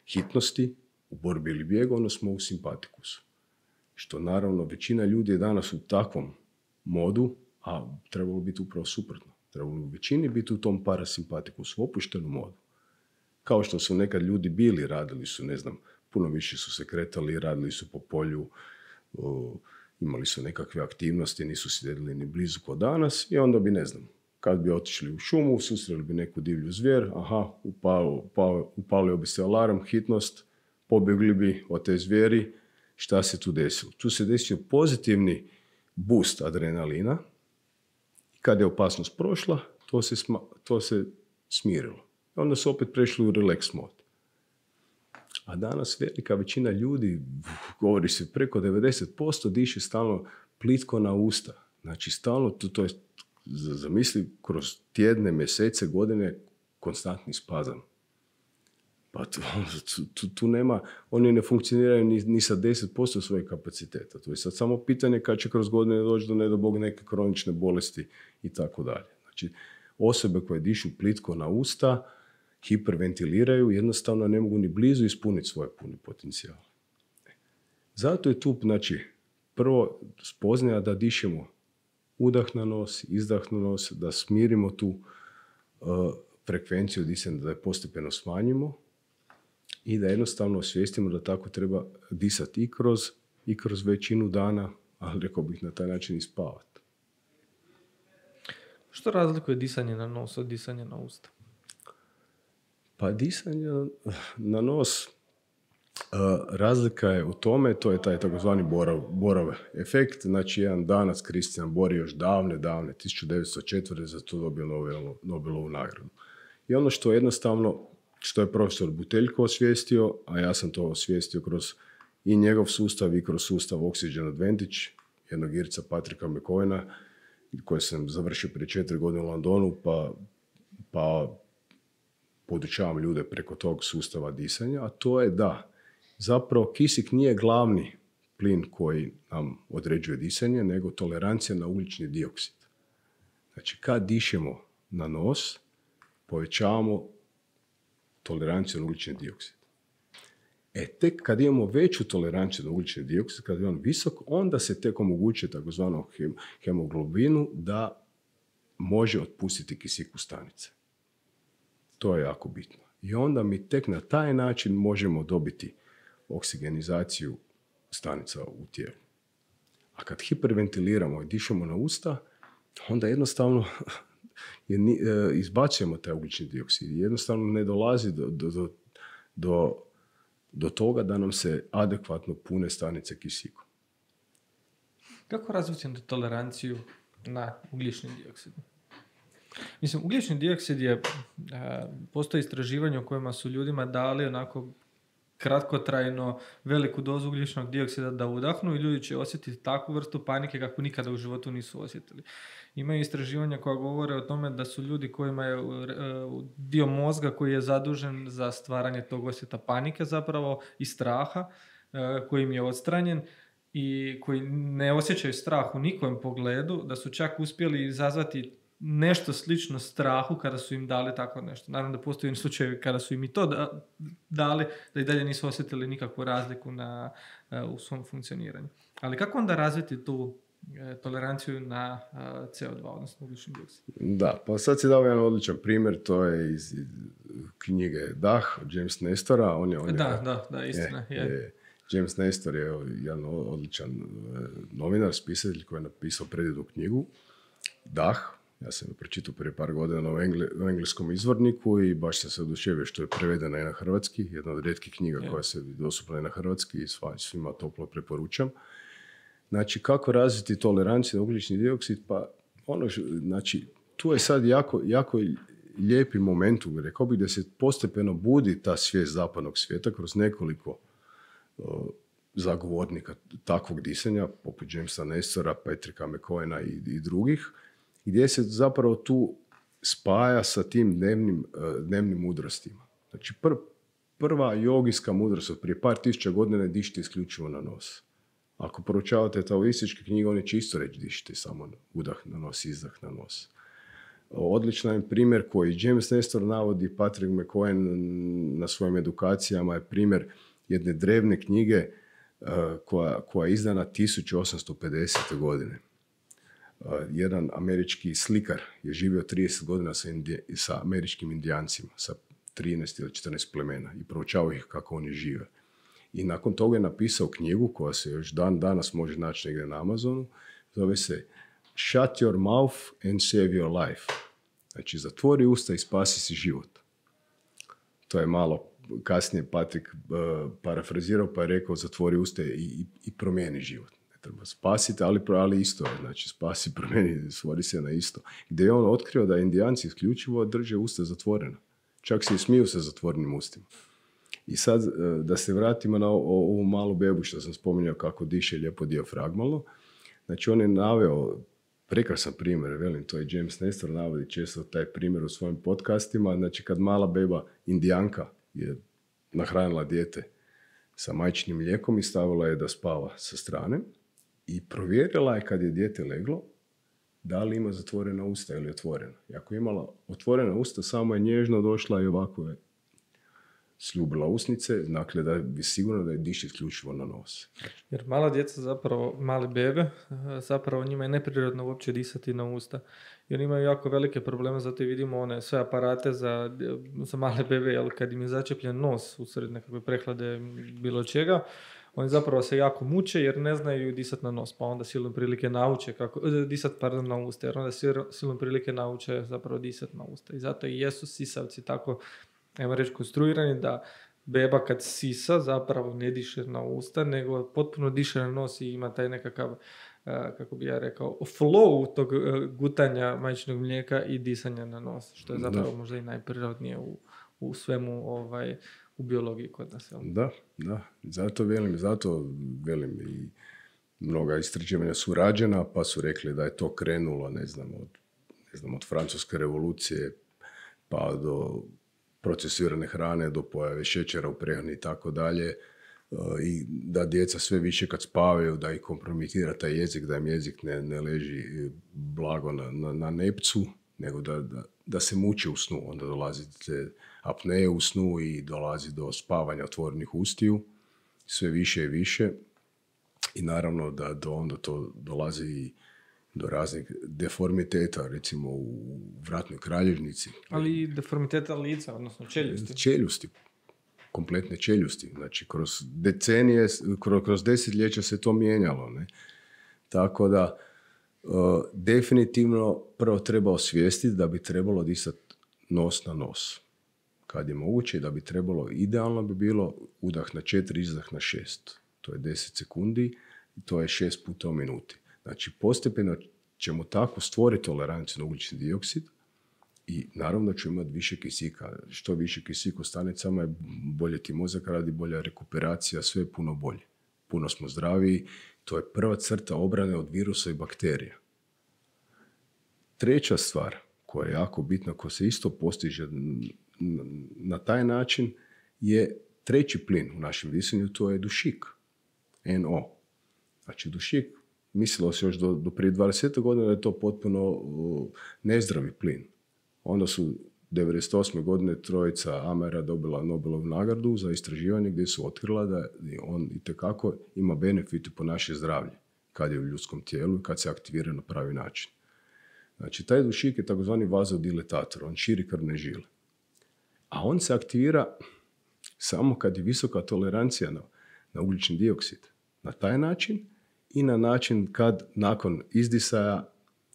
hitnosti, u borbi ili bijegu, onda smo u simpatikusu. Što naravno većina ljudi je danas u takvom modu, a trebalo biti upravo suprotno. Trebalo u većini biti u tom parasimpatikusu, opuštenom modu. Kao što su nekad ljudi bili, radili su, ne znam, puno više su se kretali, radili su po polju, imali su nekakve aktivnosti, nisu sjedili ni blizu ko danas i onda bi, ne znam, kad bi otišli u šumu, susreli bi neku divlju zvijer, upalio bi se alarm, hitnost, pobjegli bi od te zvijeri. Šta se tu desilo? Tu se desio pozitivni boost adrenalina i kad je opasnost prošla, to se smirilo. I onda su opet prešli u relax mod. A danas velika većina ljudi, govori se preko 90%, diše stalno plitko na usta. Znači stalno, to je, zamisli, kroz tjedne, mjesece, godine, konstantni spazam. Pa tu nema, oni ne funkcioniraju ni sa 10% svojeg kapaciteta. To je sad samo pitanje kad će kroz godine doći do, ne do Bog, neke kronične bolesti i tako dalje. Znači, osobe koje dišu plitko na usta, hiperventiliraju, jednostavno ne mogu ni blizu ispuniti svoje pune potencijale. Zato je tu, znači, prvo spoznaja da dišemo udah na nos, izdah na nos, da smirimo tu frekvenciju disanja, da je postepeno smanjimo i da jednostavno osvijestimo da tako treba disati i kroz većinu dana, ali rekao bih na taj način i spavati. Što razlikuje disanje na nos od disanja na usta? Pa disanje na nos, razlika je u tome, to je taj takozvani Borov efekt. Znači, jedan Danac, Christian Bohr, još davne, 1904. za to dobio Nobelovu nagradu. I ono što jednostavno, što je profesor Buteljko osvijestio, a ja sam to osvijestio kroz i njegov sustav i kroz sustav Oxygen Advantage, jednog Irca Patricka McCoyna, koje sam završio prije 4 godine u Londonu, pa podučavam ljude preko tog sustava disanja, a to je da zapravo kisik nije glavni plin koji nam određuje disanje, nego tolerancija na ugljični dioksid. Znači, kad dišemo na nos, povećavamo toleranciju na ugljični dioksid. Tek kad imamo veću toleranciju na ugljični dioksid, kad je on visok, onda se tek omogućuje takozvanom hemoglobinu da može otpustiti kisik u stanice. To je jako bitno. I onda mi tek na taj način možemo dobiti oksigenizaciju stanica u tijelu. A kad hiperventiliramo i dišemo na usta, onda jednostavno izbacujemo taj ugljični dioksid. Jednostavno ne dolazi do toga da nam se adekvatno pune stanice kisikom. Kako razviti toleranciju na ugljični dioksid? Mislim, ugljični dioksid je, postoji istraživanje u kojima su ljudima dali onako kratkotrajno veliku dozu ugljičnog dioksida da udahnu i ljudi će osjetiti takvu vrstu panike kako nikada u životu nisu osjetili. Imaju istraživanja koja govore o tome da su ljudi kojima je dio mozga koji je zadužen za stvaranje tog osjeta panike zapravo i straha, koji im je odstranjen i koji ne osjećaju strah u nikojem pogledu, da su čak uspjeli izazvati nešto slično strahu kada su im dali tako nešto. Naravno da postoji slučajevi kada su im i to dali, da i dalje nisu osjetili nikakvu razliku u svom funkcioniranju. Ali kako onda razviti tu toleranciju na CO2, odnosno ugljični dioksid? Da, pa sad si dao jedan odličan primjer, to je iz knjige Dah, od James Nestora. Da, istina. James Nestor je jedan odličan novinar, spisatelj koji je napisao predivnu knjigu. dah. Ja sam je pročitao prije par godina u engleskom izvorniku i baš sam se oduševio što je prevedena i na hrvatski. Jedna od rijetkih knjiga koja se dostupna i na hrvatski i svima toplo preporučam. Znači, kako razviti toleranciju na ugljični dioksid? Pa, znači, tu je sad jako lijepi moment, rekao bih, da se postepeno budi ta svijest zapadnog svijeta kroz nekoliko zagovornika takvog disanja, poput Jamesa Nestora, Patricka McCoyna i drugih, gdje se zapravo tu spaja sa tim dnevnim mudrostima. Znači, prva jogijska mudrost od prije par tisuća godina je dišite isključivo na nos. Ako proučavate taoističke knjige, one će isto reći dišite samo udah na nos, izdah na nos. Odličan je primjer koji James Nestor navodi, Patrick McCoyn na svojim edukacijama, je primjer jedne drevne knjige koja je izdana 1850. godine. Jedan američki slikar je živio 30 godina sa američkim indijancima, sa 13 ili 14 plemena i proučavao ih kako oni žive. I nakon toga je napisao knjigu koja se još danas može naći negdje na Amazonu, zove se Shut your mouth and save your life. Znači, zatvori usta i spasi si život. To je malo kasnije Patrick parafrazirao pa je rekao zatvori usta i promijeni život. Ne treba spasiti, ali isto je. Znači, spasi, promijeni, svori se na isto. Gdje je on otkrio da Indijanci isključivo drže usta zatvorena. Čak se i smiju sa zatvorenim ustima. I sad, da se vratimo na ovu malu bebu što sam spominjao kako diše lijepo dijafragmalno. Znači, on je naveo prekrasan primjer, velim, to je James Nestor, navodi često taj primjer u svojim podcastima. Znači, kad mala beba Indijanka je nahranila dijete sa majčinim mlijekom i stavila je da spava sa strane i provjerila je kad je dijete leglo da li ima zatvorena usta ili otvorena. I ako je imala otvorena usta, samo je nježno došla i ovako je sljubila usnice, dakle da je sigurno da je diše isključivo na nos. Jer mala djeca, zapravo mali bebe, zapravo njima je neprirodno uopće disati na usta. I oni imaju jako velike probleme, zato i vidimo one sve aparate za male bebe, jer kad im je začepljen nos usred nekakve prehlade bilo čega, oni zapravo se jako muče jer ne znaju disati na nos, pa onda silom prilike nauče na usta, jer onda silom prilike nauče zapravo disati na usta. I zato i jesu sisavci tako, ajmo reći, konstruirani da beba kad sisa zapravo ne diše na usta, nego potpuno diše na nos i ima taj nekakav, kako bi ja rekao, flow tog gutanja majčinog mlijeka i disanja na nos, što je zapravo možda i najprirodnije u svemu u biologiji kod nas. Da. Zato velim i mnoga istraživanja su rađena, pa su rekli da je to krenulo, od Francuske revolucije pa do procesirane hrane, do pojave šećera u prehrani i tako dalje, i da djeca sve više kad spavaju, da ih kompromitira taj jezik, da im jezik ne leži blago na nepcu, nego da se muče u snu. Onda dolazi apneje u snu i dolazi do spavanja otvorenih ustiju, sve više i više. I naravno da onda to dolazi i do raznih deformiteta, recimo u vratnoj kralježnici. Ali i deformiteta lica, odnosno čeljusti. Čeljusti, kompletne čeljusti. Znači, kroz decenije, kroz desetljeća se to mijenjalo. Ne? Tako da, definitivno prvo treba osvijestiti da bi trebalo disati nos na nos. Kad je moguće, da bi trebalo, idealno bi bilo udah na 4, izdah na 6. To je 10 sekundi i to je 6 puta u minuti. Znači, postepeno ćemo tako stvoriti toleranciju na ugljični dioksid i naravno ćemo imati više kisika. Što više kisika u stanicama je bolje ti mozak radi, bolja rekuperacija, sve je puno bolje. Puno smo zdraviji. To je prva crta obrane od virusa i bakterija. Treća stvar koja je jako bitna, koja se isto postiže na taj način, je treći plin u našem disanju, to je dušik. NO. Znači, dušik, mislilo se još do prije 20 godina da je to potpuno nezdravi plin. Onda su 1998. godine trojica Amera dobila Nobelovu nagradu za istraživanje gdje su otkrila da on itekako ima benefite po naše zdravlje kad je u ljudskom tijelu i kad se aktivira na pravi način. Znači, taj dušik je takozvani vazodiletator, on širi krvne žile. A on se aktivira samo kad je visoka tolerancija na ugljični dioksid. Na taj način i na način kad nakon izdisaja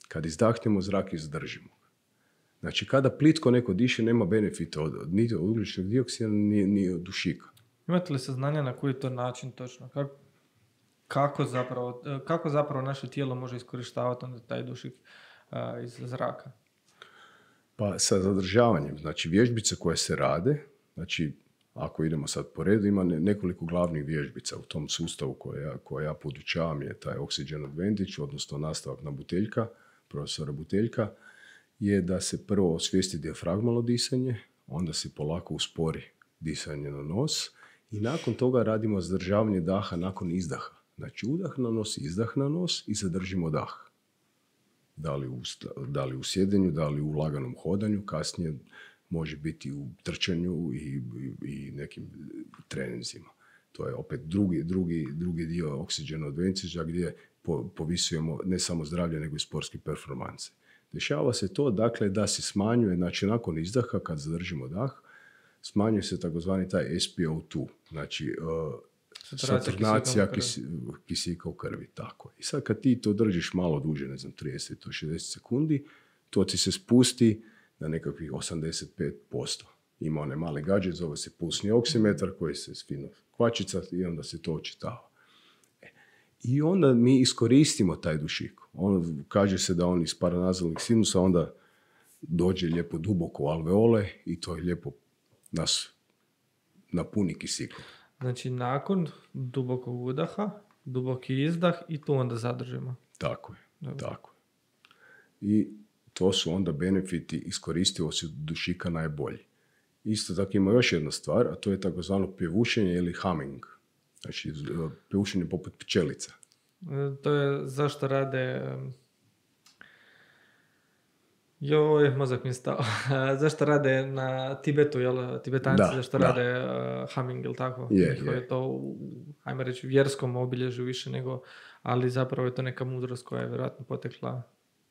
Kad izdahnemo zrak i zadržimo. Znači, kada plitko neko diše, nema benefita niti od ugljičnog dioksida, ni od dušika. Imate li saznanja na koji to način točno? Kako zapravo naše tijelo može iskorištavati onda taj dušik iz zraka? Pa sa zadržavanjem. Znači, vježbice koje se rade, znači, ako idemo sad po redu, ima nekoliko glavnih vježbica u tom sustavu koje ja podučavam, je taj Oxygen Advantage, odnosno nastavak na Buteljka, profesora Buteljka, je da se prvo osvijesti dijafragmalno disanje, onda se polako uspori disanje na nos i nakon toga radimo zadržavanje daha nakon izdaha. Znači, udah na nos, izdah na nos i zadržimo dah. Da li u sjedenju, da li u laganom hodanju, kasnije može biti u trčanju i nekim treninzima. To je opet drugi dio Oxygen Advantage gdje povisujemo ne samo zdravlje, nego i sportske performanse. Dešava se to, dakle, da se smanjuje, znači nakon izdaha, kad zadržimo dah, smanjuje se takozvani taj SpO2, znači saturnacija kisika u krvi. Tako. I sad kad ti to držiš malo duže, 30 do 60 sekundi, to ti se spusti na nekakvih 85%. Ima onaj mali gadget, zove se pulsni oksimetar koji se fino kvačica i onda se to očitava. I onda mi iskoristimo taj dušik. Kaže se da on iz paranazalnih sinusa onda dođe lijepo duboko u alveole i to je lijepo nas napuni kisikom. Znači, nakon dubokog udaha, duboki izdah i to onda zadržimo. Tako je. I to su onda benefiti iskoristivosti dušika najbolji. Isto tako ima još jedna stvar, a to je takozvano pjevušenje ili humming. Znači, pjevušenje poput pčelica. To je zašto rade... mozak mi stao. Zašto rade na Tibetu, jel? Tibetanci zašto rade humming, jel tako? Je to, ajmo reći, vjerskom obilježju više nego, ali zapravo je to neka mudrost koja je vjerojatno potekla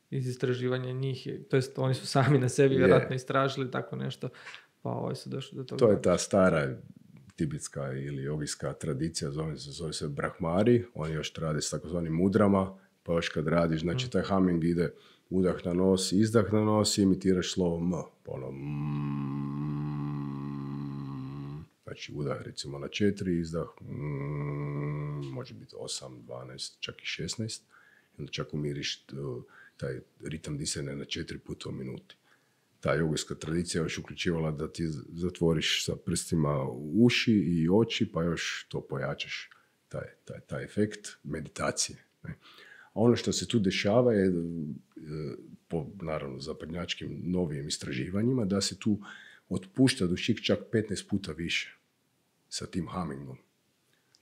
iz istraživanja njih. To jest, oni su sami na sebi vjerojatno istražili tako nešto, pa su došli do toga. To je ta stara tibetska ili jogijska tradicija, zove se brahmari, oni još rade s takozvanim mudrama, pa još kad radiš, znači taj humming ide udah na nos, izdah na nos i imitiraš slovo M. Znači udah recimo na 4, izdah može biti 8, 12, čak i 16. I onda čak umiriš taj ritam disanja na 4 puta u minuti. Ta jogijska tradicija još uključivala da ti zatvoriš sa prstima uši i oči, pa još to pojačaš, taj efekt meditacije. Ne? A ono što se tu dešava je, po naravno zapadnjačkim novijim istraživanjima, da se tu otpušta dušik čak 15 puta više sa tim hummingom.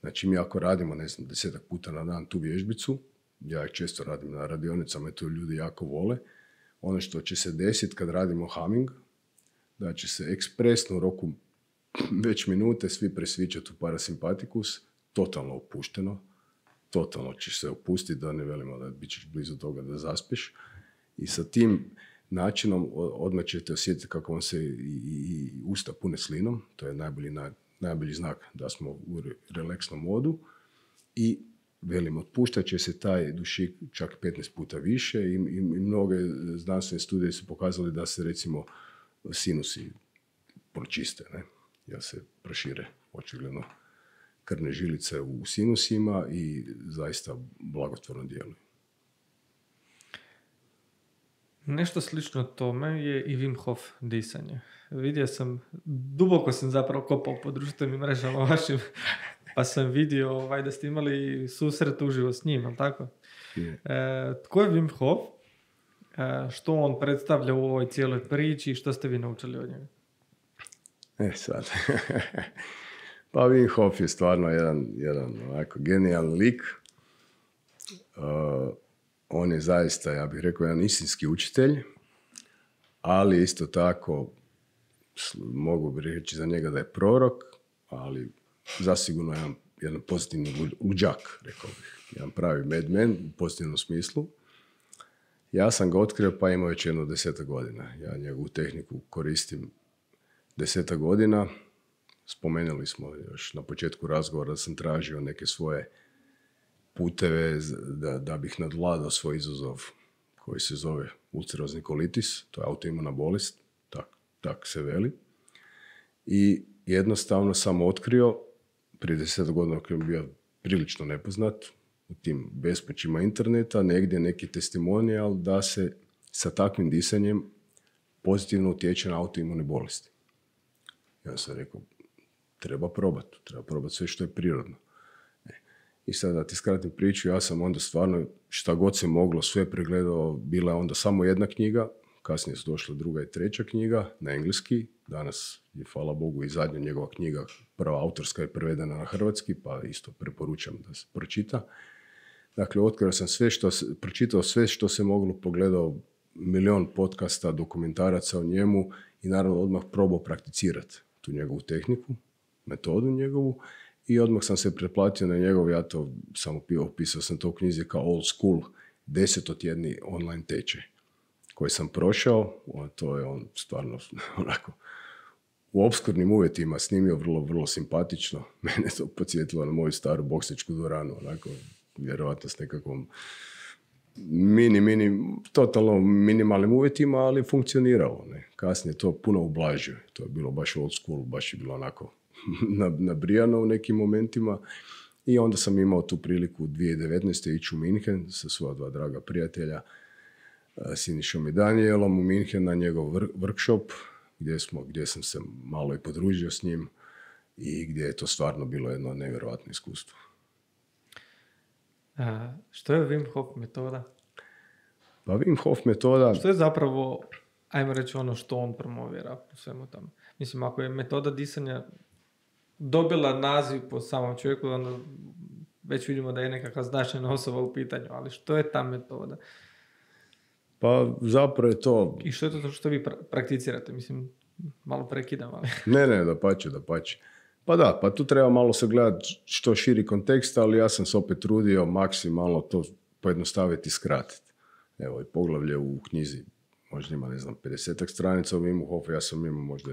Znači mi ako radimo, 10 puta na dan tu vježbicu, ja ih često radim na radionicama i to ljudi jako vole, ono što će se desiti kad radimo humming, da će se ekspresno u roku već minute svi presvičati u parasimpatikus, totalno opušteno, totalno ćeš se opustiti, da ne velimo da bit ćeš blizu toga da zaspiš. I sa tim načinom odmah ćete osjetiti kako vam se i usta pune slinom, to je najbolji znak da smo u relaksnom modu i velim, otpuštat će se taj dušik čak 15 puta više i mnoge znanstvene studije su pokazali da se recimo sinusi pročiste, ne? Ja se prošire očigledno krvne žilice u sinusima i zaista blagotvorno djeluju. Nešto slično tome je i Wim Hof disanje. Vidio sam, duboko sam zapravo kopao po društvenim mrežama vašim, pa sam vidio da ste imali susret uživo s njim, ali tako? Yeah. Tko je Wim Hof? Što on predstavlja u ovoj cijeloj priči i što ste vi naučili od njega? Sad. Pa Wim Hof je stvarno jedan onako genijalan lik. On je zaista, ja bih rekao, jedan istinski učitelj, ali isto tako mogu bih reći za njega da je prorok, ali zasigurno jedan pozitivni luđak, rekao bih. Jedan pravi madman u pozitivnom smislu. Ja sam ga otkrio pa imao već 10 godina. Ja njegovu tehniku koristim 10 godina. Spomenuli smo još na početku razgovora da sam tražio neke svoje puteve da bih nadvladao svoj izazov koji se zove ulcerozni kolitis, to je autoimuna bolest, tak se veli. I jednostavno sam otkrio, prije 10 godina kad je bio prilično nepoznat, u tim bespućima interneta, negdje neki testimonijal da se sa takvim disanjem pozitivno utječe na autoimune bolesti. Ja sam rekao, treba probati sve što je prirodno. I sad da ti skratim priču, ja sam onda stvarno šta god se moglo sve pregledao, bila je onda samo jedna knjiga, kasnije su došla druga i treća knjiga na engleski, danas je hvala Bogu i zadnja njegova knjiga, prva autorska je prevedena na hrvatski, pa isto preporučam da se pročita. Dakle, otkrio sam pročitao sve što se moglo, pogledao milion podcasta, dokumentaraca o njemu i naravno odmah probao prakticirati tu njegovu tehniku, metodu njegovu i odmah sam se pretplatio na njegov, ja to samo opisao sam to u knjizi kao old school, 10-tjedni online tečaj koji sam prošao, to je on stvarno onako u opskurnim uvjetima snimio vrlo, vrlo simpatično. Mene to podsjetilo na moju staru boksničku dvoranu, onako vjerovatno s nekakvom totalno minimalnim uvjetima, ali funkcioniralo. Ne? Kasnije to puno ublažio. To je bilo baš old school, baš je bilo onako nabrijano u nekim momentima. I onda sam imao tu priliku 2019. ići u Minhen sa svoja dva draga prijatelja, Sinišom i Danielom u Minhen na njegov workshop, gdje sam se malo i podružio s njim i gdje je to stvarno bilo jedno nevjerojatno iskustvo. Što je Wim Hof metoda? Pa Wim Hof metoda... Što je zapravo, ajmo reći, ono što on promovira u svemu tome? Mislim, ako je metoda disanja dobila naziv po samom čovjeku, onda već vidimo da je nekakva značajna osoba u pitanju, ali što je ta metoda? Pa zapravo je to... I što je to što vi prakticirate? Mislim, malo prekidam, ali... Ne, dapače. Pa tu treba malo sagledati što širi kontekst, ali ja sam se opet trudio maksimalno to pojednostaviti i skratiti. Evo, i poglavlje u knjizi možda ima, 50 stranica o Wimu Hofu, ja sam imao možda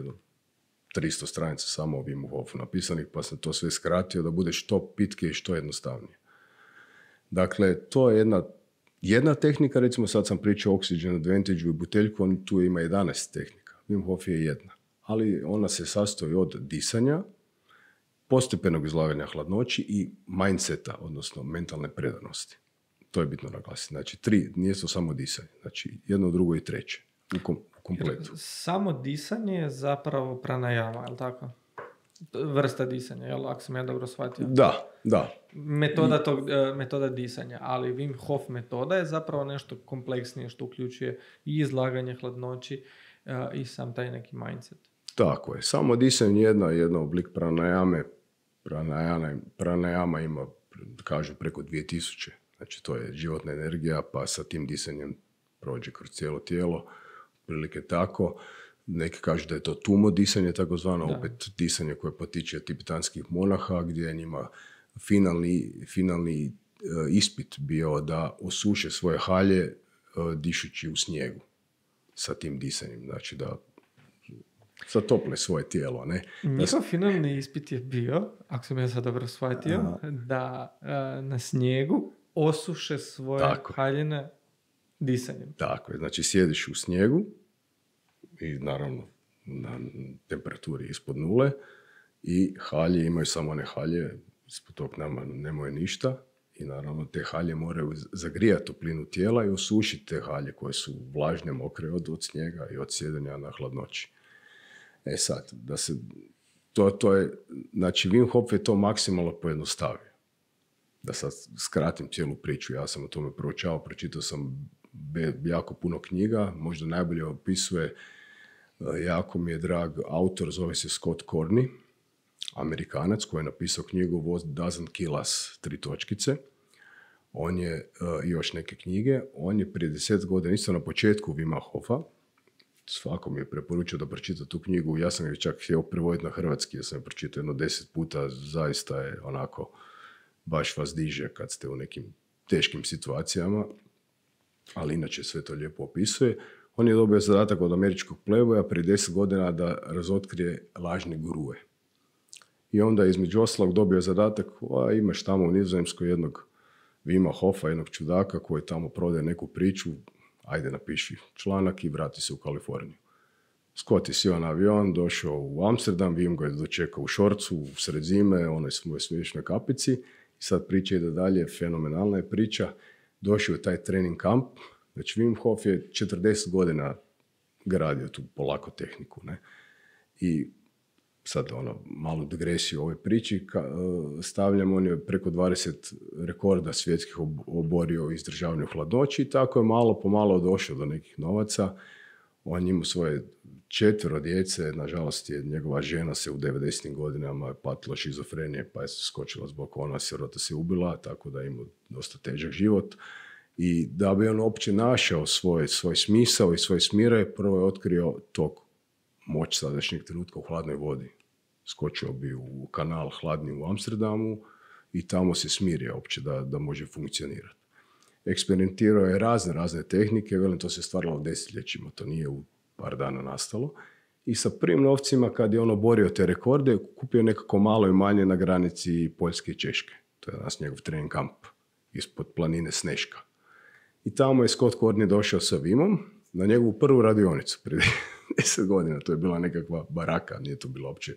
300 stranica samo o Wimu Hofu napisanih, pa sam to sve skratio da bude što pitkije i što jednostavnije. Dakle, to je jedna tehnika, recimo sad sam pričao o Oxygen Advantage i buteljku, on tu ima 11 tehnika. Wim Hof je jedna. Ali ona se sastoji od disanja, postepenog izlaganja hladnoći i mindseta, odnosno mentalne predanosti. To je bitno naglasiti. Znači, 3, nije to samo disanje. Znači, jedno, drugo i treće u kompletu. Samo disanje je zapravo pranajama, je li tako? Vrsta disanja, jel? Ako sam ja dobro shvatio. Da. Metoda disanja, ali Wim Hof metoda je zapravo nešto kompleksnije što uključuje i izlaganje hladnoći i sam taj neki mindset. Tako je. Samo disanje je jedan oblik pranajame. Pranajama ima, kažu, preko 2000. Znači, to je životna energija, pa sa tim disanjem prođe kroz cijelo tijelo. Prilike tako. Neki kažu da je to tumo disanje, takozvano, opet disanje koje potiče od tibetanskih monaha, gdje je njima finalni ispit bio da osuše svoje halje dišući u snijegu sa tim disanjem. Znači da zatople svoje tijelo. Ne? Njihov finalni ispit je bio, ako sam ja sad dobro shvatio, da na snijegu osuše svoje haljine disanjem. Tako je, znači sjediš u snijegu i naravno na temperaturi ispod nule i halje imaju samo one halje, ispod tog nemaju ništa i naravno te halje moraju zagrijati toplinu tijela i osušiti te halje koje su vlažne, mokre od snijega i od sjedenja na hladnoći. Sad, da se, to je, znači Wim Hof je to maksimalno pojednostavio. Da sad skratim cijelu priču, ja sam o tome proučavao, pročitao sam jako puno knjiga, možda najbolje opisuje, jako mi je drag autor, zove se Scott Corney, Amerikanac koji je napisao knjigu What Doesn't Kill Us, 3. On je još neke knjige, on je prije 10 godina, isto na početku Wima Hofa, svakom je preporučio da pročita tu knjigu, ja sam je čak htio prevoditi na hrvatski, ja sam je pročitao 10 puta, zaista je onako, baš vas diže kad ste u nekim teškim situacijama, ali inače sve to lijepo opisuje. On je dobio zadatak od američkog pleboja prije 10 godina da razotkrije lažne gurue. I onda između ostalog dobio zadatak, imaš tamo u Nizozemskoj jednog Wima Hofa, jednog čudaka koji tamo prodaje neku priču, ajde napiši članak i vrati se u Kaliforniju. Scott je sjeo na avion, došao u Amsterdam, Wim ga je dočekao u šorcu, u sred zime, onoj svojoj smiješnej kapici. I sad priča ide dalje, fenomenalna je priča. Došao je taj trening kamp, znači Wim Hof je 40 godina gradio tu polako tehniku. Ne? I sad malu digresiju u ovoj priči stavljam, on je preko 20 rekorda svjetskih oborio u izdržavanju hladnoći i tako je malo po malo došao do nekih novaca. On imao svoje 4 djece, nažalost je njegova žena se u 90. godinama patila šizofrenije, pa je skočila zbog ona sirota se ubila, tako da je imao dosta težak život. I da bi on uopće našao svoj smisao i svoje smire, prvo je otkrio tog moć sadašnjeg trenutka u hladnoj vodi. Skočio bi u kanal hladni u Amsterdamu i tamo se smirio uopće da može funkcionirati. Eksperimentirao je razne tehnike, velim, to se stvaralo desetljećima, to nije u par dana nastalo. I sa prvim novcima, kad je on oborio te rekorde, kupio nekako malo i manje na granici Poljske i Češke. To je danas njegov trening kamp ispod planine Sneška. I tamo je Scott Courtney došao sa Wimom na njegovu prvu radionicu prije 10 godina. To je bila nekakva baraka, nije to bilo uopće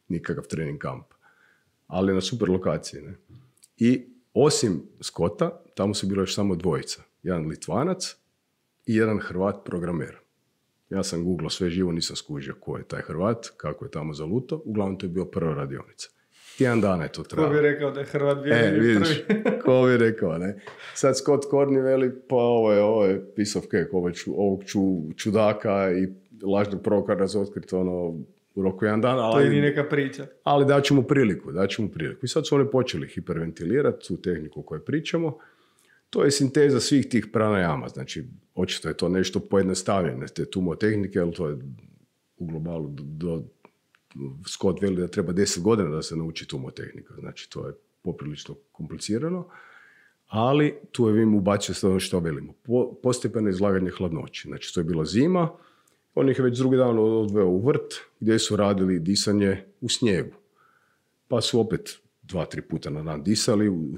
nikakav trening kamp. Ali na super lokaciji. Ne? I osim Scotta, tamo su bilo još samo dvojica. Jedan Litvanac i jedan Hrvat programer. Ja sam googlao sve živo, nisam skužio ko je taj Hrvat, kako je tamo zaluto. Uglavnom to je bio prva radionica. Tjedan dana je to trajalo. Ko bi rekao da je Hrvat bio vidiš, prvi? Ko bi rekao, ne? Sad Scott Courtney veli, pa ovo je piece of cake, ovog čudaka i lažnog proroka razotkriti u roku jedan dan. To je ni neka priča. Ali daću mu priliku. I sad su oni počeli hiperventilirati tu tehniku koju pričamo. To je sinteza svih tih pranajama. Znači, očito je to nešto pojednostavljene te tumotehnike, ali to je u globalu Scott veli da treba 10 godina da se nauči tumotehnika. Znači, to je poprilično komplicirano. Ali tu je Wim ubacio sve ono što velimo. Postepeno izlaganje hladnoći. Znači, to je bila zima. On ih je već drugi dan odveo u vrt gdje su radili disanje u snijegu. Pa su opet 2-3 puta na dan disali u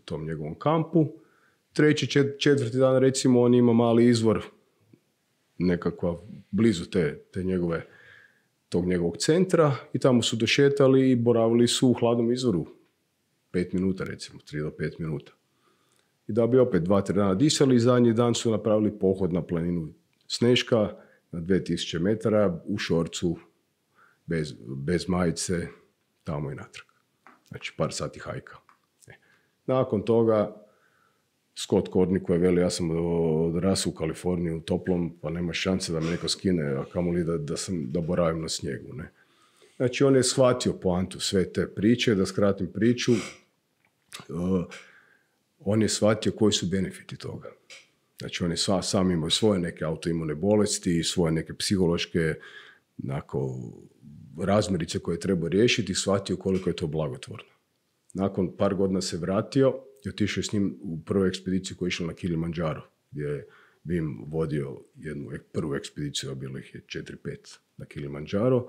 tom njegovom kampu. 3. 4. dan, recimo, on ima mali izvor nekakva blizu tog njegovog centra i tamo su došetali i boravili su u hladnom izvoru 5 minuta, recimo, 3 do 5 minuta. I da bi opet 2-3 dana disali i zadnji dan su napravili pohod na planinu Sneška na 2000 metara u šorcu, bez majice, tamo i natrag. Znači, par sati hajka. Nakon toga, Scott Courtney koji veli, ja sam odrasao u Kaliforniji u toplom, pa nema šanse da me neko skine, a kamoli da boravim na snijegu. Ne? Znači, on je shvatio poantu sve te priče, da skratim priču, on je shvatio koji su benefiti toga. Znači, on je sam imao svoje neke autoimune bolesti, svoje neke psihološke razmirice koje treba riješiti i shvatio koliko je to blagotvorno. Nakon par godina se vratio i otišao s njim u prvu ekspediciju koja je išla na Kilimanjaro, gdje je Wim vodio jednu prvu ekspediciju, a bilo ih je 4-5 na Kilimanjaro,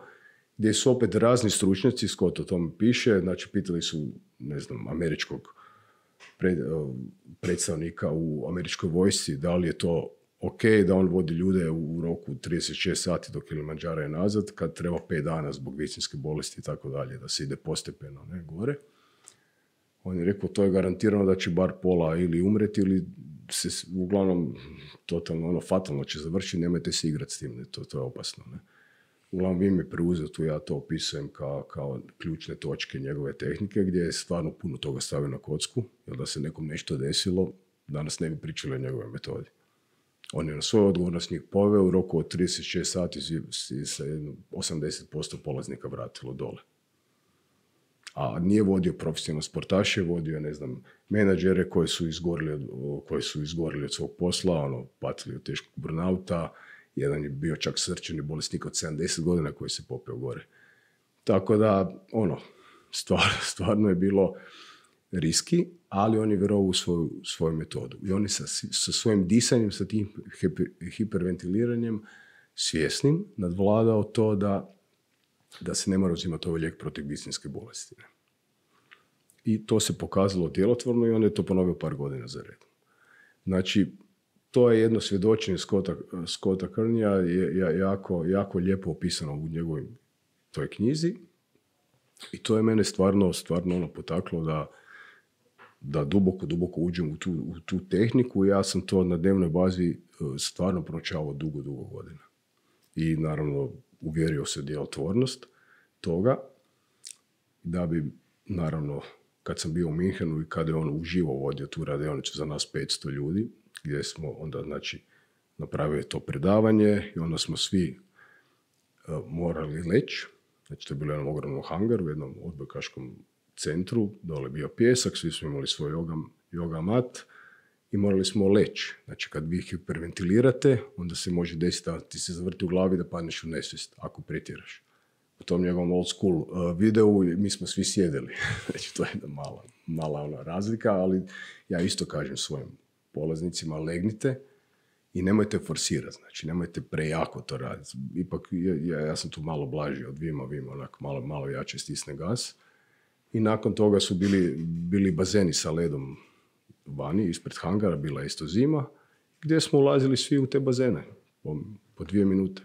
gdje su opet razni stručnjaci, Scott o tome piše, znači pitali su, američkog predstavnika u američkoj vojsci, da li je to ok da on vodi ljude u roku 36 sati do Kilimanjara i nazad, kad treba 5 dana zbog visinske bolesti i tako dalje, da se ide postepeno gore. On je rekao, to je garantirano da će bar pola ili umreti ili se uglavnom totalno fatalno će završiti, nemojte se igrati s tim, to je opasno. Ne? Uglavnom Wim je preuzeo tu, ja to opisujem kao ključne točke njegove tehnike, gdje je stvarno puno toga stavio na kocku, jer da se nekom nešto desilo, danas ne bi pričali o njegove metodi. On je na svoju odgovornost njih poveo, u roku od 36 sati se 80% polaznika vratilo dole. A nije vodio profesionalne sportaše, vodio je, menadžere koji su izgorili od svog posla, patili od teškog burnauta. Jedan je bio čak srčani bolesnik od 70 godina koji se popeo gore. Tako da, stvarno je bilo riski, ali on je vjerovao u svoju metodu. I on je sa svojim disanjem, sa tim hiperventiliranjem svjesnim nadvladao to da se ne mora uzimati ovaj lijek protiv visinske bolesti. I to se pokazalo djelotvorno i on je to ponovio par godina za redom. Znači, to je jedno svjedočenje Scotta Kearneya, je jako lijepo opisano u njegovoj toj knjizi. I to je mene stvarno potaklo da duboko uđem u tu tehniku. Ja sam to na dnevnoj bazi stvarno proučavao dugo godina. I naravno uvjerio se djelotvornost toga, da bi naravno kad sam bio u Minhenu i kada je on uživo vodio tu radionicu za nas 500 ljudi, gdje smo onda znači napravili to predavanje i onda smo svi morali leći. Znači to je bilo jedan ogromno hangar u jednom odbojkaškom centru, dole bio pjesak, svi smo imali svoj yoga mat i morali smo leći. Znači kad vi hiperventilirate, onda se može desiti da ti se zavrti u glavi da padneš u nesvijest ako pretjeraš. U tom njegovom old school videu mi smo svi sjedili. Znači to je jedna mala ona razlika, ali ja isto kažem svojim polaznicima, legnite i nemojte forsirati, znači nemojte prejako to raditi. Ipak ja sam tu malo blaži od Vima, onako malo jače stisne gas. I nakon toga su bili bazeni sa ledom vani, ispred hangara, bila je isto zima, gdje smo ulazili svi u te bazene po 2 minute.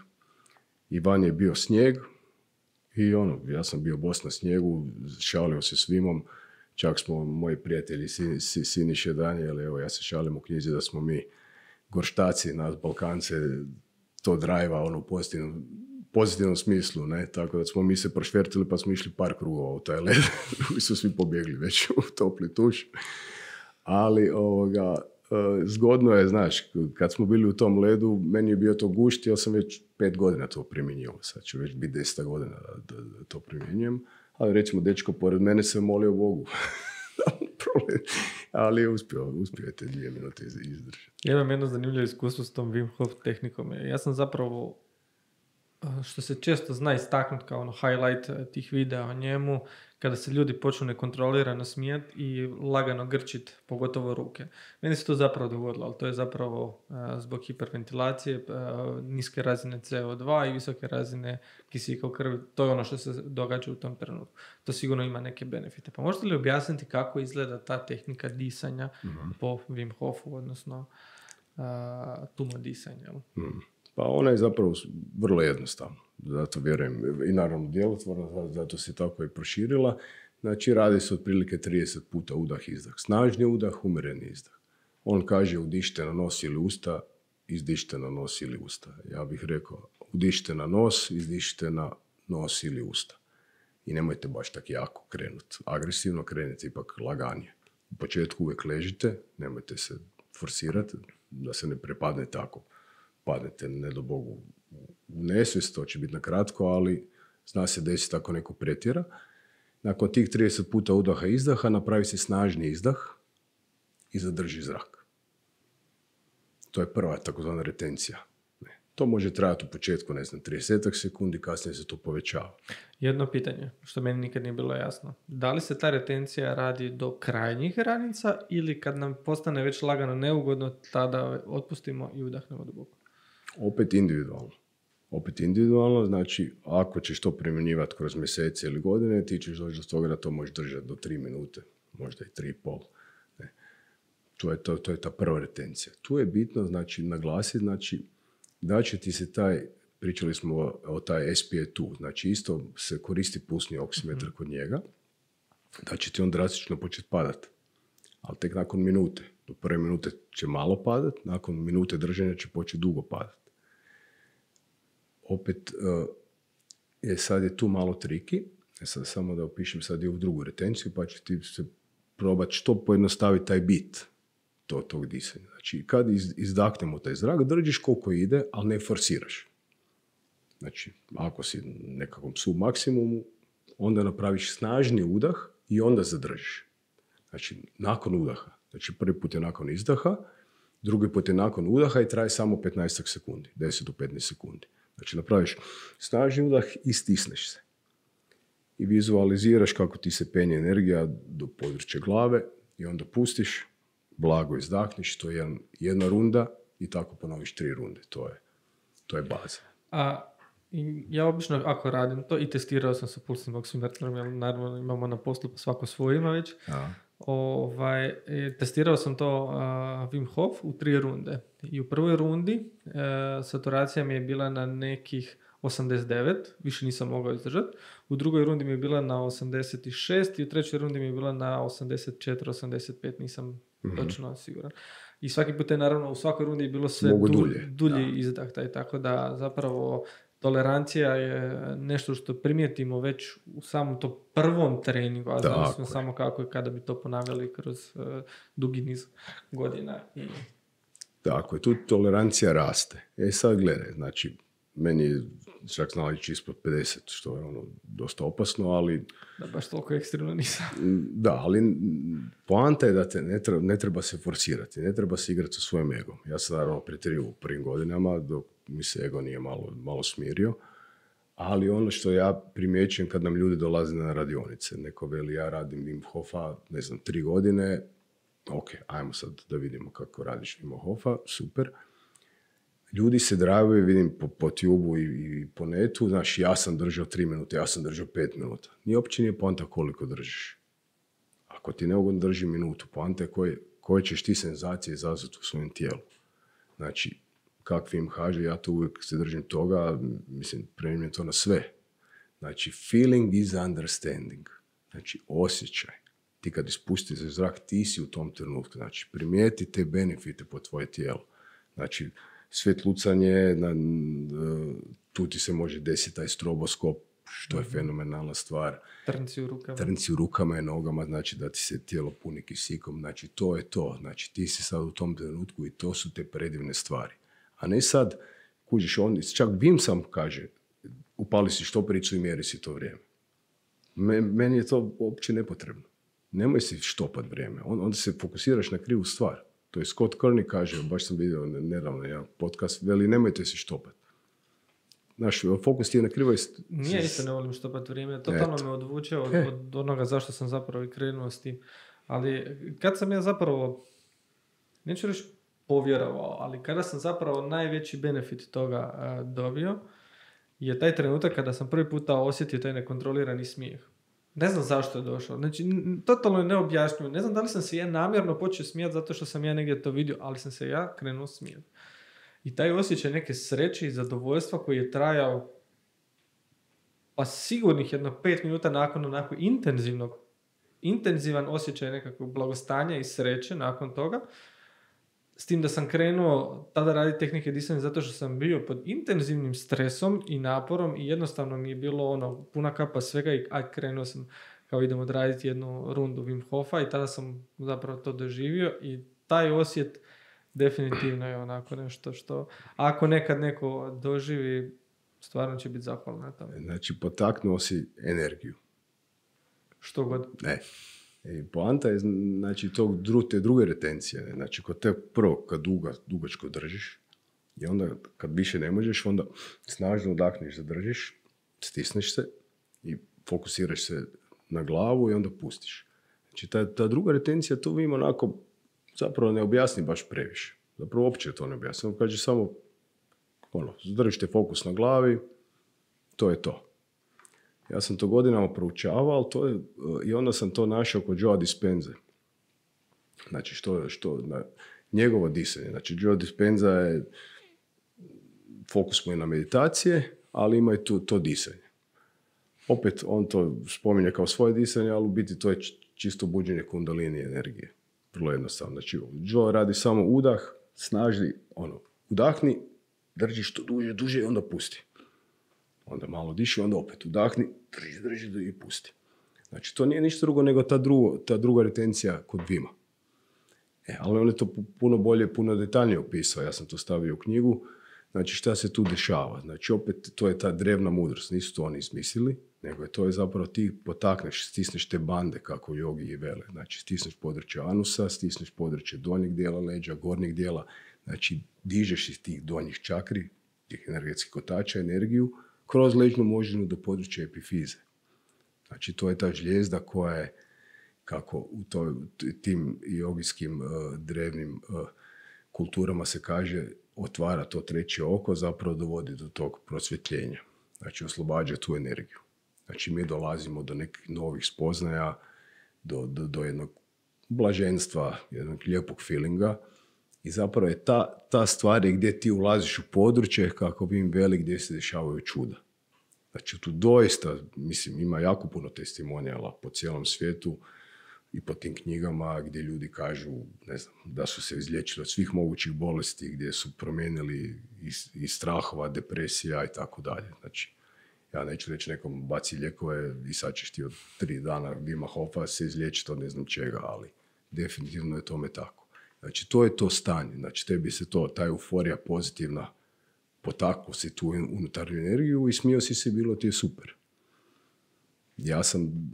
I van je bio snijeg i ja sam bio bos na snijegu, šalio se s Vimom, čak smo moji prijatelji Siniše Danijel, evo ja se šalim u knjizi da smo mi gorštaci, nas Balkance, to drajva u pozitivnom smislu, ne? Tako da smo mi se prošvertili pa smo išli par krugova u taj led, drugi su svi pobjegli već u topli tuš. Ali zgodno je, znaš, kad smo bili u tom ledu, meni je bio to gušt, ja sam već 5 godina to primjenjivao, sad će već biti 10 godina da to primjenjujem, ali recimo dečko pored mene se molio Bogu. Ali je uspio je te 2 minute izdržati. Ja imam jedno zanimljivo iskustvo s tom Wim Hof tehnikom. Ja sam zapravo, što se često zna istaknuti kao highlight tih videa o njemu, kada se ljudi počnu nekontrolirano smijati i lagano grčiti, pogotovo ruke. Meni se to zapravo dogodilo, ali to je zapravo zbog hiperventilacije, niske razine CO2 i visoke razine kisika u krvi. To je ono što se događa u tom trenutku. To sigurno ima neke benefite. Pa možete li objasniti kako izgleda ta tehnika disanja po Wim Hofu, odnosno tumo disanja? Pa ona je zapravo vrlo jednostavna, zato vjerujem i naravno djelotvorna, zato se tako i proširila. Znači radi se otprilike 30 puta udah-izdah. Snažni udah, umjereni izdah. On kaže udišite na nos ili usta, izdišite na nos ili usta. Ja bih rekao udišite na nos, izdišite na nos ili usta. I nemojte baš tako jako krenuti. Agresivno krenite ipak laganije. U početku uvijek ležite, nemojte se forsirati da se ne prepadne tako. Padnete, ne do Bogu, u nesvijest, to će biti na kratko, ali zna se desiti ako neko pretjera. Nakon tih 30 puta udaha i izdaha napravi se snažni izdah i zadrži zrak. To je prva takozvana retencija. To može trajati u početku, 30 sekundi, kasnije se to povećava. Jedno pitanje, što meni nikad nije bilo jasno. Da li se ta retencija radi do krajnjih granica ili kad nam postane već lagano neugodno, tada otpustimo i udahnemo duboko? Opet individualno, znači ako ćeš to primjenjivati kroz mjesece ili godine, ti ćeš doći do toga da to možeš držati do 3 minute, možda i 3,5. Ne. To je ta prva retencija. Tu je bitno znači, naglasiti da će ti se pričali smo o taj SpA2, znači isto se koristi pulsni oksimetar kod njega, da će ti on drastično početi padati, ali tek nakon minute. Do prve minute će malo padati, nakon minute držanja će početi dugo padati. Opet, sad je tu malo triki, sad samo da opišem sad i ovu drugu retenciju, pa će ti se probati što pojednostaviti taj bit tog disanja. Znači, kad izdahnemo taj zrak, držiš koliko ide, ali ne forsiraš. Znači, ako si nekakvom submaksimumu, onda napraviš snažni udah i onda zadržiš. Znači, nakon udaha. Znači, prvi put je nakon izdaha, drugi put je nakon udaha i traje samo 15 sekundi, 10 do 15 sekundi. Znači, napraviš snažni udah i stisneš se. I vizualiziraš kako ti se penje energija do područja glave i onda pustiš, blago izdahneš, to je jedna runda i tako ponoviš 3 runde. To je baza. Ja obično ako radim to i testirao sam sa pulsnim oksimetrom, jer naravno imamo na poslu svako svoj ima već. testirao sam to Wim Hof u 3 runde. I u prvoj rundi saturacija mi je bila na nekih 89, više nisam mogao izdržati. U drugoj rundi mi je bila na 86 i u trećoj rundi mi je bila na 84-85, nisam točno siguran. I svaki put je naravno u svakoj rundi je bilo sve dulji izdah. Tako da zapravo tolerancija je nešto što primijetimo već u samom to prvom treningu, a znali smo samo kako i kada bi to ponavljali kroz dugi niz godina. Tako je, tu tolerancija raste. Sad gledaj, znači, meni je čak znala ići ispod 50, što je dosta opasno, ali... Da, baš toliko ekstremno nisam. Da, ali poanta je da te ne treba se forsirati, ne treba se igrati sa svojim egom. Ja sam naravno pretjerio u prvim godinama, dok mi se ego nije malo smirio, ali ono što ja primjećujem kad nam ljudi dolaze na radionice, neko veli ja radim Wim Hofa, 3 godine, ok, ajmo sad da vidimo kako radiš Wim Hofa, super. Ljudi se dragaju, vidim po tubu i po netu, znaš, ja sam držao 3 minute, ja sam držao 5 minuta. Uopće nije poanta koliko držiš. Ako ti neugodno drži minutu, poanta je koje ćeš ti senzacije izazvati u svojem tijelu. Znači, kak Wim kaže, ja to uvijek se držim toga, primjenim to na sve. Znači, feeling is understanding. Znači, osjećaj. Ti kad ispustiš zrak, ti si u tom trenutku. Znači, primijeti te benefite po tvoje tijelo. Znači, svjetlucanje, tu ti se može desiti taj stroboskop, što je fenomenalna stvar. Trnci u rukama i nogama, znači da ti se tijelo puni kisikom, znači to je to. Znači ti si sad u tom trenutku i to su te predivne stvari. A ne sad, kužiš, čak Wim sam kaže, upali si štopericu i mjeri si to vrijeme. Meni je to uopće nepotrebno. Nemoj si štopat vrijeme, onda se fokusiraš na krivu stvar. To je Scott Kearney kaže, baš sam vidio nedavno jedan podcast, veli nemojte se štopati. Znaš, fokus ti je na krivoj... Nije isto ne volim štopati vrijeme, totalno me odvuče od onoga zašto sam zapravo i krenuo s tim. Ali kad sam ja zapravo, neću reći povjerovao, ali kada sam zapravo najveći benefit toga dobio, je taj trenutak kada sam prvi puta osjetio taj nekontrolirani smijeh. Ne znam zašto je došao. Znači, totalno je neobjašnjivo. Ne znam da li sam se ja namjerno počeo smijati zato što sam ja negdje to vidio, ali sam se ja krenuo smijati. I taj osjećaj neke sreće i zadovoljstva koji je trajao pa sigurnih 5 minuta nakon onako intenzivan osjećaj nekakvog blagostanja i sreće nakon toga. S tim da sam krenuo tada raditi tehnike disanja zato što sam bio pod intenzivnim stresom i naporom i jednostavno mi je bilo puna kapa svega i krenuo sam kao idemo odraditi jednu rundu Wim Hofa i tada sam zapravo to doživio i taj osjet definitivno je onako nešto što ako nekad neko doživi stvarno će biti zahvalan na tome. Znači potaknuo si energiju. Što god. Ne. I poanta je, znači, te druge retencije. Znači, kod te prvo, kad dugačko držiš, i onda kad više ne možeš, onda snažno udahniš, zadržiš, stisneš se i fokusiraš se na glavu i onda pustiš. Znači, ta druga retencija, to vi onako zapravo ne objasni baš previše. Zapravo uopće to ne objasni. Kaže samo, zadržite fokus na glavi, to je to. Ja sam to godinama proučavao, i onda sam to našao kod Joe Dispenze. Znači, njegovo disanje. Znači, Joe Dispenza je, fokus mu je na meditacije, ali ima i to disanje. Opet, on to spominje kao svoje disanje, ali u biti to je čisto buđenje kundalini energije. Vrlo jednostavno. Znači, Joe radi samo udah, snažni, udahni, drži što duže i onda pusti. Onda malo diši, onda opet udahni, drži i pusti. Znači, to nije ništa drugo nego ta druga retencija kod Vima. Ali on je to puno bolje, puno detaljnije opisao. Ja sam to stavio u knjigu. Znači, šta se tu dešava? Znači, opet, to je ta drevna mudrost. Nisu to oni izmislili, nego to je zapravo ti potakneš, stisneš te bande, kako jogi i vele. Znači, stisneš područje anusa, stisneš područje donjeg dijela leđa, gornjeg dijela. Znači, dižeš iz tih donjih čakri, tih energetskih kotača, energiju, kroz leđnu moždinu do područja epifize. Znači, to je ta žlijezda koja je, kako u tim jogijskim drevnim kulturama se kaže, otvara to treće oko, zapravo dovodi do tog prosvjetljenja. Znači, oslobađa tu energiju. Znači, mi dolazimo do nekih novih spoznaja, do jednog blaženstva, jednog lijepog feelinga. I zapravo je ta stvar je gdje ti ulaziš u područje, kako bi im veli, gdje se dešavaju čuda. Znači, tu doista, mislim, ima jako puno testimonijala po cijelom svijetu i po tim knjigama gdje ljudi kažu, ne znam, da su se izliječili od svih mogućih bolesti, gdje su promijenili i strahova, depresija i tako dalje. Znači, ja neću reći nekom baci lijekove i sad ćeš ti od 3 dana Wima Hofa se izliječiti od ne znam čega, ali definitivno je tome tako. Znači, to je to stanje. Znači, tebi se ta euforija pozitivna potaklo si tu unutarnju energiju i smio si se, bilo ti je super. Ja sam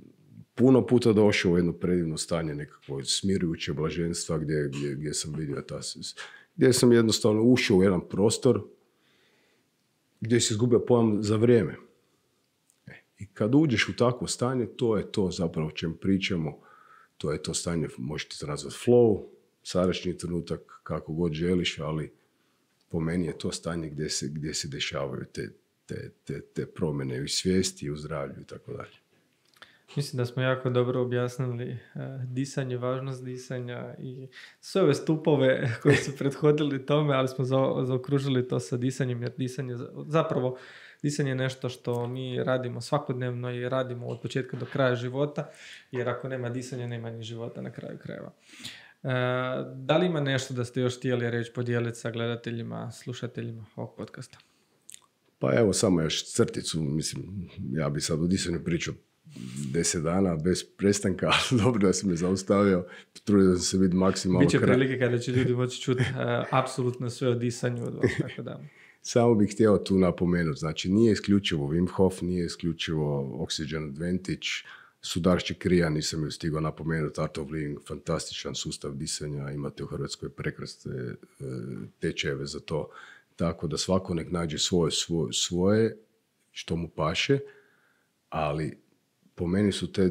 puno puta došao u jedno predivno stanje nekakvo smirujuće blaženstva gdje sam vidio gdje sam jednostavno ušao u jedan prostor gdje si izgubio pojam za vrijeme. I kad uđeš u takvo stanje, to je to zapravo o čem pričamo. To je to stanje, možete se nazvati flow, sadašnji trenutak, kako god želiš, ali po meni je to stanje gdje se dešavaju te promjene u svijesti, u zdravlju i tako dalje. Mislim da smo jako dobro objasnili disanje, važnost disanja i sve ove stupove koji su prethodili tome, ali smo zaokružili to sa disanjem, jer disanje je nešto što mi radimo svakodnevno i radimo od početka do kraja života, jer ako nema disanja, nema ni života na kraju krajeva. Da li ima nešto da ste još htjeli reći, podijeliti sa gledateljima, slušateljima ovog podcasta? Pa evo, samo još crticu, mislim, ja bi sad o disanju pričao 10 dana bez prestanka, ali dobro da si me zaustavio, trudio sam se biti maksimalno Biće prilike kada će ljudi moći čuti apsolutno sve o disanju od vas, tako da. Samo bih htio tu napomenuti, znači nije isključivo Wim Hof, nije isključivo Oxygen Advantage, Sudaršće Krija, nisam ju stigao napomenuti, Art of Living, fantastičan sustav disanja, imate u Hrvatskoj prekrasne tečajeve za to, tako da svako nek nađe svoje što mu paše, ali po meni su te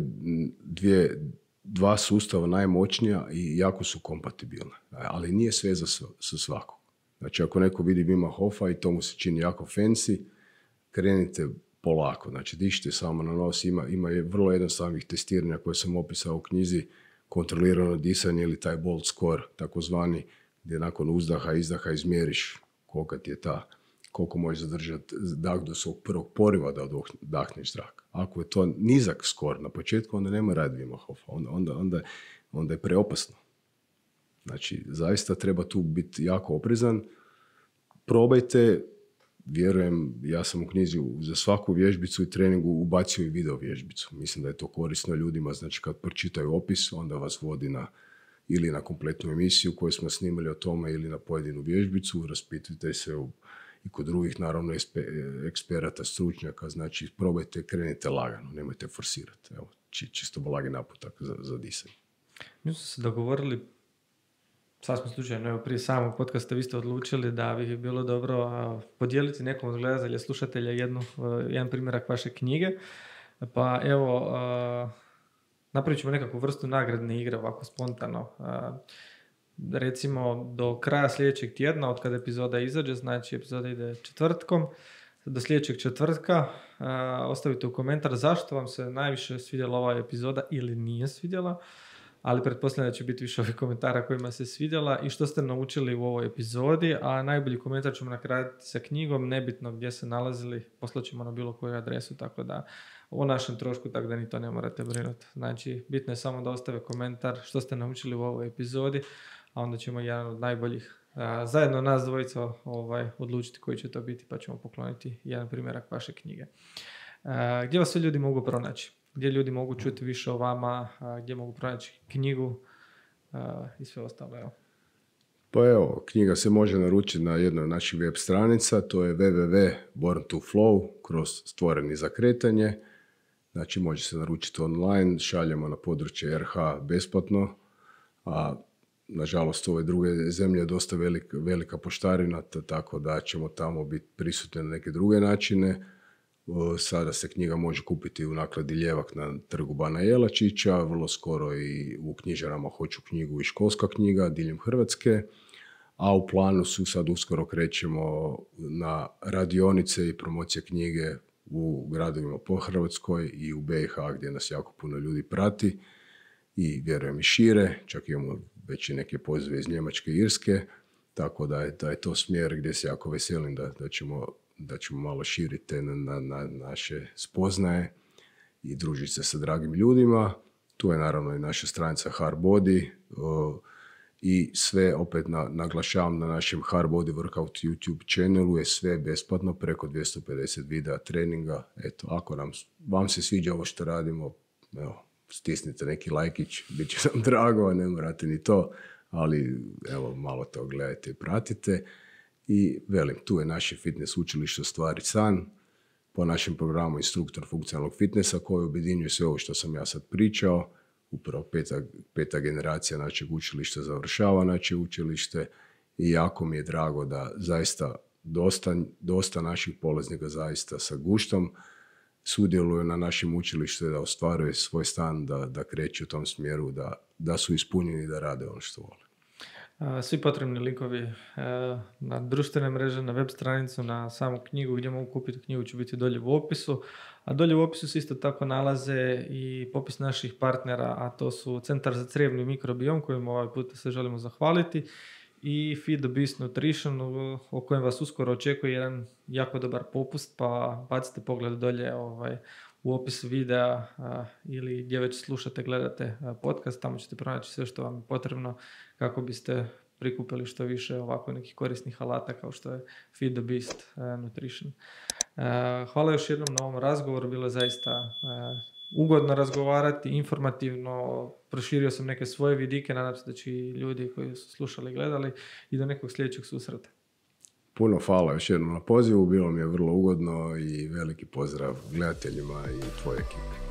dva sustava najmoćnija i jako su kompatibilne, ali nije sve za svakog. Znači, ako neko vidi Wima Hofa i to mu se čini jako fancy, krenite polako. Znači, dišite samo na nos. Ima je vrlo jednostavnih testiranja koje sam opisao u knjizi, kontrolirano disanje ili taj bolt score, takozvani, gdje nakon uzdaha, izdaha izmjeriš koliko možeš zadržati dah do svog prvog poriva da dahneš zrak. Ako je to nizak skor na početku, onda nema raditi Wima Hofa. Onda je preopasno. Znači, zaista treba tu biti jako oprezan. Probajte, vjerujem, ja sam u knjizi za svaku vježbicu i treningu ubacio i video vježbicu. Mislim da je to korisno ljudima, znači kad pročitaju opis, onda vas vodi ili na kompletnu emisiju koju smo snimali o tome ili na pojedinu vježbicu, raspitujte se i kod drugih, naravno, eksperata, stručnjaka, znači probajte, krenite lagano, nemojte forsirati. Evo, čisto blagi naputak za disanje. Mi smo se dogovorili, sad smo slučajno, evo prije samog podcasta vi ste odlučili da bi bilo dobro podijeliti nekom od gledatelja, slušatelja jedan primjerak vaše knjige. Pa evo, napravit ćemo nekakvu vrstu nagradne igre, ovako spontano. Recimo do kraja sljedećeg tjedna, od kada epizoda izađe, znači epizoda ide četvrtkom, do sljedećeg četvrtka ostavite u komentar zašto vam se najviše svidjela ova epizoda ili nije svidjela, ali pretpostavljam da će biti više ovih komentara kojima se svidjela i što ste naučili u ovoj epizodi, a najbolji komentar ćemo nakratiti sa knjigom, nebitno gdje se nalazili, poslaćemo na bilo koju adresu, tako da o našem trošku, tako da ni to ne morate brinuti. Znači, bitno je samo da ostave komentar što ste naučili u ovoj epizodi, a onda ćemo jedan od najboljih zajedno nas dvojica odlučiti koji će to biti, pa ćemo pokloniti jedan primjerak vaše knjige. Gdje vas sve ljudi mogu pronaći? Gdje ljudi mogu čuti više o vama, gdje mogu pronaći knjigu i sve ostalo, evo. Pa evo, knjiga se može naručiti na jednoj od naših web stranica, to je www.born2flow kroz stvoreni za kretanje. Znači, može se naručiti online, šaljemo na područje RH besplatno, a nažalost ove druge zemlje je dosta velika poštarina, tako da ćemo tamo biti prisutni na neke druge načine. Sada se knjiga može kupiti u nakladi Ljevak na trgu Bana Jelačića, vrlo skoro i u knjižarama Hoću knjigu i Školska knjiga diljem Hrvatske, a u planu su sad uskoro krećemo na radionice i promocije knjige u gradovima po Hrvatskoj i u BiH gdje nas jako puno ljudi prati i vjerujem i šire, čak imamo već i neke pozive iz Njemačke i Irske, tako da je to smjer gdje se jako veselim da ćemo malo širiti na naše spoznaje i družiti se sa dragim ljudima. Tu je naravno i naša stranica Hardbody i sve opet naglašavam na našem Hardbody Workout YouTube channelu je sve besplatno, preko 250 videa treninga. Eto, ako vam se sviđa ovo što radimo, evo, stisnite neki lajkić, bit će nam drago, ne morate ni to, ali evo, malo to gledajte i pratite. I velim, tu je naše fitness učilište Ostvari san, po našem programu instruktor funkcionalnog fitnessa koji objedinjuje sve ovo što sam ja sad pričao. Upravo peta generacija našeg učilišta završava naše učilište i jako mi je drago da zaista dosta naših polaznika zaista sa guštom sudjeluju na našem učilištu, da ostvaruje svoj stan, da kreću u tom smjeru, da su ispunjeni, da rade ono što vole. Svi potrebni linkovi na društvene mreže, na web stranicu, na samu knjigu gdje mogu kupiti knjigu će biti dolje u opisu. A dolje u opisu se isto tako nalaze i popis naših partnera, a to su Centar za crijevni mikrobiom kojim ovaj put se želimo zahvaliti i Feed the Beast Nutrition o kojem vas uskoro očekuje jedan jako dobar popust, pa bacite pogled dolje u opis videa ili gdje već slušate, gledate podcast, tamo ćete pronaći sve što vam je potrebno kako biste prikupili što više ovako nekih korisnih alata kao što je Feed the Beast Nutrition. Hvala još jednom na ovom razgovoru, bilo je zaista ugodno razgovarati, informativno, proširio sam neke svoje vidike, nadam se da će i ljudi koji su slušali i gledali i do nekog sljedećeg susreta. Puno hvala još jednom na pozivu, bilo mi je vrlo ugodno i veliki pozdrav gledateljima i tvojoj ekipi.